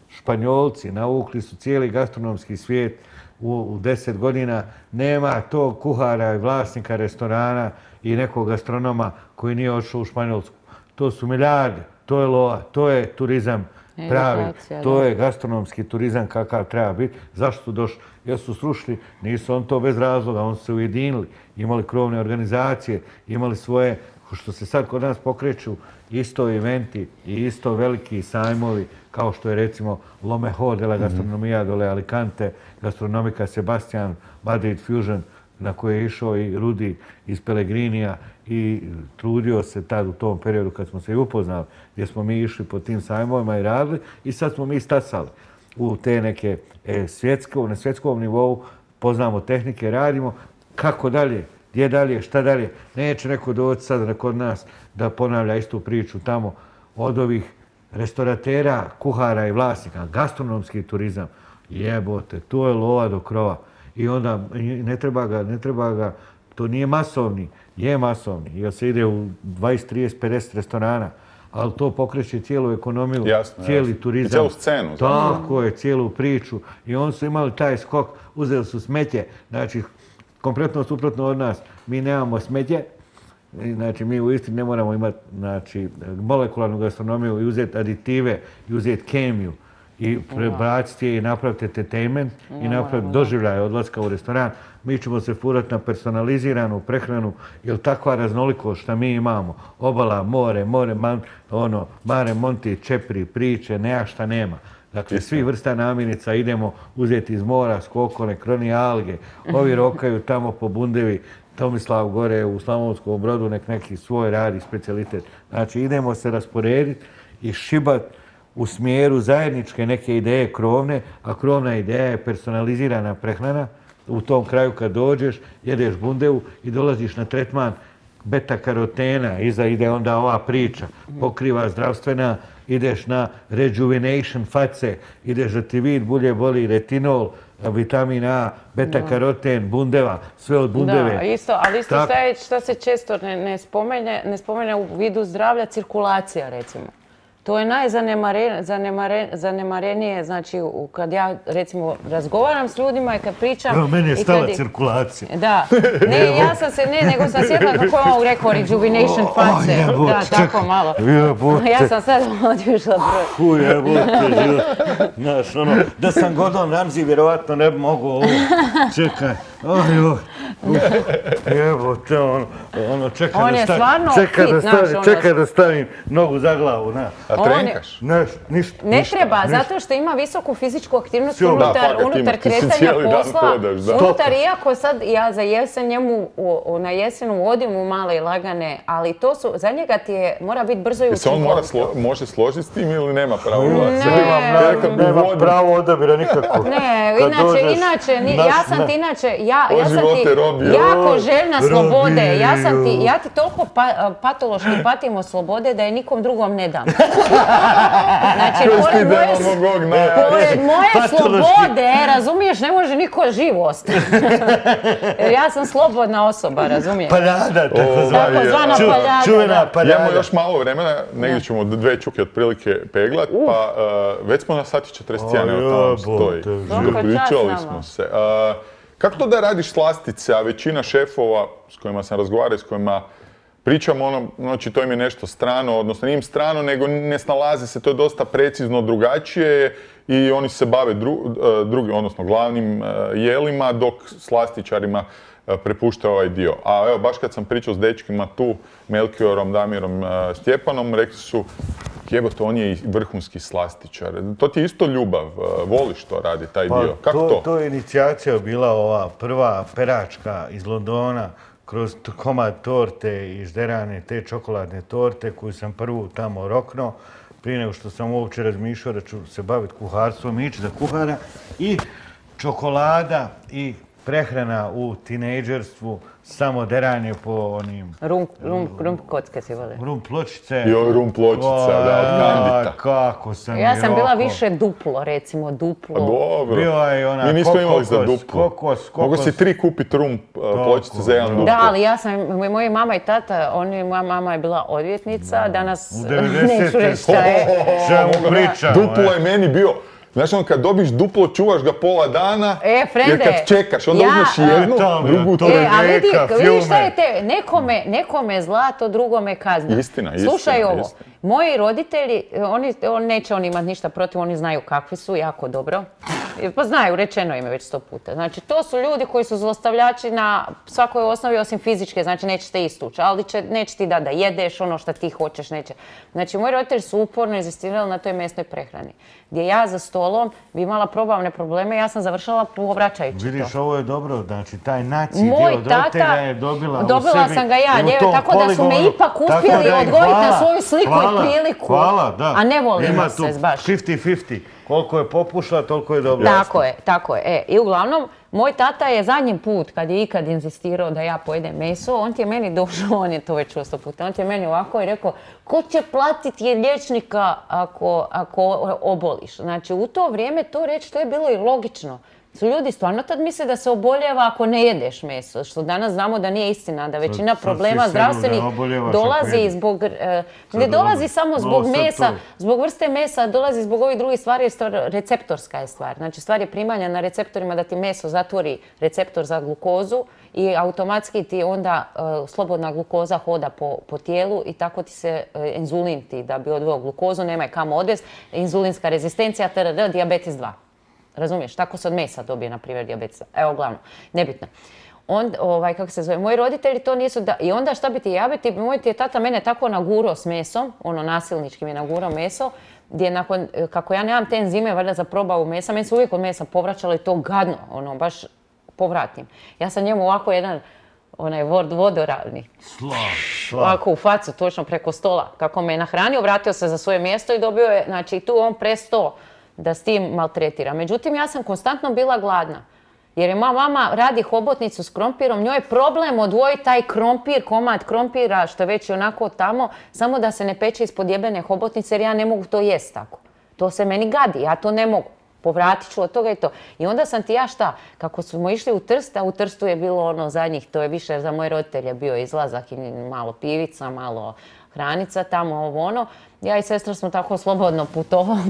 Španjolci, navukli su cijeli gastronomski svijet u 10 godina. Nema tog kuhara i vlasnika restorana i nekog gastronoma koji nije otišao u Španjolsku. To su milijarde, to je lova, to je turizam pravi, to je gastronomski turizam kakav treba biti. Zašto su došli? Jer su srušili, nisu on to bez razloga, oni su se ujedinili, imali krovne organizacije, imali svoje, što se sad kod nas pokreću, isto eventi i isto veliki sajmovi, kao što je recimo Lo Mejor de la Gastronomía dole Alicante, Gastronomika Sebastian, Madrid Fusion, na koje je išao i Rudi iz Pellegrinija i trudio se tad u tom periodu kad smo se i upoznali, gdje smo mi išli po tim sajmovima i radili i sad smo mi stasali u te neke na svjetskom nivou, poznamo tehnike, radimo, kako dalje, gdje dalje, šta dalje. Neće neko doći sad kod nas da ponavlja istu priču tamo od ovih restoratera, kuhara i vlasnika, gastronomski turizam, jebote, to je lova do krova. I onda ne treba ga, to nije masovni, je masovni, jer se ide u 20, 30, 50 restorana, ali to pokreće cijelu ekonomiju, cijeli turizam. I cijelu scenu. Tako je, cijelu priču. I oni su imali taj skok, uzeli su smetje, znači, kompletno suprotno od nas. Mi nemamo smetje, znači mi u Istri ne moramo imati molekularnu gastronomiju i uzeti aditive, i uzeti kemiju i prebaciti je i napraviti entertainment i napraviti doživljaj odlaska u restoran. Mi ćemo se furati na personaliziranu prehranu, jer takva raznolikost što mi imamo, obala, more, Mare Monti, čepri, priče, šta nema. Dakle, svi vrsta namirnica idemo uzeti iz mora, skokone, kroni alge, ovi rokaju tamo po bundevi, Tomislav gore u Slavonskom Brodu nek neki svoj radi specijalitet. Znači, idemo se rasporediti i šibati u smjeru zajedničke neke ideje krovne, a krovna ideja je personalizirana prehrana. U tom kraju kad dođeš, jedeš bundevu i dolaziš na tretman beta-karotena, iza ide onda ova priča, pokriva zdravstvena, ideš na rejuvenation face, ideš da ti vid bulje boli retinol, vitamin A, beta-karoten, bundeva, sve od bundeve. Da, ali isto što se često ne spomene u vidu zdravlja, cirkulacija recimo. To je najzanemarenije, znači kad ja recimo razgovaram s ljudima i kad pričam... Evo, meni je stala cirkulacija. Da, nego sam sjetila kako je on rekao rejuvenation face. Da, tako malo. Ja sam sad odvišla broj. Jebote, život. Znaš, da sam Gordon Ramsay, vjerovatno ne bi mogao ovo. Čekaj. Jebote, čekaj da stavim nogu za glavu, na. A trenkaš? Ništa. Ne treba, zato što ima visoku fizičku aktivnost unutar kretanja posla. Unutar, iako sad ja za jesen njemu na jesenu vodim u male i lagane, ali to su, za njega mora biti brzo i učinkovito. Se on može složiti s tim ili nema pravo glasa? Nema pravo odabira nikako. Ne, inače, ja sam ti jako željna slobode. Ja ti toliko patološki patim od slobode da je nikom drugom ne dam. Znači, pored moje slobode, razumiješ, ne može niko živ ostati. Jer ja sam slobodna osoba, razumiješ? Paljada, takozvana paljada. Čuvena paljada. Imamo još malo vremena, negdje ćemo 2 čuke otprilike peglat, pa već smo na sati 41, evo tamo stoji. Pričali smo se. Kako to da radiš slastice, a većina šefova s kojima sam razgovarao, s kojima pričam znači to im je nešto strano, odnosno nije im strano, nego ne snalaze se, to je dosta precizno drugačije i oni se bave drugim, odnosno glavnim jelima, dok slastičarima prepušta ovaj dio. A evo, baš kad sam pričao s dečkima tu, Melkiorom, Damirom, Stjepanom, rekli su, jebote, on je i vrhunski slastičar. To ti je isto ljubav, voliš to radi, taj dio. Kako to? To je inicijacija bila ova prva peračka iz Londona, kroz komad torte i žderane, te čokoladne torte koju sam prvu tamo roknuo, prije nego što sam uopće razmišljao da ću se baviti kuharstvom, ići za kuhara, i čokolada i prehrana u tinejdžerstvu, samo deranje po onim... Rum kocke si vole. Rum pločice. Jo, rum pločica, da, od Gambita. Kako sam ja sam bila više duplo, recimo, duplo. A dobro. Bila je ona mi nismo imali za duplo. Mogu si 3 kupiti rum pločice za jedan duplo. Da, ali ja sam, moja mama i tata, moja mama je bila odvjetnica, danas neću reći šta je. Čemu pričamo? Duplo je meni bio... Znaš, kad dobiš duplo, čuvaš ga pola dana, jer kad čekaš, onda uzmeš jednu, drugu, to je neka, filme. Vidiš šta je nekome je zlato, drugome kazna. Istina. Slušaj ovo, moji roditelji, neće oni imati ništa protiv, oni znaju kakvi su, jako dobro. Pa znaju, rečeno im je već 100 puta. Znači, to su ljudi koji su zlostavljači na svakoj osnovi osim fizičke, znači nećete istući, ali neće ti da jedeš ono što ti hoćeš, neće. Znači, moji roditelji su uporno inzistirali na toj mesnoj prehrani. Gdje ja za stolom bi imala probavne probleme, ja sam završala povraćajući to. Vidiš, ovo je dobro, znači taj naciji dio od roditelja je dobila u sebi. Dobila sam ga ja, tako da su me ipak uspjeli odgojiti na svoju sliku i priliku. Hvala, da. A ne volimo se baš. 50-50. Koliko je popušla, toliko je dobro. Tako je. I uglavnom, Moj tata je zadnji put, kad je ikad inzistirao da ja pojedem meso, on ti je meni došao, on je to već 100 puta, on ti je meni ovako i rekao, ko će platiti liječnika ako oboliš? Znači, u to vrijeme to reći, to je bilo i logično. Ljudi stvarno tad misle da se oboljeva ako ne jedeš meso, što danas znamo da nije istina, da većina problema zdravstvenih dolazi zbog, ne dolazi samo zbog mesa, zbog vrste mesa, dolazi zbog ovih drugih stvari, jer receptorska je stvar. Znači stvar je primanja na receptorima da ti meso zatvori receptor za glukozu i automatski ti onda slobodna glukoza hoda po tijelu i tako ti se inzulin ti da bi odveo glukozu, nema je kamo odvesti, inzulinska rezistencija, dijabetes 2. Razumiješ? Tako se od mesa dobije, na primjer, dijabetes. Evo, glavno, nebitno. Kako se zove, moji roditelji to nisu i onda šta bi ti jabiti, moj ti je tata mene tako nagurao s mesom, nasilnički mi je nagurao meso, gdje nakon, kako ja nemam te enzime, valjda za probavu mesa, meni se uvijek od mesa povraćalo i to gadno, baš povratim. Ja sam njemu ovako jedan, vodoravni. Ovako u facu, točno preko stola. Kako me je nahranio, vratio se za svoje mjesto i dobio je, znači tu on prestao da s tim maltretira. Međutim, ja sam konstantno bila gladna. Jer je moja mama radi hobotnicu s krompirom, njoj je problem odvojiti taj krompir, komad krompira, što je već i onako tamo, samo da se ne peče ispod jebene hobotnice, jer ja ne mogu to jest tako. To se meni gadi, ja to ne mogu. Povratit ću od toga i to. I onda sam ti ja šta, kako smo išli u Trst, a u Trstu je bilo zadnjih, to je više za moje roditelje bio izlazak i malo pivica, malo hranica tamo, Ja i sestra smo tako slobodno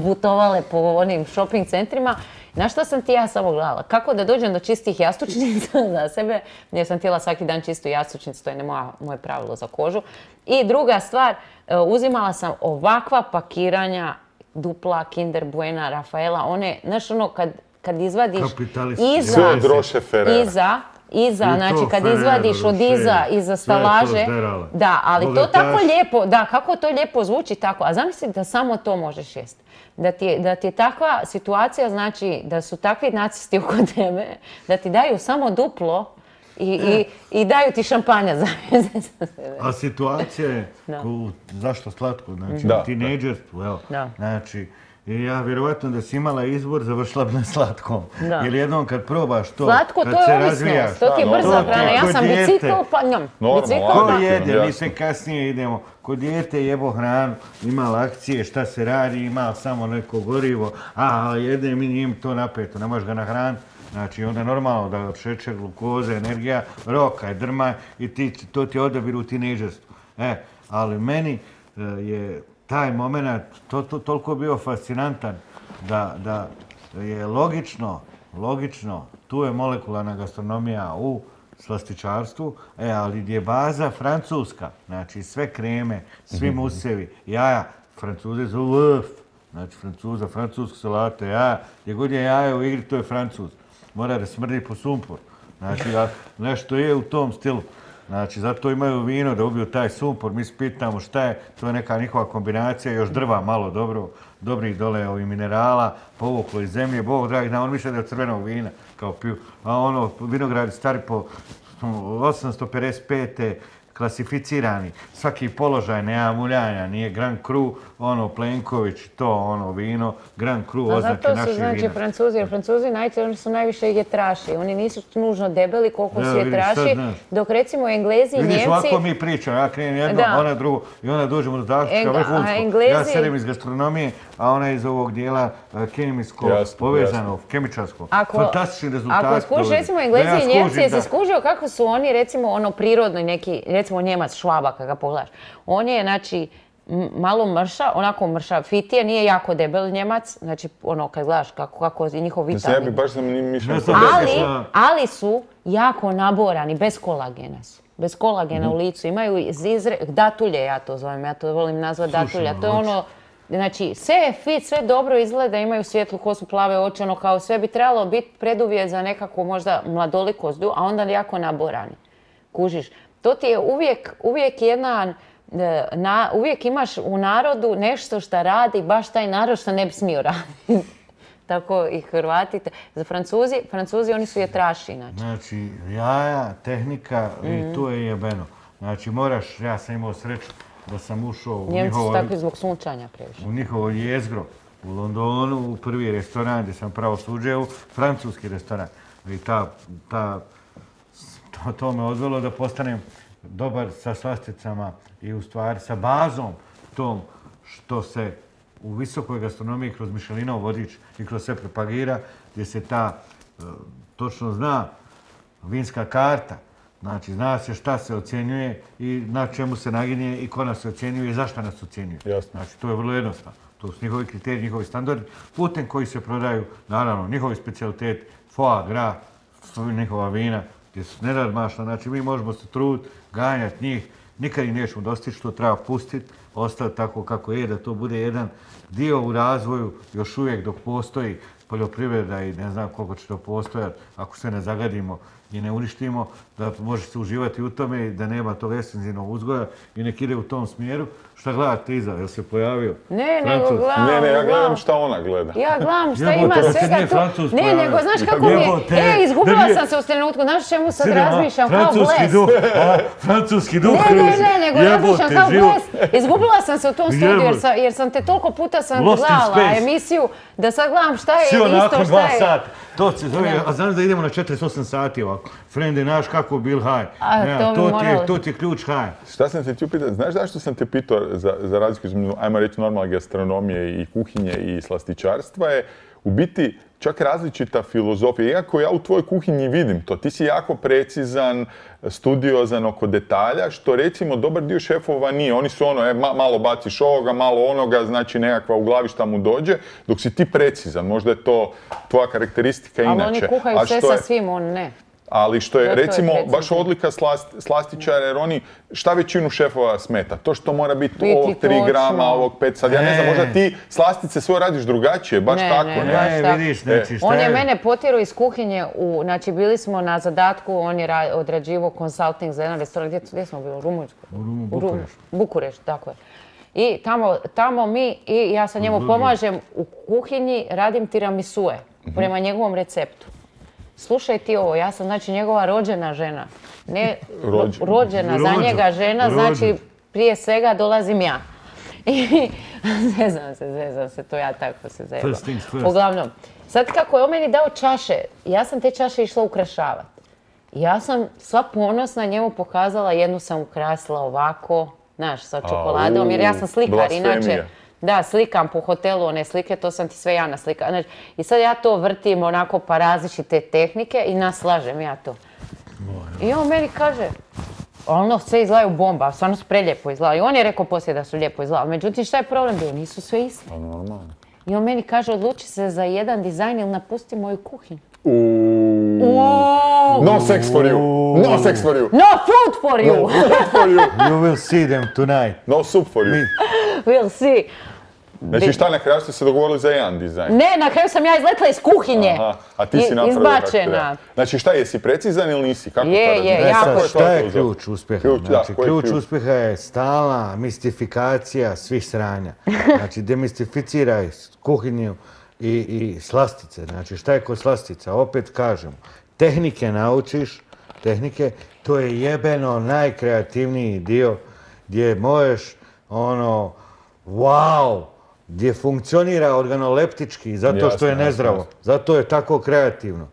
putovale po onim shopping centrima. Na što sam ti ja samo gledala? Kako da dođem do čistih jastučnica za sebe? Jer sam htjela svaki dan čistu jastučnicu, to je moje pravilo za kožu. I druga stvar, uzimala sam ovakva pakiranja dupla, Kinder Buena, Rafaela, one, znaš kad izvadiš znači kad izvadiš od iza stalaže, da, ali to tako lijepo, da, kako to lijepo zvuči tako, a zamisli da samo to možeš jesti. Da ti je takva situacija, znači da su takvi nacisti oko tebe, da ti daju samo duplo i daju ti šampanja za sebe. A situacija je, zašto slatko, znači u tinejdžerstvu, evo, znači, ja vjerovatno da si imala izbor, završila bi na slatkom. Jer jednom kad probaš to, slatko, kad to se je razvijaš... To ti je brza hrana, ja sam bicikl, pa njom. Ko jede, mi se kasnije idemo. Kod dijete jebo hranu, ima akcije, šta se radi, ima samo neko gorivo, jedem i njim to napeto, ne možeš ga nahraniti. Znači, onda normalno da šećer, glukoza, energija, rokaj, drmaj i to ti odabir u tinejdžerstvu. Ali meni je taj moment toliko bio fascinantan da je logično, tu je molekularna gastronomija u slastičarstvu, ali gdje je baza francuska, znači sve kreme, svi musevi, jaja, Francuze zovu lëf, znači francuska salata, jaja, gdje god je jaja u igri, to je Francuz. Mora da smrdi po sumpor. Znači, nešto je u tom stilu. Znači, zato imaju vino da ubiju taj sumpor. Mi se pitamo šta je, to je neka njihova kombinacija, još drva malo dobrih dole minerala, povuklo iz zemlje. Bog dragi, on misle da je crvenog vina, kao piju. A vinogradi stari po 855. klasificirani. Svaki položaj nema muljanja, nije Grand Cru, Plenković, to vino, Grand Cru, oznake naših vina. Zato su Francuzi, Francuzi oni su najviše jetraši. Oni nisu nužno debeli koliko su jetraši, dok recimo Englezi i Njemci... Vidiš, ovako mi pričamo, ja krenem jedno, ona drugo, i onda dođemo do zaključka vrhunsko. Ja sedem iz gastronomije, a ona iz ovog dijela kemijsko povezano, kemičarsko. Fantastični rezultati. Ako skužiš recimo Englezi i Njemci, jesi skužio kako su oni recimo prirodno neki, recimo Njemac Švaba kada ga pogledaš. On je, znači, malo onako mršav, fitije, nije jako debel Njemac, znači kad gledaš kako je njihov vitamin. Ja bi baš sam mišljeno. Ali su jako naborani, bez kolagena su. Bez kolagena u licu. Imaju datulje, ja to zovem, ja to volim nazvati datulja. To je znači, sve je fit, sve dobro izgleda, imaju svijetlu kosu, plave oči, kao sve bi trebalo biti preduvjet za nekakvu možda mladolikost, a onda jako naborani. Kužiš. To ti je uvijek jedan, uvijek imaš u narodu nešto što radi, baš taj narod što ne bi smio raditi. Tako i Hrvati. Za Francuzi oni su jetraši. Znači, jaja, tehnika i tu je jebeno. Znači, moraš, ja sam imao sreću da sam ušao u njihovo... Njemci su takvi zbog sunčanja previše. U njihovo jezgro u Londonu, u prvi restoran gdje sam pravo suđeo, francuski restoran. I to me odvelo da postanem dobar sa slasticama i u stvari sa bazom tom što se u visokoj gastronomiji kroz Michelinov vodič i kroz sve propagira, gdje se točno zna vinska karta. Znači, zna se šta se ocjenjuje i na čemu se naginje i ko nas ocjenjuje i zašto nas ocjenjuje. Znači, to je vrlo jednostavno. To su njihovi kriteriji, njihovi standardi, putem koji se prodaju, naravno, njihovi specijaliteti, foie gras, njihova vina, gdje su nenadmašna. Znači, mi možemo se truditi, ganjati njih, nikad ih nećemo dostići, što treba pustiti, ostati tako kako je, da to bude jedan dio u razvoju, još uvijek dok postoji poljoprivreda i ne znam koliko će to postojati, ako se ne zagadimo i ne uništimo, da može se uživati u tome i da nema tog ekstenzivnog uzgoja i nek ide u tom smjeru. Šta gledate iza? Jel se pojavio? Ne, nego gledam. Ne, ja gledam šta ona gleda. Ja gledam šta ima svega tu. Ne, nego znaš kako mi je... Izgubila sam se u trenutku. Znaš čemu sad razmišljam kao bles? Francuski duh. Ne, nego razmišljam kao bles. Izgubila sam se u tom studiju jer sam te toliko puta gledala emisiju da sad gledam šta je isto šta je. To se zove, a znaš da idemo na 48 sati ovako. Frende, znaš kako bil haj. To ti je ključ haj. Šta sam te htio pitati? Znaš zašto sam te pitao za razliku između, ajmo reći, normalne gastronomije i kuhinje i slastičarstva je u biti čak različita filozofija. Iako ja u tvojoj kuhinji vidim to, ti si jako precizan, studiozan oko detalja, što recimo dobar dio šefova nije. Oni su malo baciš ovoga, malo onoga, znači nekakva u glavi šta mu dođe, dok si ti precizan. Možda je to tvoja karakteristika inače. Ali oni kuhaju sve sa svim, on ne. Ali što je, recimo, baš odlika slastičara, jer oni, šta većinu šefova smeta? To što mora biti ovog 3 grama, ovog 5, sad ja ne znam, možda ti slastice svoje radiš drugačije, baš tako, ne? Ne, vidiš, znači šta je? On je mene potjerao iz kuhinje, znači bili smo na zadatku, on je odrađivao consulting za jedan restoran, gdje smo bili, u Rumunjskoj? U Bukurešt, tako je. I tamo mi, i ja sa njemu pomažem u kuhinji, radim tiramisue, prema njegovom receptu. Slušaj ti ovo, ja sam znači njegova rođena žena. Ne rođena za njega žena, znači prije svega dolazim ja. I zezam se, to ja tako se zezam. Uglavnom, sad kako je on meni dao čaše, ja sam te čaše išla ukrašavati. Ja sam sva ponosna njemu pokazala, jednu sam ukrasila ovako, znaš, sa čokoladom, jer ja sam slikar, inače. Da, slikam po hotelu one slike, to sam ti sve ja naslikala. I sad ja to vrtim onako pa različite tehnike i naslažem ja to. I on meni kaže, ono sve izgledaju bomba, stvarno su prelijepo izgledali. I on je rekao poslije da su lijepo izgledali. Međutim, šta je problem bio? Nisu sve iste. I on meni kaže, odluči se za jedan dizajn ili napusti moju kuhinju. No sex for you. No sex for you. No food for you. No food for you. You will see them tonight. No soup for you. We'll see. Znači šta, na kraju ste se dogovorili za jedan dizajn? Ne, na kraju sam ja izletila iz kuhinje. Aha, a ti si napravila kako treba. Izbačena. Znači šta, jesi precizan ili nisi? Kako je, jako. Šta je ključ uspjeha? Znači, ključ uspjeha je stalna mistifikacija svih sranja. Znači, demistificiraj kuhinju i slastice. Znači, šta je kod slastica? Opet kažem, tehnike naučiš, to je jebeno najkreativniji dio gdje možeš wow, gdje funkcionira organoleptički, zato što je nezdravo. Zato je tako kreativno.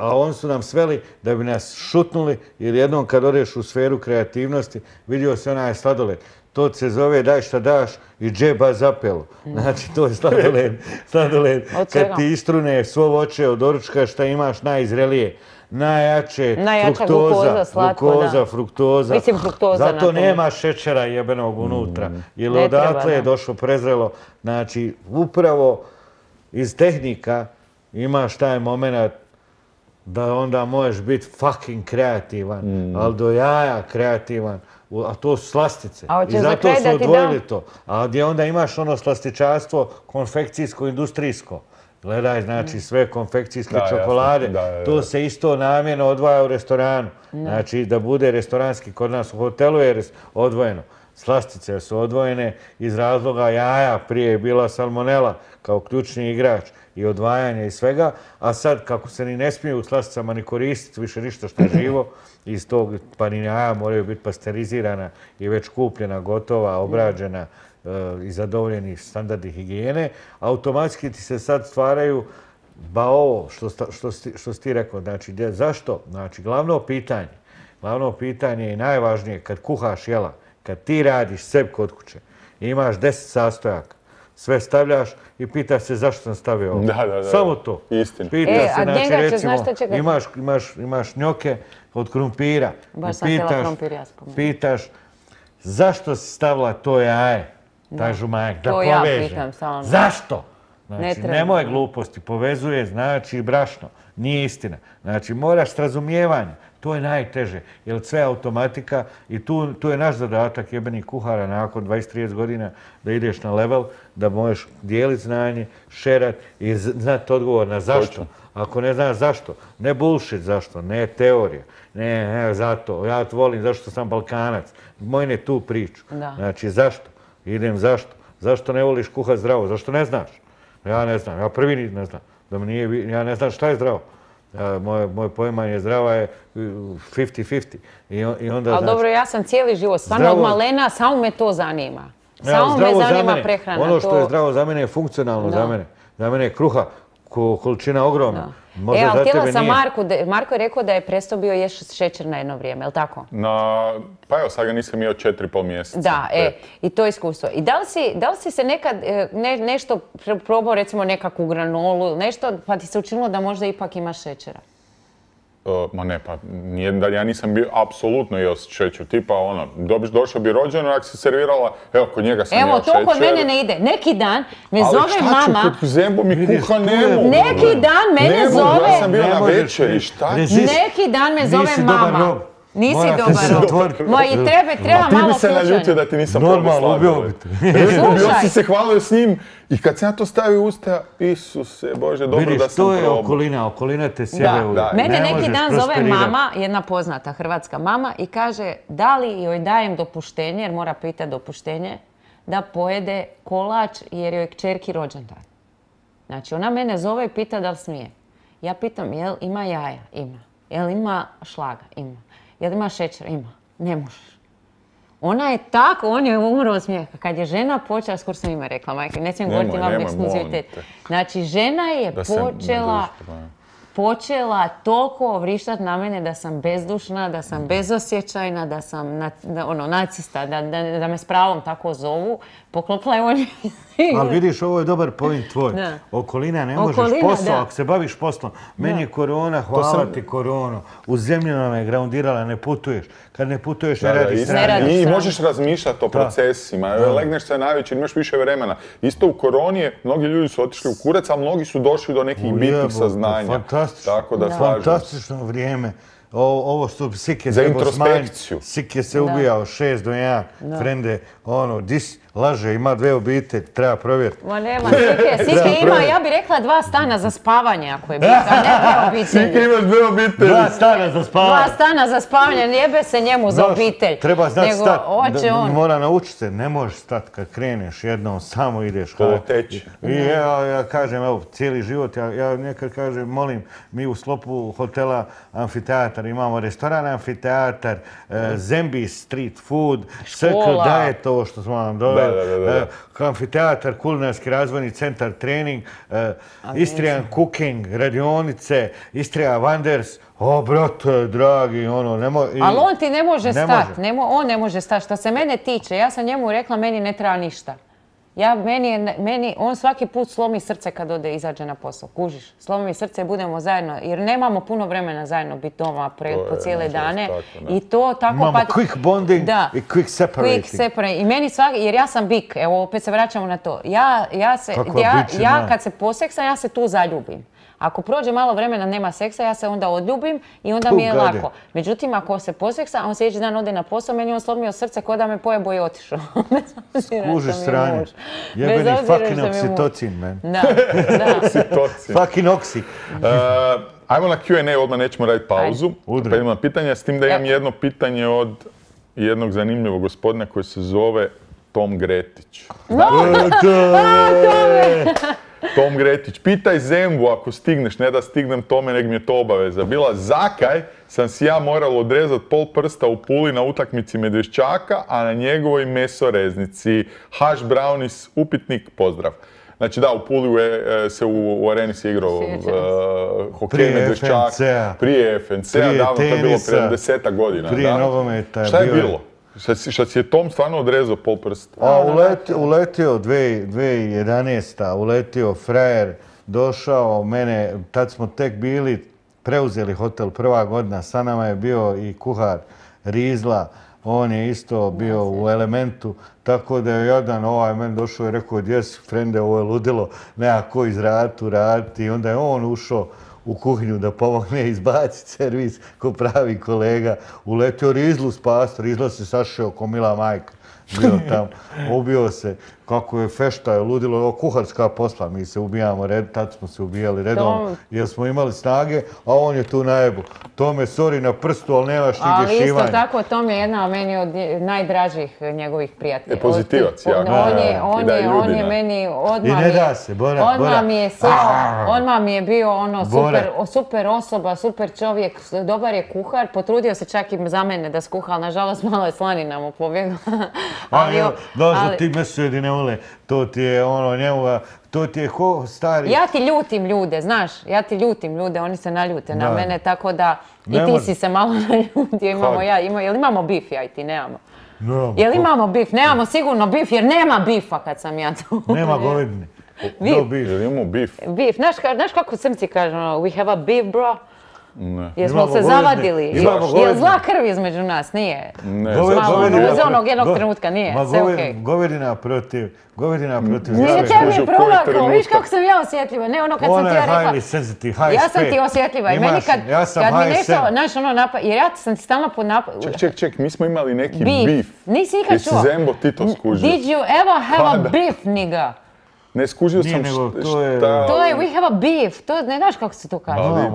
A oni su nam sveli da bi nas šutnuli, jer jednom kad odeš u sferu kreativnosti, vidio se onaj sladoled. To se zove daj šta daš i džeba zapelo. Znači, to je sladoled. Kad ti istrune svo voće od doručka šta imaš najzrelije, najjače glukoza, fruktoza. Mislim fruktoza. Zato nema šećera jebenog unutra. Jer odatle je došlo prezrelo. Znači, upravo iz tehnika imaš taj moment da onda možeš biti fucking kreativan, ali do jaja kreativan. A to su slastice. I zato su odvojili to. A gdje onda imaš ono slastičarstvo konfekcijsko-industrijsko. Gledaj, znači sve konfekcijske čokolade, to se isto namjerno odvaja u restoranu. Znači da bude restoranski, kod nas u hotelu je odvojeno. Slastice su odvojene iz razloga jaja, prije je bila salmonela kao ključni igrač i odvajanje i svega, a sad kako se ni ne smiju u slasticama ni koristiti više ništa što je živo, iz tog pa ni jaja moraju biti pasterizirana i već kupljena, gotova, obrađena i zadovoljeni standardi higijene, automatski ti se sad stvaraju ba ovo što si ti rekao, znači zašto? Znači glavno pitanje i najvažnije kad kuhaš jela, kad ti radiš sebi kod kuće, imaš 10 sastojaka, sve stavljaš i pitaš se zašto sam stavio ovo. Da. Samo to. Istina. Pitaš se, znači recimo, imaš njoke od krumpira. Baš sam htjela krompir ja spomenuti. Pitaš zašto si stavila to jaje, taj žumanjak, da poveže. To ja pitam samo. Zašto? Znači, nemoj gluposti, povezuje, znači brašno, nije istina. Znači, moraš s razumijevanjem, to je najteže, jer sve je automatika i tu je naš zadatak jebenih kuhara nakon 20-30 godina da ideš na level, da možeš dijeliti znanje, šerat i znati odgovor na zašto. Ako ne znaš zašto, ne bullshit zašto, ne teorija, ne zato, ja to volim zašto sam Balkanac, moj ne tu priču. Znači, zašto? Idem zašto? Zašto ne voliš kuhat zdravo? Zašto ne znaš? Ja ne znam, ja prvi ne znam. Ja ne znam šta je zdravo. Moje poimanje zdrava je 50-50. Ali dobro, ja sam cijeli život, stvarno od malena, samo me to zanima. Samo me zanima prehrana. Ono što je zdravo za mene je funkcionalno za mene. Za mene je kruha, količina ogromna. Ali htjela sam Marko je rekao da je prestao bio jesti šećer na jedno vrijeme, je li tako? Pa evo, sad ga nisam jeo 4,5 mjeseca. Da, i to iskustvo. I da li si se nekad nešto probao, recimo nekakvu granolu, nešto, pa ti se učinilo da možda ipak imaš šećera? Ma ne, pa ja nisam bio apsolutno jeo šećer. Tipa došao bi rođeno, ako si servirala, evo, kod njega sam jeo šećer. Evo, to kod mene ne ide. Neki dan me zove mama... Ali šta ću, kod zembo mi kuha ne mogu. Neki dan mene zove... Ja sam bio na večeri, šta? Neki dan me zove mama. Nisi dobar rob. I treba malo ti bi se naljutio da ti nisam normalno ubio bi te. Bio si se hvalio s njim i kad sam ja to stavio u usta, Isuse Bože, dobro da sam probao. Vidiš, to je okolina te sjebe uvijek. Mene neki dan zove mama, jedna poznata hrvatska mama, i kaže da li joj dajem dopuštenje, jer mora pitati dopuštenje, da pojede kolač jer joj je kćerki rođendan. Znači, ona mene zove i pita da li smije. Ja pitam, jel ima jaja? Ima. Jel ima šlaga? Ima. Jel ima šećer? Ima. Ne možeš. Ona je tako, on je umro od smijeha. Kad je žena počela, skoro sam ime rekla, majke, ne smijem govoriti, imam ekskluzivitet. Znači, žena je počela toliko vrištati na mene da sam bezdušna, da sam bezosjećajna, da sam nacista, da me s pravom tako zovu. Poklopila je on. Ali vidiš, ovo je dobar point tvoj. Okolina, ne možeš posao, ako se baviš poslom. Meni je korona, hvala ti koronu. U zemlju nam je groundirala, ne putuješ. Kad ne putuješ, ne radiš strane. I možeš razmišljati o procesima. Legneš se najveći, imaš više vremena. Isto u koroni, mnogi ljudi su otišli u kurac, a mnogi su došli do nekih bitnih saznanja. Fantastično vrijeme. Ovo što Sike za introspekciju. Sike se ubijao 6 do 1. Frende, laže, ima 2 obitelji, treba provjeriti. Ma nema, Sike ima, ja bih rekla 2 stana za spavanje ako je bitno, a ne 2 obitelji. Sike imaš 2 obitelji. 2 stana za spavanje. 2 stana za spavanje, ne jebe se njemu za obitelj. Treba znati stati, mora naučiti se, ne možeš stati kad kreneš jednom, samo ideš. Poteći. I ja kažem, evo, cijeli život, ja nekad kažem, molim, mi u sklopu hotela Amfiteatar imamo restoran Amfiteatar, Zembi street food, Circle Diet, ovo što smo vam doveli. Amfiteatar, kulinarski razvojni centar, trening, Istrian cooking, radionice, Istria Wonders. O, brate, dragi, Ali on ti ne može stati, on ne može stati. Što se mene tiče, ja sam njemu rekla, meni ne treba ništa. On svaki put slomi srce kad izađe na posao, kužiš. Slomi mi srce i budemo zajedno, jer nemamo puno vremena zajedno biti doma po cijele dane. I to tako... Imamo quick bonding i quick separating. Quick separating. I meni svaki, jer ja sam bik, evo opet se vraćamo na to. Ja kad se poseksam, ja se tu zaljubim. Ako prođe malo vremena, nema seksa, ja se onda odljubim i onda mi je lako. Međutim, ako se poseksa, on sljedeći dan ode na posao, meni on slomio srce ko da me pojebo i otišao. Skuži stranje. Jebeni fucking oksitocin, man. Da. Fucking oksi. Ajmo na Q&A, odmah nećemo raditi pauzu. Pa idemo na pitanja, s tim da imam jedno pitanje od jednog zanimljivog gospodina koji se zove Tom Gretić. Tom Gretić, pitaj Zembu ako stigneš, ne da stignem Tome, nek mi je to obaveza. Bila zakaj sam si ja moral odrezati pol prsta u Puli na utakmici Medveščaka, a na njegovoj mesoreznici. Hash brownies, upitnik, pozdrav. Znači da, u Puli se u areni se igrao hokej Medveščak. Prije FNC-a, davno, to je bilo prije 10 godina. Prije nogometa. Šta je bilo? Šta si je Tom stvarno odrezao pol prsta? Uletio 2011. Uletio frajer, došao mene, tad smo tek bili, preuzeli hotel prva godina, sa nama je bio i kuhar Rizla, on je isto bio u Elementu, tako da je jedan meni došao i rekao, gdje si, frende, ovo je ludilo, nema ko izraditi, raditi. I onda je on ušao u kuhinju da pomogne izbaciti servis ko pravi kolega. Uletio Rizlu spasti, Rizla se sašao ko mila majka. Bio tam, ubio se, kako je fešta, je ludilo, ovo kuharska posla, mi se ubijamo, tad smo se ubijali redom, jer smo imali snage, a on je tu najebu. Tome, sorry na prstu, ali nemaš nigdje šivanja. Ali isto tako, Tom je jedna meni od najdražih njegovih prijatelja. Pozitivac, jako. On je meni odmah... I ne da se, Bora. Odmah mi je sjeo, odmah mi je bio super osoba, super čovjek, dobar je kuhar, potrudio se čak i za mene da skuha, ali nažalost malo je slanina mu pobjegla. Došlo ti mesedi ne vole, to ti je njemu, to ti je stari... Ja ti ljutim ljude, znaš, oni se naljute na mene, tako da i ti si se malo naljutio, jel imamo bif ja i ti, nemamo. Jel imamo bif? Nemamo sigurno bif, jer nema bifa kad sam ja tu. Nema govedine. Jel imamo bif? Bif, znaš kako Crnci kažu, we have a beef, bro? Jesmo se zavadili? Je zla krv između nas? Nije. Iz onog jednog trenutka nije. Sve okej. Govedina protiv Nije tebi je provakao. Viš kako sam ja osjetljiva. Ne ono kad sam ti ja rekla. Ona je highly sensitive, high ja sam ti osjetljiva. I meni kad mi nešto, znaš ono napad, jer ja sam ti stalno pod napad. Ček, mi smo imali neki beef. Nisi nikad čuo. Jesi Zembo ti to skužio? Did you ever have a beef, nigga? Ne, skužio sam šta... To je we have a beef, to ne znaš kako se to kaže.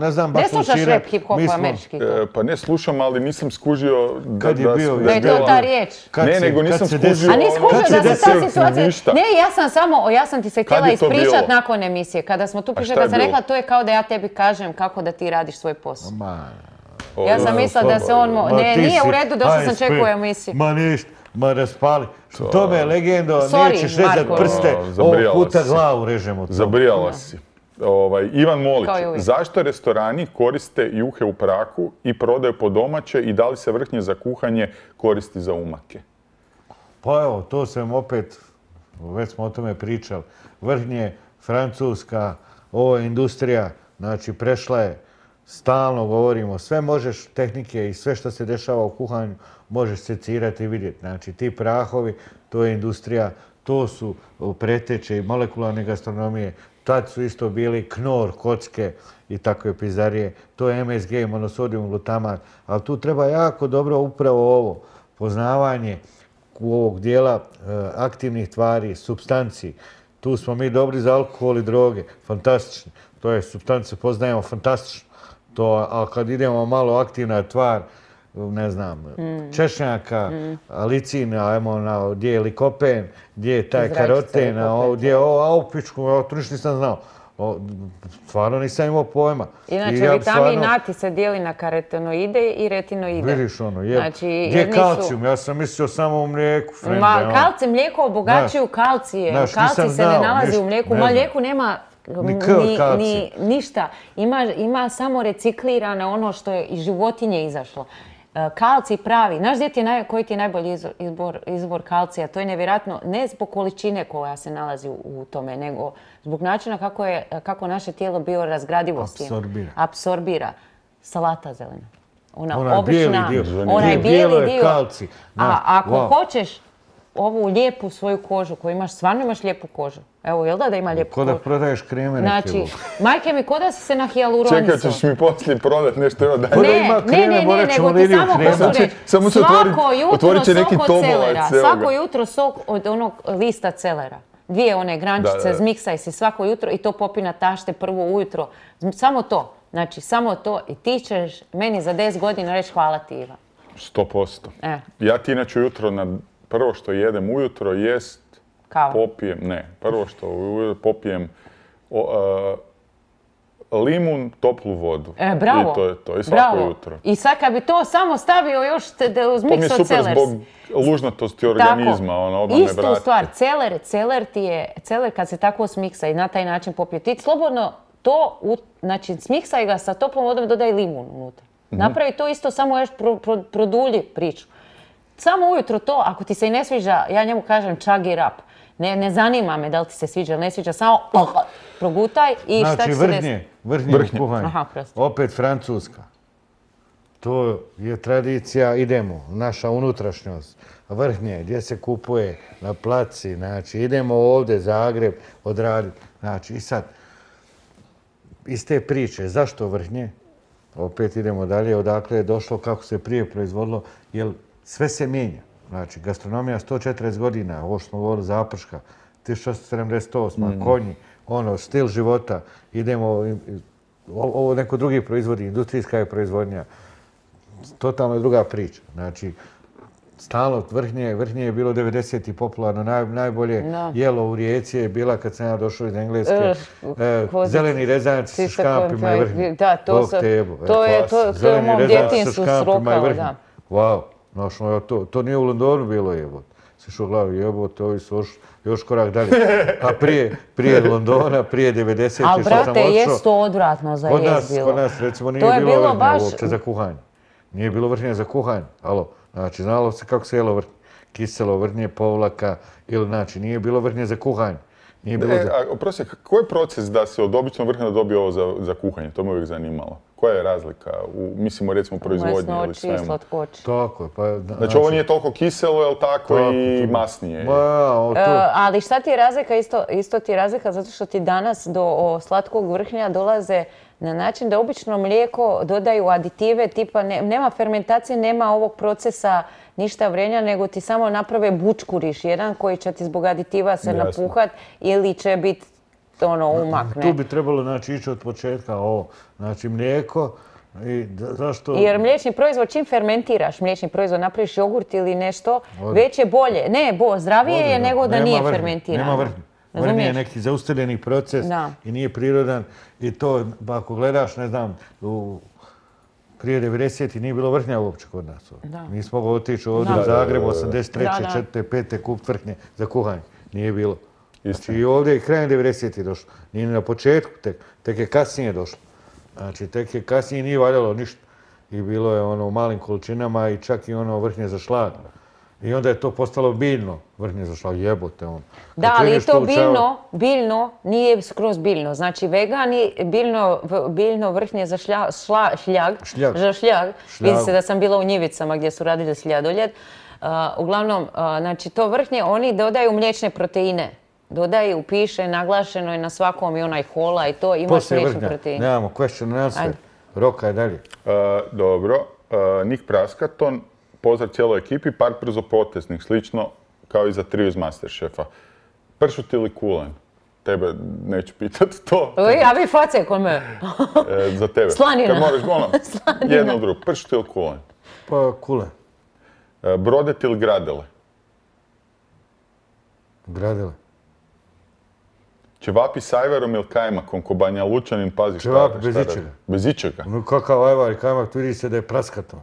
Ne znam baš ne slušaš rap, hip-hop, američki to. Pa ne slušam, ali nisam skužio da je to ta riječ. Ne, nego nisam skužio... A nisi skužio da se ta situacija... Ne, ja sam ti se htjela ispričat nakon emisije. Kada smo tu pišali, kad sam rekla, to je kao da ja tebi kažem kako da ti radiš svoj posao. Ja sam mislila da se on... Ne, nije u redu, došla sam čekao emisiju. Ma ništa. Ma raspali. To me legendo, nećeš rezat prste, ovog puta glavu režemo. Zabrijala si. Ivan Molić, zašto restorani koriste juhe u prahu i prodaju po domaće i da li se vrhnje za kuhanje koristi za umake? Pa evo, to sam opet, već smo o tome pričali, vrhnje, Francuska, ovo je industrija, znači prešla je, stalno govorimo, sve možeš, tehnike i sve što se dešava u kuhanju, možeš secirati i vidjeti. Znači, ti prahovi, to je industrija, to su preteče i molekularne gastronomije. Tad su isto bili knor, kocke i takve pizarije. To je MSG, monosodium glutamat. Ali tu treba jako dobro upravo ovo, poznavanje ovog dijela aktivnih tvari, supstanci. Tu smo mi dobri za alkohol i droge, fantastično. To je supstance, poznajemo fantastično. A kad idemo malo aktivna tvar, ne znam, češnjaka, alicina, gdje je likopen, gdje je taj karoten, gdje je aupičku, to ništa nisam znao. Stvarno nisam imao pojma. Inače, vitamin A ti se dijeli na karotenoide i retinoide. Vidiš ono, gdje je kalcijum? Ja sam mislio samo u mlijeku. Kalcijum, mlijeko obogaćuju kalcije. Kalcij se ne nalazi u mlijeku. U mlijeku nema ni ništa. Ima samo reciklirane ono što je iz životinje izašlo. Kalcij pravi. Znaš koji ti je najbolji izbor kalcija? To je nevjerojatno, ne zbog količine koja se nalazi u tome, nego zbog načina kako naše tijelo biorazgradivosti apsorbira. Salata zelena. Ona obična, onaj bijeli dio. Kalcij. A ako hoćeš ovu lijepu svoju kožu, koju imaš, stvarno imaš lijepu kožu. Evo, jel da ima lijepu kožu? Ko da prodaješ kreme neki. Znači, majke mi, ko da si se na hijaluronicu. Čekaj, ćeš mi poslije prodat nešto, evo daj. Ne, nego ti samo hoću reći. Svako jutro sok od celera. Svako jutro sok od onog lista celera. 2 one grančice, zmiksaj si svako jutro i to popi na tašte prvo ujutro. Samo to. Znači, samo to i ti ćeš meni za 10 godina reći hvala ti, Iva. 100%. Ja ti inače jutro prvo što jedem ujutro jest popijem limun, toplu vodu. Bravo. I to je to. I svako Bravo. jutro. I sad kad bi to samo stavio još uz To mi je mix od super celers. zbog lužnatosti organizma, odmah me Istu vrati. stvar, celer kad se tako smiksa i na taj način popije, ti slobodno to, znači smiksaj ga sa toplom vodom i dodaj limun unutra. Napravi to isto, samo još produlji priču. Samo ujutro to, ako ti se i ne sviđa, ja njemu kažem chug it up. Ne zanima me da li ti se sviđa ili ne sviđa, samo progutaj i šta će se desiti. Vrhnje u kuhanju. Aha, prosto. Opet Francuska. To je tradicija, idemo, naša unutrašnjost. Vrhnje, gdje se kupuje, na placi, znači idemo ovdje, Zagreb, odraditi. Znači i sad, iz te priče, zašto vrhnje? Opet idemo dalje, odakle je došlo, kako se prije proizvodilo, jer sve se mijenja. Znači, gastronomija 140 godina, ovo što smo govorili Zaprška, 1678, konji, stil života, idemo, ovo neko drugi proizvodi, industrijska je proizvodnja, totalno je druga priča. Znači, stalno vrhnje je bilo 90. popularno, najbolje jelo u Rijeci je bila kad sam ja došao iz Engleske, zeleni rezanci sa škampima i vrhnje. Da, to je u mom djetinjstvu srokao, da. Wow, to nije u Londonu bilo jebot. Se šao glavi jebot, ovi su još korak dalje. A prije Londona, prije 90. što sam Ali, odšao... brate, jest to odvratno za jest bilo. Kod nas, recimo, nije bilo vrhnja uopće za kuhanje. Nije bilo vrhnja za kuhanje, alo. Znači, znalo se kako se jelo vrhnje. Kiselo vrhnje, povlaka, ili znači, nije bilo vrhnje za kuhanje. Oprosti, koji je proces da se od običnog vrhnja dobije ovo za kuhanje? To me uvijek zanimalo. Koja je razlika mislimo, recimo, proizvodnji ili svemu? Masnoći i slatkoći. Tako je. Znači, ovo nije toliko kiselo, je li tako, i masnije? Ali šta ti je razlika? Isto ti je razlika zato što ti danas do slatkog vrhnja dolaze na način da obično mlijeko dodaju aditive, tipa nema fermentacije, nema ovog procesa ništa vrenja, nego ti samo naprave bučkuriš jedan koji će ti zbog aditiva se napuhat ili će biti umak. Tu bi trebalo ići od početka ovo. Znači mlijeko i zašto... Jer mliječni proizvod, čim fermentiraš mliječni proizvod, napraviš jogurt ili nešto, već je bolje. Ne, zdravije je nego da nije fermentirano. Nema vrhnje. Vrhnje je neki zaustavljeni proces i nije prirodan. I to, ako gledaš, ne znam, prije 90. nije bilo vrhnja uopće kod nas. Nisi mogao otići ovdje u Zagrebu, 83. 4. 5. kup vrhnje za kuhanje. Nije bilo. Znači i ovdje je krajem 90. došlo. Nije na početku tek je kasnije došlo. Znači tek je kasnije nije valjalo ništa. I bilo je u malim količinama i čak i vrhnje za šlag. I onda je to postalo biljno vrhnje za šlag, jebote on. Da, ali i to biljno nije skroz biljno. Znači vegani, biljno vrhnje za šljag. Vidi se da sam bila u Njivicama gdje su radili sljadoljet. Uglavnom, znači to vrhnje, oni dodaju mliječne proteine. Dodaju, piše, naglašeno je na svakom i onaj hola i to, imaš mliječne proteine. Nemamo question and answer. Roka je dalje. Dobro. Nik Praskaton, pozdrav cijeloj ekipi, par brzopoteznih, slično kao i za trio iz Masterchefa. Pršut ili kulen? Tebe neću pitati to. Ja bi face kod me. Za tebe. Slanina. Kad moraš, jedno ili drugo. Pršut ili kulen? Pa kulen. Brodet ili gradele? Gradele. Ćevapi s ajvarom ili kajmakom, ko Banja Lučanin, pazi šta... Ćevapi bez ičega. Bez ičega? No kakav ajvar i kajmak, vidi se da je praskaton.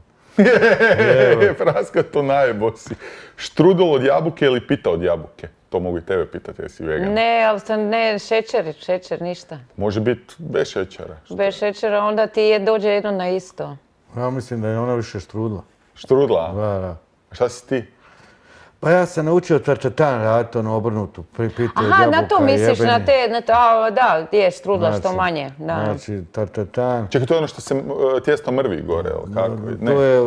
Praskaton najebo si. Štrudel od jabuke ili pita od jabuke? To mogu i tebe pitati, jesi vegan. Ne, ali ne, šećer, ništa. Može biti bez šećera. Bez šećera, onda ti dođe jedno na isto. Ja mislim da je ona više štrudla. Štrudla? Da. Šta si ti? Pa ja sam naučio tartatan raditi obrnutu. Aha, na to misliš, da, je štrudla što manje. Znači, tartatan. Čekaj, to je ono što se tijesto mrvi gore, ili kako? To je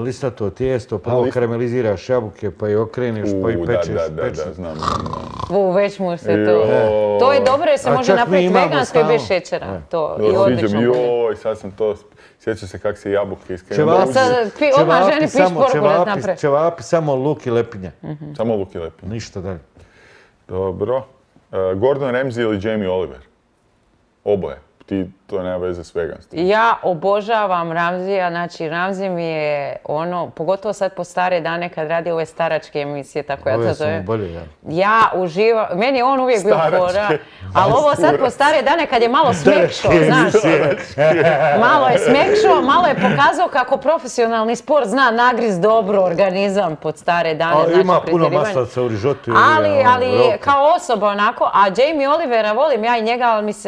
listato tijesto, prvo karameliziraš jabuke, pa i okreniš, pa i pečeš. Da, znam. Već mu se to... To je dobro jer se može napraviti vegansko i bez šećera. To i odlično bude. Joj, sad sam to... Sjećam se kako se jabuke iskrenuli. Ćevapi samo luk i lepinja. Samo luk i lepinja. Ništa dalje. Dobro. Gordon Ramsay ili Jamie Oliver? Oboje. ti to nema veze s veganstvom. Ja obožavam Ramzija, znači Ramzi mi je ono, pogotovo sad po stare dane kad radi ove staračke emisije, tako ja to zovem. Ja uživam, meni je on uvijek bio fora, ali ovo sad po stare dane kad je malo smekšo, znaš. Malo je smekšo, malo je pokazao kako profesionalni sport zna nagriz dobro organizam pod stare dane. Znači, ima puno maslaca u rižotu. Ali kao osoba onako, a Jamie Olivera volim ja i njega,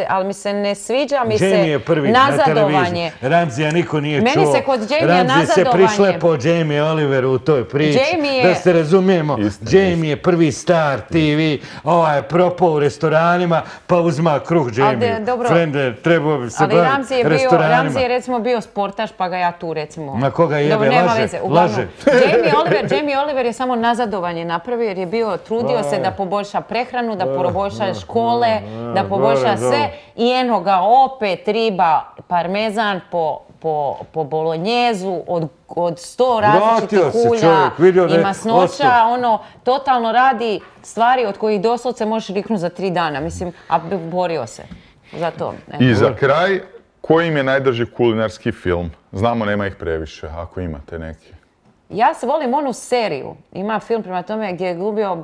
ali mi se ne sviđa mi se nazadovanje. Ramzija niko nije čuo. Meni se kod Jamie nazadovanje. Ramzi se prišlepao Jamie Oliveru u toj priči. Da se razumijemo, Jamie je prvi star TV, ovaj je propao u restoranima, pa uzma kruh Jamie. Frende, trebao bi se baviti restoranima. Ramzi je recimo bio sportaš, pa ga ja tu recimo... Na koga jebe, laže. Jamie Oliver je samo nazadovanje napravio jer je bio, trudio se da poboljša prehranu, da poboljša škole, da poboljša sve i eno ga opet riba, parmezan po bolonjezu od 100 različitih ulja i masnoća, ono, totalno radi stvari od kojih doslovce možeš riknuti za 3 dana, mislim, a borio se za to. I za kraj, koji im je najdrži kulinarski film? Znamo, nema ih previše, ako imate neki. Ja se volim onu seriju. Ima film prema tome gdje je glumio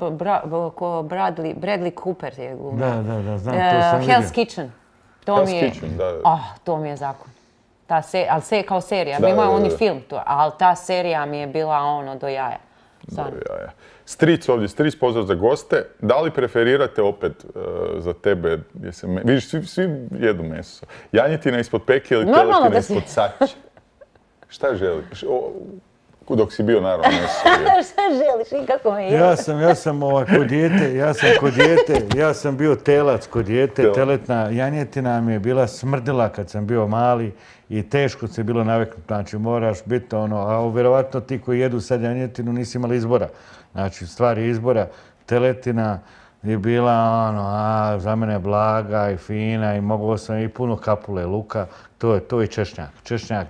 Bradley Cooper je glumio. Da, znam, to sam vidio. Hell's Kitchen. To mi je zakon. Ali kao serija. Imao je oni film, ali ta serija mi je bila ono do jaja. Stric ovdje, Stric, pozdrav za goste. Da li preferirate opet za tebe, vidiš, svi jedu meso. Janjetina ispod peke ili teletina ispod saće? Šta želiš? Dok si bio naravno meso. Šta želiš i kako me je? Ja sam bio telac kod dijete. Teletna janjetina mi je bila smrdila kad sam bio mali i teško se bilo naviknuti. Znači moraš biti ono, a vjerovatno ti koji jedu sad janjetinu nisi imali izbora. Znači stvar je izbora. Teletina je bila ono, za mene blaga i fina i mogao sam i puno kapule luka. To je češnjak. Češnjak,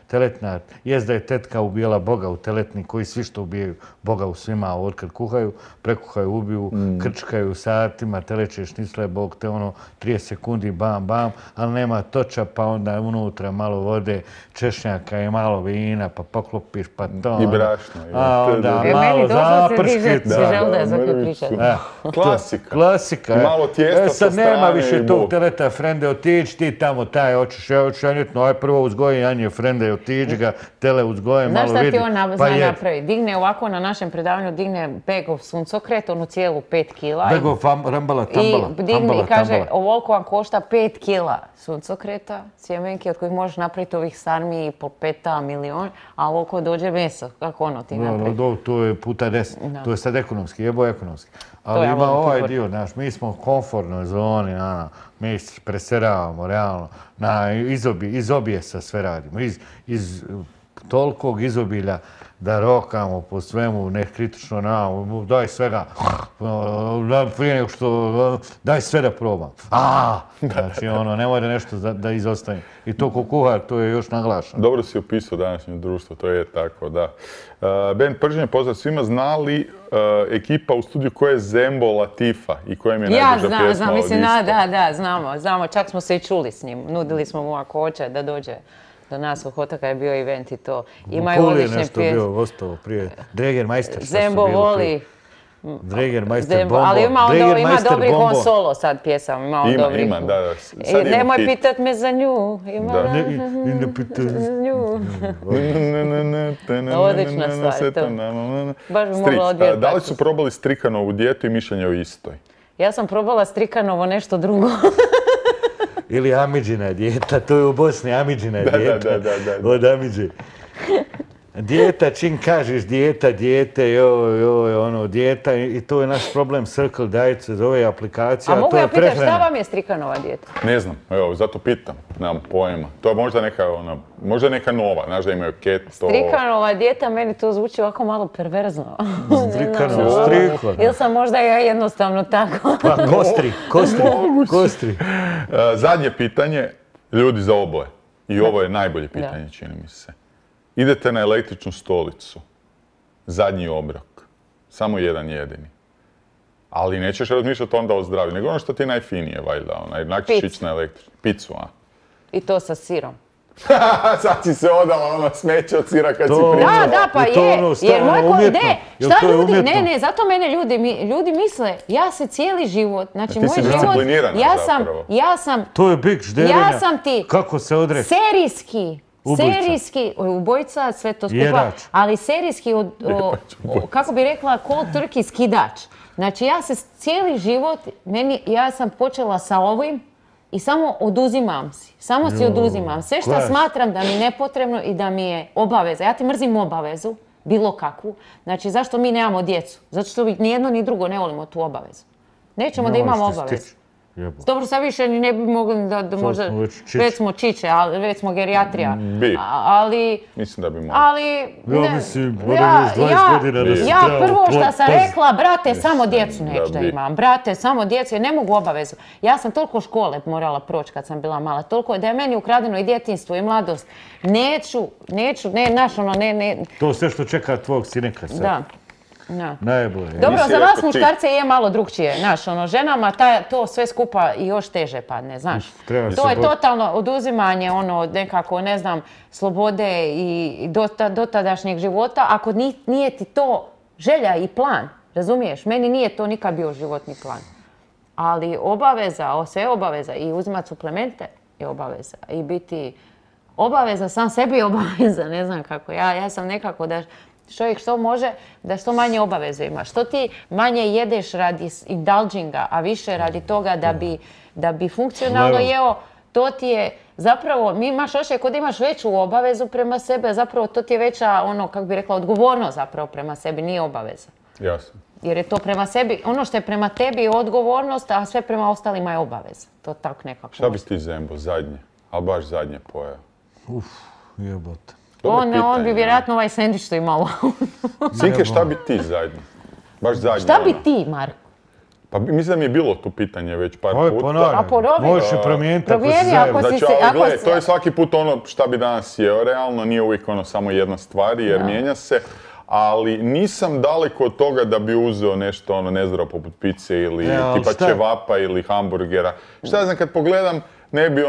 teletna. Jest da je tetka ubijala Boga u teletni, koji svi što ubijaju Boga u svima, od kuhaju, prekuhaju, ubiju, krčkaju satima, teleće šnicle, Bog te ono 30 sekundi, bam, bam, ali nema toča, pa onda unutra malo vode, češnjaka i malo vina, pa poklopiš, pa to. I brašno. A onda malo zaprškica. Klasika. I malo tijesta sa strane. Sad nema više tog teleta, frende, otići ti tamo, taj hoćeš, ja hoću janjetno, aj prvo uzgoji janje, frende, otići ga, tele uzgoje, malo vidi. Znaš šta ti on zna napravi? Digne ovako na našem predavanju, digne begov suncokret, onu cijelu 5 kila. Begov rambala, tambala. I digne i kaže, ovoliko vam košta 5 kila suncokreta, sjemenke od kojih možeš napraviti ovih sarmi i po 5 milion, a ovoliko dođe meso. Kako ono ti napravi? To je puta 10. To je sad ekonomski, jebo ekonomski. Ali ima ovaj dio, znaš, mi smo u komfortnoj zoni, mi preseravamo, realno, iz objesa sve radimo, iz tolikog izobilja da rokamo po svemu, nekritično, daj svega, prije nego što, daj sve da probam. Znači, ono, nemoj da nešto da izostavim. I to ko kuhar, to je još naglašeno. Dobro si opisao današnje društvo, to je tako, da. Ben, prženje pozdrav svima, zna li ekipa u studiju ko je Zembo Latifa i kojem je najduža pjesma? Ja znam, mislim, da, znamo, čak smo se i čuli s njim, nudili smo mu ako hoće da dođe do nas u Hotaka je bio event i to. Imaju odlične pjesme. Nešto bio gostovo prije. Dregermeister, što Zembo voli. Dregermeister Bombo. Ali ima dobrih on solo sad pjesama. Ima, da. Nemoj pitat me za nju. Ne pitat za nju. Odlična stvar. Baš bi mogla odvijeti. Da li su probali Strikanovu dijetu i mišljenje o istoj? Ja sam probala Strikanovo nešto drugo. Ili Amidžina dijeta, to je u Bosni Amidžina dijeta. Od Amidži. Dijeta, čim kažeš dijeta, dijeta i to je naš problem Circle Diet se zove aplikacija. A mogu ja pitati šta vam je Strikanova dijeta? Ne znam, evo, zato pitam, nemam pojma. To je možda neka nova, znaš da imaju keto. Strikanova dijeta, meni to zvuči ovako malo perverzno. Strikla. Ili sam možda ja jednostavno tako. Pa kostri. Zadnje pitanje, ljudi za oboje. I ovo je najbolje pitanje, čini mi se. Idete na električnu stolicu, zadnji obrok, samo jedan jedini. Ali nećeš razmišljati onda o zdravlju, nego ono što ti je najfinije, valjda, onak ćeš ići na električnu. Picu, a? I to sa sirom. Sad si se odala ono smeće od sira kad si To- pričala. Da, pa Je to je. ono Jer stalno moj umjetno? Jel šta to je ljudi, umjetno? ne, zato mene ljudi misle, ja se cijeli život, znači Ti moj si život, disciplinirana zapravo. ja sam To je bik žderenja. Ja sam ti Kako se odrekli? serijski ubojica, sve to skupa, Jedač. ali serijski, kako bi rekla, cold turkey skidač. Znači ja se cijeli život, ja sam počela sa ovim i samo oduzimam si. Samo si oduzimam. Sve što klas. smatram da mi je nepotrebno i da mi je obaveza. Ja ti mrzim obavezu, bilo kakvu. Znači zašto mi nemamo djecu? Zato što ni jedno ni drugo ne volimo tu obavezu. Nećemo da imamo obavezu. Dobro, sad više ni ne bi mogli da možda, smo već čiče. već smo čiče, ali već smo gerijatrija. Bi. Ali, Mislim da bi mogli. ali... Ja mislim, moram još 20 godina da se Ja trebamo prvo što sam paziti. rekla, brate, samo djecu neću da bi. imam. Brate, samo djecu, jer ne mogu obavezu. Ja sam toliko škole morala proći kad sam bila mala, toliko da je meni ukradeno i djetinjstvo i mladost. Neću, ne. To sve što čeka tvojeg sineka sad. Da. Najbolje. Dobro, Nisi za vas rekao ti. muškarce je malo drugčije, znaš, ženama to sve skupa i još teže padne, znaš. Treba To se je boriti. totalno oduzimanje, nekako, ne znam, slobode i dotadašnjeg života, ako nije ti to želja i plan, razumiješ? Meni nije to nikad bio životni plan. Ali obaveza, sve je obaveza, i uzimati suplemente je obaveza, i biti obaveza, sam sebi je obaveza, ne znam kako. Ja sam nekako da čovjek što može, da što manje obaveze ima. Što ti manje jedeš radi indulginga, a više radi toga da bi funkcionalno jeo, to ti je zapravo, mi imaš osjećaj kod imaš veću obavezu prema sebi, a zapravo to ti je veća, kako bi rekla, odgovornost zapravo prema sebi, nije obaveza. Jasno. Jer je to prema sebi, ono što je prema tebi je odgovornost, a sve prema ostalima je obaveza. To tako nekako. Šta bi ti Zembo, zadnje? Ali baš zadnje pojeo. Jebote. Dobro On bi pitanje, vjerojatno ovaj sendvič što imao. Sinke, šta bi ti zadnje? Baš zadnje. Šta bi ono. ti, Marko? Pa mislim da mi je bilo tu pitanje već par Oj, puta. ponavljam. A porovi. Možeš je promijeniti ako si Promijeni zajedno. ako si Znači, se- ali gledaj, si- to je svaki put ono šta bi danas jeo, realno nije uvijek ono samo jedna stvar jer mijenja se, ali nisam daleko od toga da bi uzeo nešto ono nezdravo poput pice ili Ne, ali tipa šta? ćevapa ili hamburgera. Šta ja znam, kad pogledam, ne bi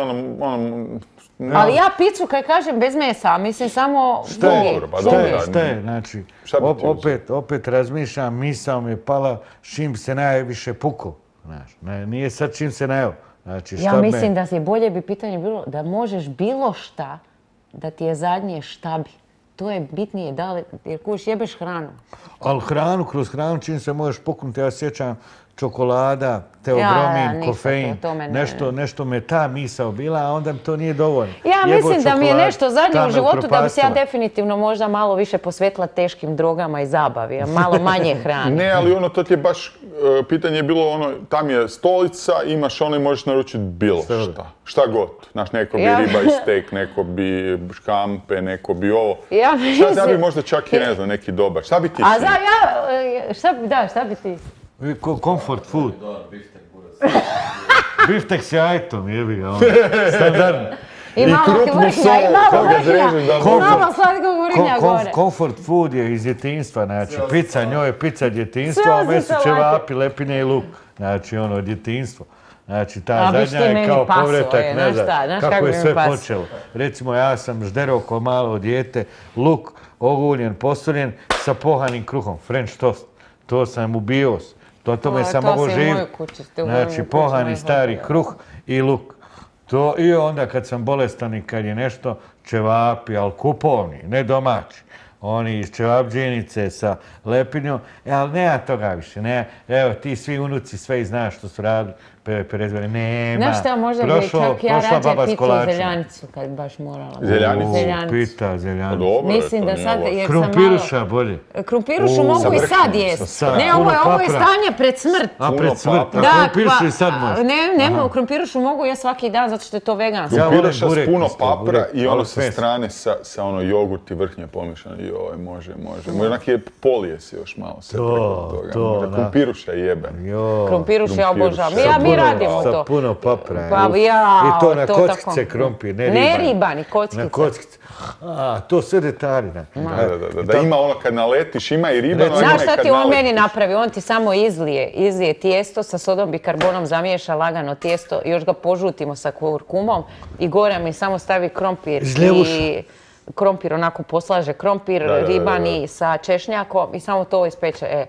Ali ja picu, kad kažem, bez mesa, mislim samo Šta je? Dobro, pa Šta dobro, je? da. Šta je? Znači, Šta bi ti opet razmišljam, misao mi je pala s čim se najviše puko. Znaš, nije sad čim se najeo. Znači, Ja mislim da je bolje bi pitanje bilo da možeš bilo šta, da ti je zadnje šta bi. To je bitnije, jer kuš jebeš hranu. Ali kroz hranu čim se možeš puknuti, ja sjećam čokolada, Ja, teobromin, ništa, kofein, to me ne- nešto me ta misao bila, a onda mi to nije dovoljno. Ja Jebo mislim da mi je čokolad, nešto zadnje ta u me životu da bi se ja upropastila. definitivno možda malo više posvetila teškim drogama i zabavi, a malo manje hrane. Ne, ali ono, to ti je baš, pitanje je bilo ono, tam je stolica, imaš ono i možeš naručiti bilo šta. Šta god. Znaš, neko bi riba i steak, neko bi škampe, neko bi ovo. Ja Šta bi mislim- možda čak i ne znam, neki dobar. Šta bi ti A Sin? šta bi ti? Comfort food. Biftek s jajtom, jebi ga, ono. Standardno. I malo krupnu vrhnja, sol, i malo koga zrežeš da vrhnja, i može. malo slatkog vrhnja gore. Comfort food je iz djetinjstva, znači pizza, njoj je pizza djetinjstvo, Sve a osim meso salate. ćevapi, lepine i luk. Znači ono, djetinjstvo. Znači ta A, viš zadnja ti je meni kao paso, povratak znaš nazad. šta, znaš Kako kako je bi mi sve paso. počelo. Recimo ja sam žderao ko malo dijete, luk oguljen, posoljen sa pohanim kruhom, French toast. To sam ubio. Tome sam to mogao si u mojoj živjeti. kući, ste u mojoj Znači kući, pohani moj stari hotel. kruh i luk. To, i onda kad sam bolestan i kad je nešto, ćevapi, ali kupovni, ne domaći. Oni iz ćevapđenice sa lepinjom, ali nema toga više. Ne, evo, ti svi unuci sve i znaš što su radili, prezvali, nema. Znaš šta, možda bi čak ja rađe pitu zeljanicu kad baš morala. Zeljanicu? Pita zeljanicu. Dobro je, Mislim to da nije sad, loše. jer sam malo... Krumpiruša bolje. Krumpirušu mogu sa i sad vrhnjem, jest. sa Ne, puno ovo je papra. stanje pred smrt. A Puno pred smrt, papra. a krumpirušu i sad može. Ne, krumpirušu mogu ja svaki dan zato što je to vegansko. Ja volim Krumpiruša s burek puno isto, papra burek, i ono ali sa sve. strane sa ono jogurt i vrhnje pomiješano. Joj, može. Onak je polije se još malo sve preko toga. to, Može. da. Krumpiruša jebe. Jo. Krumpiruš ja Krumpiruš. obožavam. Sa Ja mislim mi radimo to. Sa puno papra. Pa ja, I to na to kockice tako. krompir, Ne ribani, kockice. Na kockice. To sve detalji. Da ima ono kad naletiš, ima i ribano, ima i kad Znaš šta ti on naletiš. meni napravi? On ti samo izlije tijesto, sa sodom bikarbonom zamiješa lagano tijesto, još ga požutimo sa kurkumom i gore mi samo stavi krompir i krompir onako poslaže krompir, ribani sa češnjakom i samo to ispeče.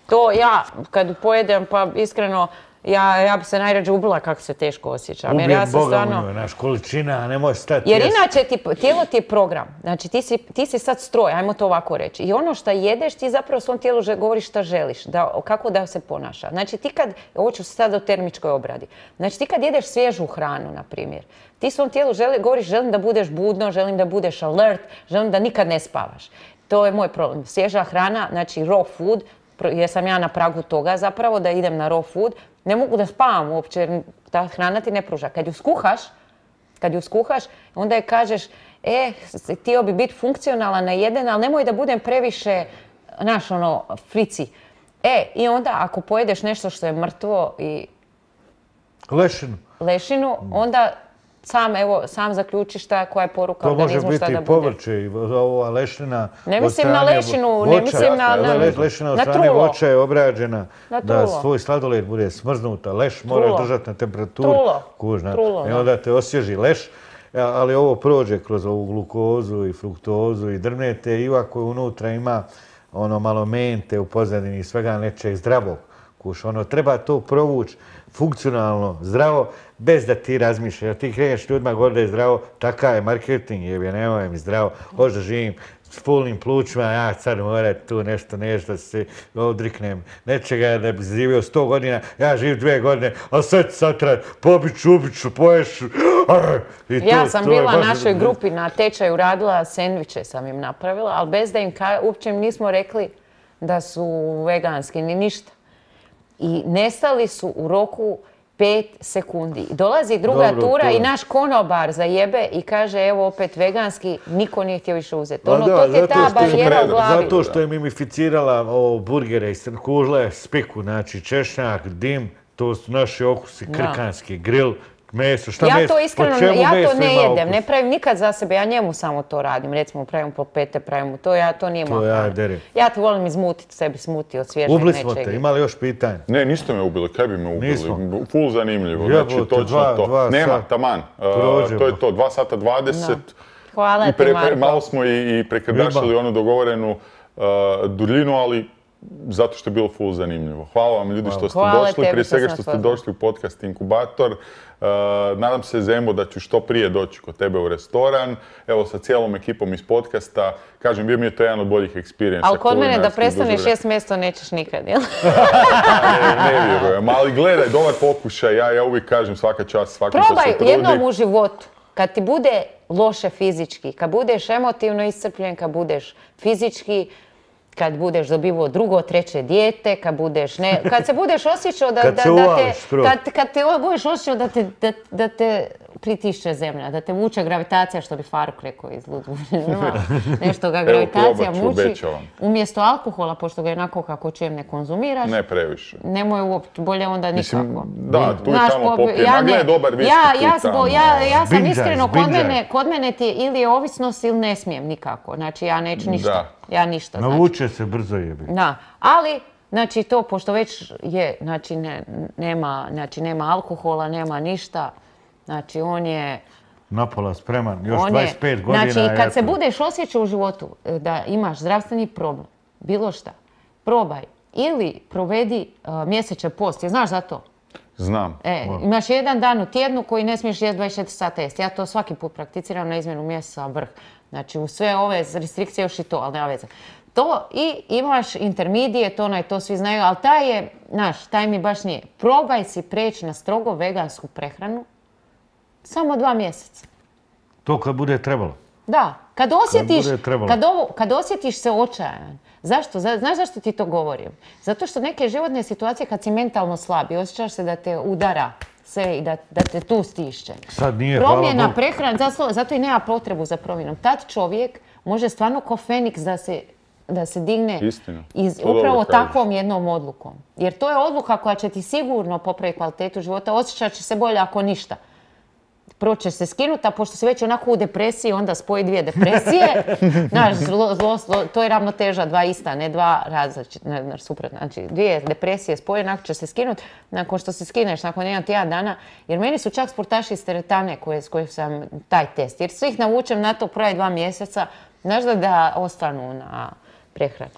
To ja kad pojedem pa iskreno ja bi se najrađe ubila kako se teško osjećam. Ubijem Boga u njoj, naš količina, ne može stati. Jer inače tijelo ti je program. Znači ti si sad stroj, ajmo to ovako reći. I ono što jedeš ti zapravo svom tijelu govoriš šta želiš, kako da se ponaša. Znači ti kad, ovo ću sad o termičkoj obradi, znači ti kad jedeš svježu hranu, na primjer, ti svom tijelu govoriš želim da budeš budno, želim da budeš alert, želim da nikad ne spavaš. To je moj problem. Svježa hrana, znači raw food, jer sam ja na pragu toga zapravo da idem na raw food, ne mogu da spavam uopće jer ta hrana ti ne pruža. Kad ju skuhaš, onda je kažeš, htio bi biti funkcionalan na jeden, ali nemoj da budem previše, frici. I onda ako pojedeš nešto što je mrtvo i lešinu, onda sam zaključiš koja je poruka organizmu šta da bude. To može biti povrće i ova lešina. Ne mislim na lešinu, ne mislim na lešina od strane voća je obrađena da svoj sladoled bude smrznuta. Leš moraš držati na temperaturu. Trulo. I onda te osvježi leš. Ali ovo prođe kroz ovu glukozu i fruktozu i drvnete i ovako unutra ima malo mente u pozadini i svega nečeg zdravog. Treba to provući funkcionalno, zdravo, bez da ti razmišljaš. Jer ti kreneš ljudima gore da je zdravo, takav je marketing, nemoj mi zdravo, hoću da živim s fulnim plućima, ja sad moram tu nešto da se odriknem nečega, da bi živio 100 godina, ja živim 2 godine, a sad satrat, pobiću, poješu. Ja sam bila u našoj grupi na tečaju, radila sendviče sam im napravila, ali bez da im uopće im nismo rekli da su veganski ni ništa. I nestali su u roku 5 sekundi. Dolazi druga tura i naš konobar zajebe i kaže evo opet veganski, niko nije htio više uzeti. To ti je ta barijera u glavi. Zato što je mimificirala burgere iz kužle, spiku, znači češnjak, dim, to su naši okusi, krkanski, grill, meso, šta meso? Ja to iskreno, ja to ne jedem, ne pravim nikad za sebe, ja njemu samo to radim. Recimo pravim polpete, pravim to nije moja hrana. Ja to volim izmutiti sebi smuti od svježeg nečega. Ubili smo te, imali još pitanje? Ne, niste me ubili, kaj bi me ubili? Ful zanimljivo, znači točno to. Nema, taman, to je to, 2 sata 20. Hvala ti, Marko. Malo smo i prekrdašili onu dogovorenu duljinu, ali zato što je bilo ful zanimljivo. Hvala vam ljudi što ste došli, prije svega što ste došli u podcast Inkubator. Nadam se, Zembo, da ću što prije doći kod tebe u restoran. Evo, sa cijelom ekipom iz podcasta. Kažem, bio mi je to jedan od boljih experience. Ali kod mene da prestaneš jest mjesto nećeš nikad, jel? Ne vjerujem, ali gledaj, dobar pokušaj. Ja uvijek kažem svaka čast, svaki što se trudi. Probaj jednom u životu. Kad ti bude loše fizički, kad budeš emotivno iscrpljen, kad budeš fizički, kad budeš dobivao drugo, treće dijete, kad se budeš osjećao da te pritišće zemlja, da te vuče gravitacija, što bi Faruk rekao iz Ludvina. Nešto ga gravitacija muči. Umjesto alkohola, pošto ga jednako kako čujem ne konzumiraš. Ne previše. Nemoj uopće, bolje onda nikako. Da, tu i tamo popijem. A gle, dobar viski tu i tamo. Ja sam iskreno, kod mene ti ili je ovisnost ili ne smijem nikako. Znači ja neću ništa. Ja ništa. Navuče se brzo jebi. Da, ali znači to, pošto već je, znači nema alkohola, nema ništa, znači on je... Napola spreman, još 25 godina. Znači, kad se budeš osjećao u životu da imaš zdravstveni problem, bilo šta, probaj ili provedi mjesečni post, znaš za to? Znam. Imaš jedan dan u tjednu koji ne smiješ jesti 24 sata jesti. Ja to svaki put prakticiram na izmjenu mjeseca vrh. Znači, u sve ove restrikcije još i to, ali nema veze. To i imaš intermedije, to svi znaju, ali taj mi baš nije. Probaj si preći na strogo vegansku prehranu samo 2 mjeseca. To kad bude trebalo? Da, kad osjetiš se očajan. Zašto? Znaš zašto ti to govorim? Zato što neke životne situacije kad si mentalno slab i osjećaš se da te udara sve i da te tu stišće. Sad nije, promjena prehrane, zato i nema potrebu za promjenom. Tad čovjek može stvarno ko Feniks da se da se digne Istina. upravo takvom jednom odlukom. Jer to je odluka koja će ti sigurno popraviti kvalitetu života, osjećat će se bolje ako ništa. Prvo će se skinuti, a pošto si već onako u depresiji, onda spoji dvije depresije. Znaš, to je ravnoteža, dva ista, ne dva različite, suprotno. Znači, dvije depresije spoje, nakon će se skinuti, nakon što se skineš, nakon jedan tjedan dana. Jer meni su čak sportaši iz teretane s kojih sam taj test. Jer svih navučem na to pravi 2 mjeseca, znaš da ostanu na prehranu.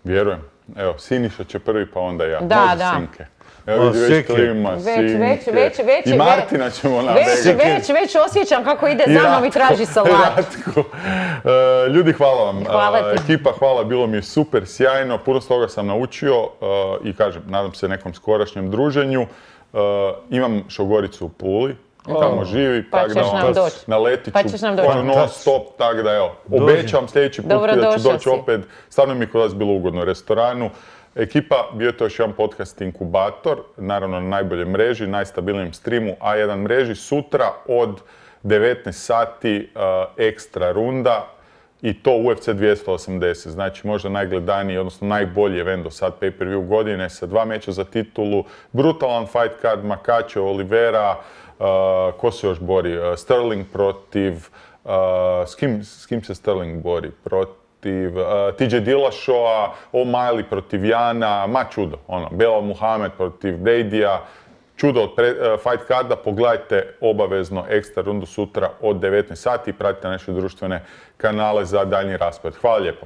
Vjerujem. Evo, Siniša će prvi, pa onda ja. Da, može da. Sinke. Evo već klima, Sinke. I Martina ćemo navesti. Već osjećam kako ide za mnom i traži salatu. Ljudi, hvala vam. Hvala ti. Ekipa, hvala, bilo mi je super, sjajno. Puno s toga sam naučio i kažem, nadam se nekom skorašnjem druženju. Imam šogoricu u Puli. Tamo živi, pa tako da naletit ću non stop, tako da evo, obećam sljedeći put da ću doći opet. Stvarno mi je kod vas bilo ugodno u restoranu. Ekipa, bio je to još jedan podcast Inkubator, naravno na najboljoj mreži, najstabilnijem streamu A1 mreži. Sutra od 19 sati ekstra runda i to UFC 280, znači možda najgledaniji, odnosno najbolji event do sad pay-per-view godine sa 2 meča za titulu, brutalan fight card, Makačev, Oliveira, ko se još bori? Sterling protiv... S kim se Sterling bori? Protiv TJ Dillashaw, O'Malley protiv Jana, čudo. Belal Muhammad protiv Bradya. Čudo od fight carda. Pogledajte obavezno ekstra rundu sutra od 19 sati i pratite naše društvene kanale za daljnji raspored. Hvala lijepo.